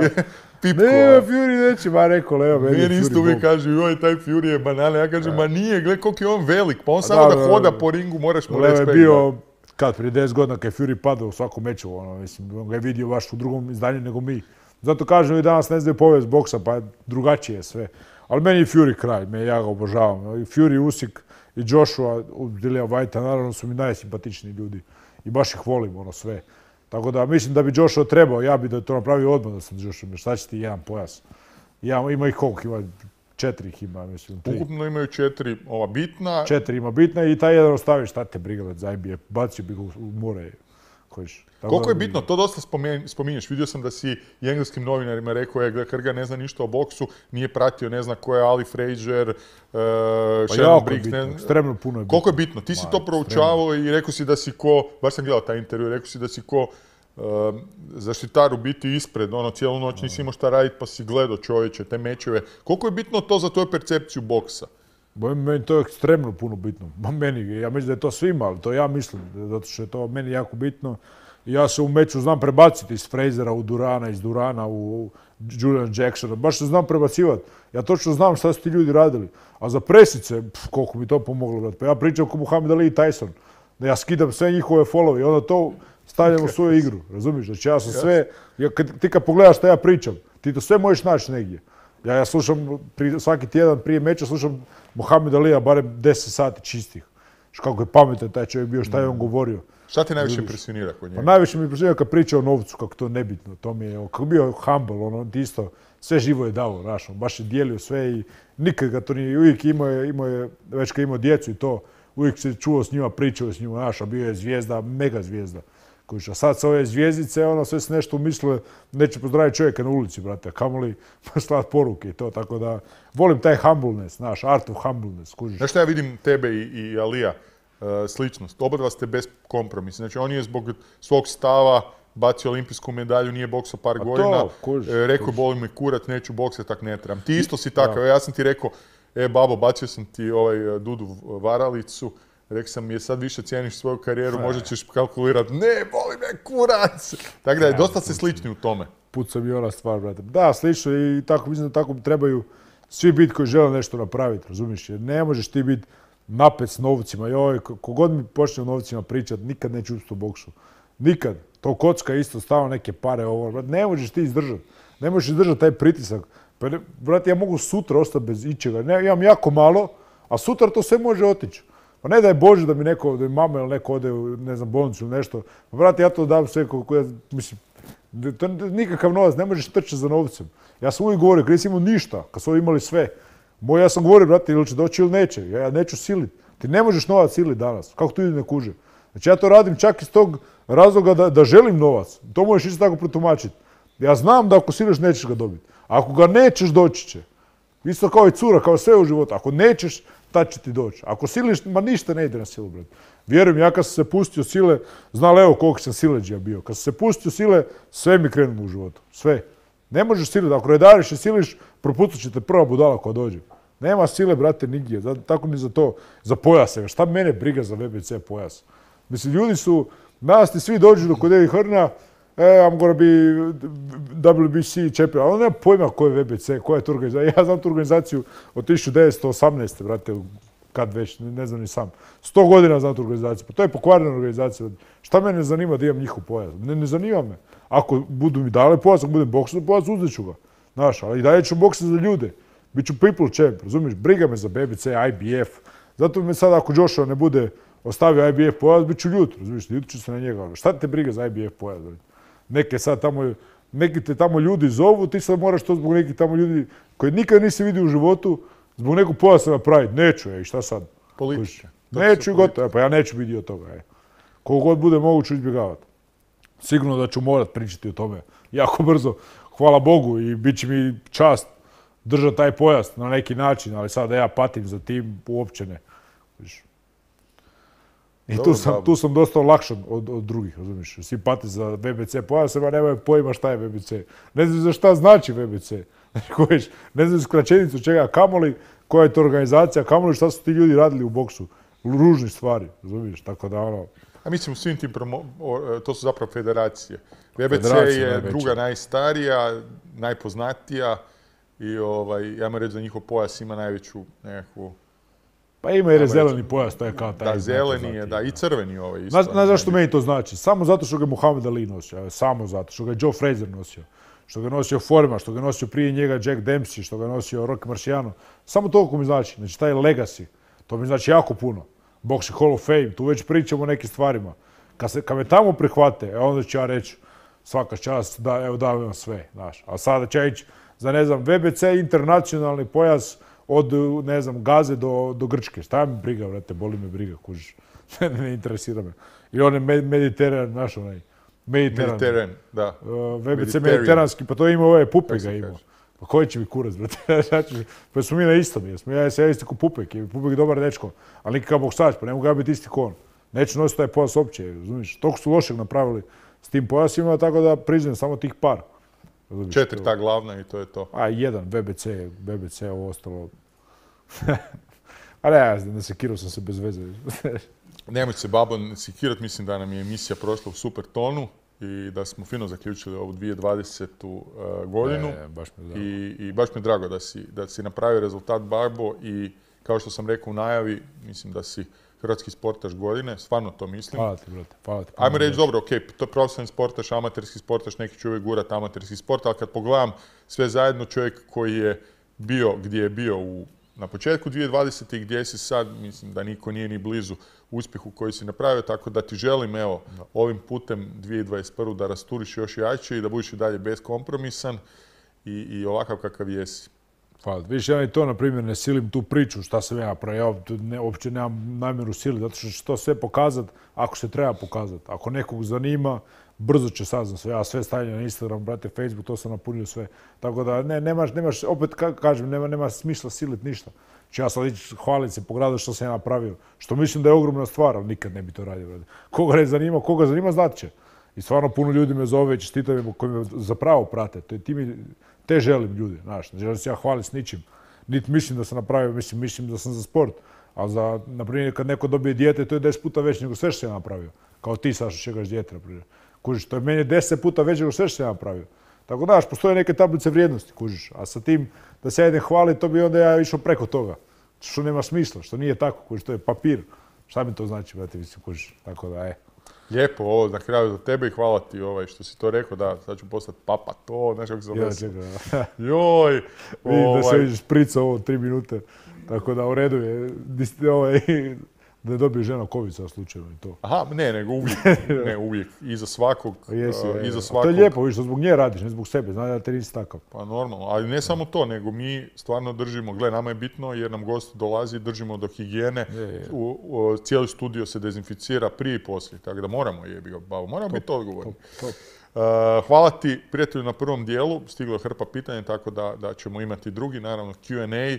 Pipko, ne, Fury neće, ma rekao Leo, meni je Fury isto uvijek kaže, joj, taj Fury je banana, ja kažem, ma nije, gledaj koliko je on velik, pa on samo da hoda po ringu, moraš mu reći. Leo je bio, prije 10 godina kad je Fury padao u svakom meču, mislim, on ga je vidio baš u drugom izdanju nego mi. Zato kažem i danas ne znaju povijest boksa, pa drugačije je sve. Ali meni je Fury kraj, ja ga obožavam. I Fury, Usyk i Joshua, Dillian Whytea, naravno su mi najsimpatičniji ljudi. I baš ih volim, sve. Tako da mislim da bi Joshua trebao, ja bi da to napravio odmah da sam Joshua. Šta će ti jedan pojas? Ima ih koliko? Ima 4 ih ima, mislim. 3. Ukupno imaju 4 ova bitna. 4 ima bitna i taj jedan ostavi, šta te briga za IBF, bacio bi ga u more. Koliko je bitno, to dosta spominješ. Vidio sam da si i engleskim novinarima rekao, Krga ne zna ništa o boksu, nije pratio, ne zna ko je Ali Fraser, Shannon Briggs. Ekstremno puno je bitno. Koliko je bitno? Ti si to proučavao i rekao si da si ko, baš sam gledao taj intervju, rekao si da si ko zaštitar u biti ispred, cijelu noć nisi imao šta raditi pa si gledao čovječe, te mečeve. Koliko je bitno to za tvoju percepciju boksa? Meni to je ekstremno puno bitno. Ja mislim da je to svima, ali to ja mislim, zato što je to meni jako bitno. Ja se u meču znam prebaciti iz Frasera u Durana, iz Durana u Julian Jacksona. Baš se znam prebacivati. Ja točno znam šta su ti ljudi radili. A za presice, koliko mi to pomoglo, brate. Pa ja pričam kao Muhammed Ali i Tyson. Da ja skidam sve njihove followe i onda to stavljam u svoju igru. Razumiješ? Znači ja sam sve, ti kad pogledaš šta ja pričam, ti to sve možeš naći negdje. Ja slušam svaki tjedan prije meča, slušam Muhammed Alija barem 10 sati čistih. Kako je pametan taj čovjek bio, šta je on govorio. Šta te najviše impresionira kod njega? Pa najviše mi impresionira kad priča o novcu, kako to nebitno. To mi je, kako bio humble, isto, sve živo je dao, znaš, baš je dijelio sve i nikad ga to nije, uvijek imao je, već kad imao djecu i to, uvijek se čuo s njima, pričao s njima, znaš, a bio je zvijezda, mega zvijezda. A sad sa ove zvijezdice, sve se nešto umislile, neće pozdraviti čovjeka na ulici, brate, a kamoli slati poruke i to, tako da volim taj humbleness, znaš, art of humbleness, kužiš. Znaš šta ja vidim tebe i Alija, sličnost, oba ste bez kompromisa, znači on je zbog svog stava bacio olimpijsku medalju, nije boksao par godina, rekao boli me kurat, neću boksati, tak ne trebam. Ti isto si takav, ja sam ti rekao, babo, bacio sam ti Dudu varalicu, rekao sam, je sad više cijeniš svoju karijeru, možda ćeš kalkulirati, ne, boli me kurac. Tako da je dosta se slični u tome. Puca mi ona stvar, brate. Da, slično i tako, mislim da tako trebaju svi biti koji žele nešto napraviti, razumiješ? Jer ne možeš ti biti napet s novcima. Joj, kogod mi počne o novcima pričati, nikad neće uspjeti u boksu. Nikad. To kocka isto, stalno neke pare, ovo. Ne možeš ti izdržati. Ne možeš izdržati taj pritisak. Pa, brate, ja mogu sutra ostati bez ičega. Ne, imam jako malo, a sutra to sve može otići. Pa ne daj Bože da mi neko, da mi mama ili neko ode u, ne znam, bolnicu ili nešto. Pa, brate, ja to dam sve, mislim, to je nikakav novac, ne možeš trčati za novcem. Ja sam uvijek govorio, kad nisi imao ništa, kad su imali sve. Ja sam govorio, brate, ili će doći ili neće. Ja neću siliti. Ti ne možeš novac siliti danas. Kako tu ljudi ne kuže? Znači ja to radim čak iz tog razloga da želim novac. To možeš isto tako protumačiti. Ja znam da ako siliš nećeš ga dobiti. Ako ga nećeš, doći će. Isto kao i cura, kao sve u životu. Ako nećeš, tad će ti doći. Ako siliš, ma ništa ne ide na silu, brate. Vjerujem, ja kad sam se pustio sile, znali evo koliko sam sileđija bio. Kad sam se pustio sile, sve mi krenulo u životu. Sve. Ne možeš siliti. Ako redariš i siliš, propucat će te prva budala koja dođe. Nema sile, brate, nigdje. Tako ni za to, za pojaseve. Šta mene briga za VBC pojas? Mislim, ljudi su, danas ti svi dođu do kod Eddie Hearna, I'm gonna be WBC champion. Ali on nema pojma ko je VBC, koja je to organizacija. Ja znam tu organizaciju od 1918. brate, kad već, ne znam ni sam. 100 godina znam tu organizaciju. Pa to je pokvarena organizacija. Šta mene zanima da imam njihov pojas? Ne zanima me. Ako budu mi dali pojas, ako budem boksar pojas, uzet ću ga. Znaš, ali i dalje ću boksati za ljude. Biću people champ, razumiješ? Briga me za BBC, IBF. Zato me sad ako Joshua ne bude ostavio IBF pojas, bit ću ljut, razumiješ? Ljut ću se na njega. Šta te briga za IBF pojas? Neki te tamo ljudi zovu, ti sad moraš to zbog nekih tamo ljudi koji nikad nisi vidio u životu, zbog nekog pojasa napraviti. Neću, šta sad? Političke. Neću i gotovo, pa ja neću biti dio toga. Koliko god bude moguće izbjegavati. Sigurno da ću morat pričati o tome jako brzo. Hvala Bogu i bit će mi čast držati taj pojas na neki način, ali sad da ja patim za tim, uopće ne. I tu sam dosta lakšan od drugih, razumiješ. Svi pati za VBC pojas, a nemaju pojma šta je VBC. Ne znam za šta znači VBC. Ne znam skraćenicu čega, kamoli, koja je to organizacija, kamoli šta su ti ljudi radili u boksu. Ružni stvari, razumiješ, tako da ono... A mislim, svim tim to su zapravo federacije. VBC je druga najstarija, najpoznatija i ja moram reći da njihov pojas ima najveću nekakvu... Pa ima jer je zeleni pojas, to je kao taj... Da, zeleni je, da, i crveni isto. Znaš zašto meni to znači? Samo zato što ga je Muhammed Ali nosio, samo zato, što ga je Joe Frazier nosio, što ga je nosio Foreman, što ga je nosio prije njega Jack Dempsey, što ga je nosio Rocky Marciano. Samo toliko mi znači, znači taj legacy, to mi znači jako puno. Boxing Hall of Fame, tu već pričamo o nekim stvarima. Kad me tamo prihvate, onda ću ja reći svaka čast, da evo dajem vam sve, znaš. A sada će ići za, ne znam, VBC internacionalni pojas od, ne znam, Gaze do Grčke. Šta mi briga, vrate, boli me briga, kužiš. Ne interesira me. I on je Mediteran, znaš onaj, Mediteran, da. VBC mediteranski, pa to ima ovaj Pupek ga imao. Pa koji će mi kurac, brate? Pa smo mi na istom, ja sam isti ko Pupek, Pupek je dobar dečko, ali nikakav boksač, pa ne mogu ja biti isti ko on. Neću nositi taj pojas uopće, razumiješ? Toliko su lošeg napravili s tim pojasima, tako da priznajem samo tih par. 4 ta glavna i to je to. A jedan, BBC, ovo ostalo. A ne, ne sekirao sam se bez veze. Nemoj se, Babo, sekirat, mislim da nam je emisija prošla u super tonu i da smo fino zaključili ovu 2020. godinu. I baš mi je drago da si napravio rezultat, Babo, i kao što sam rekao u najavi, mislim da si hrvatski sportaš godine, stvarno to mislim. Hvala ti, brate, hvala ti. Ajmo reći, dobro, okej, to je profesionalni sportaš, amaterski sportaš, neki će uvijek gurat amaterski sport, ali kad pogledam sve zajedno, čovjek koji je bio gdje je bio na početku 2020. i gdje si sad, mislim da niko nije ni blizu uspjehu koji si napravio, tako da ti želim, evo, ovim putem 2021. da rasturiš još jače i da budiš i dalje beskompromisan i ovakav kakav jesi. Hvala. Viš, ja i to, na primjer, ne silim tu priču šta sam ja napravio. Ja uopće nemam namjeru siliti, zato što ću to sve pokazati ako se treba pokazati. Ako nekog zanima, brzo će saznat sve. Ja sve stavljam na Instagram, brate, Facebook, to sam napunio sve. Tako da nemaš, opet kažem, nema smisla siliti ništa. Če ja sad ići hvaliti se po gradu što sam ja napravio. Što mislim da je ogromna stvar, ali nikad ne bi to radio, brate. Koga zanima, znat će. I stvarno puno ljudi me zove i čestitaju koji me zapravo prate. Te želim ljudi, znaš, ne želim se ja hvaliti s ničim. Niti mislim da sam napravio, mislim da sam za sport. A za, na primjer, kad neko dobije dijete, to je 10 puta već nego sve što sam ja napravio. Kao ti, Saša, čekaš dijete, na primjer. Kužiš, to je meni 10 puta već nego sve što sam ja napravio. Tako da, postoje neke tablice vrijednosti, kužiš. A sa tim, da se ja idem hvaliti, to bi onda ja išao preko toga. Što nema smisla, što nije tako, kužiš, to je papir. Šta mi to znači, brate, mislim, kužiš. Tako da, Lijepo ovo na kraju za tebe i hvala ti što si to rekao, da, sad ću postati papa, to, znaš kako sam vesel. Joj! Vidim da se vidiš šprica ovo 3 minute, tako da u redu je, da je dobije žena kovica slučajno i to. Aha, nego uvijek, uvijek, iza svakog, iza svakog. To je lijepo, vidiš, zbog nje radiš, ne zbog sebe, znaš da te nisi takav. Pa normalno, ali ne samo to, nego mi stvarno držimo, gle, nama je bitno jer nam gost dolazi, držimo do higijene, cijeli studio se dezinficira prije i poslije, tako da moramo moramo biti odgovorni. Hvala ti, prijatelju, na prvom dijelu, stiglo je hrpa pitanja, tako da ćemo imati drugi, naravno Q&A.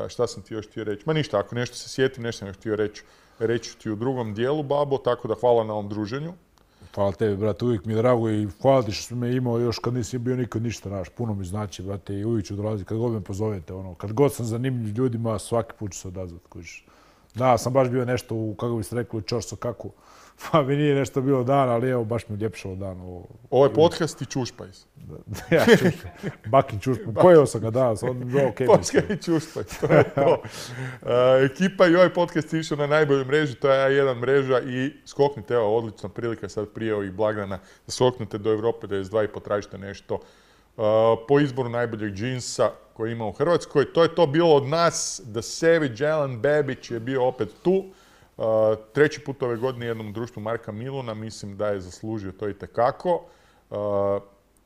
Šta sam ti još htio reći? Ma ništa, ako nešto se sjetim, nešto sam još htio reći ti u drugom dijelu, Babo, tako da hvala na ovom druženju. Hvala tebi, brate, uvijek mi je drago i hvala ti što si me imao još kad nisam bio nikad ništa, znaš, puno mi znači, brate, i uvijek ću dolaziti, kad god me pozovete, kad god sam zanimljiv ljudima, svaki put ću se odazvati, kužiš. Da, sam baš bio nešto kako bi se rekli, u čorso kaku. Pa mi nije nešto bilo dan, ali evo, baš mi uljepšalo dan. Ovo je podcast i Čušpajs. Ja, Čušpajs. Bakin Čušpajs. Pojeo sam ga danas, Podcast i Čušpajs, to je to. Ekipa i ovaj podcast je išao na najboljoj mreži, to je A1 mreža i skoknite, evo, odlična prilika sad prije ovih blagdana, da skoknete do Europe 92 i potražite nešto po izboru najboljeg džinsa koji ima u Hrvatskoj. To je to bilo od nas. The Savage Alan Babić je bio opet tu. Treći put ove godine jednom društvu Marka Miluna, mislim da je zaslužio to itekako.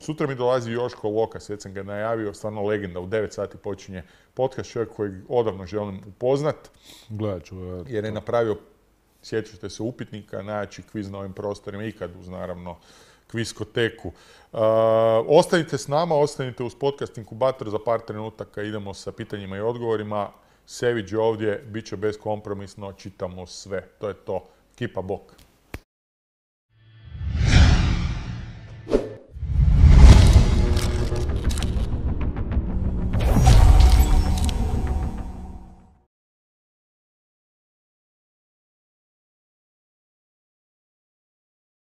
Sutra mi dolazi Joško Lokas, već sam ga najavio, stvarno legenda, u 9 sati počinje podcast, čovjek kojeg odavno želim upoznat. Gledat ću. Jer je napravio, sjećate se, upitnika, najjači kviz na ovim prostorima, ikad uz naravno kviskoteku. Ostanite s nama, ostanite uz podcast Inkubator, za par trenutaka idemo sa pitanjima i odgovorima. Sević je ovdje, bit će beskompromisno, čitamo sve. To je to. Kipa bok.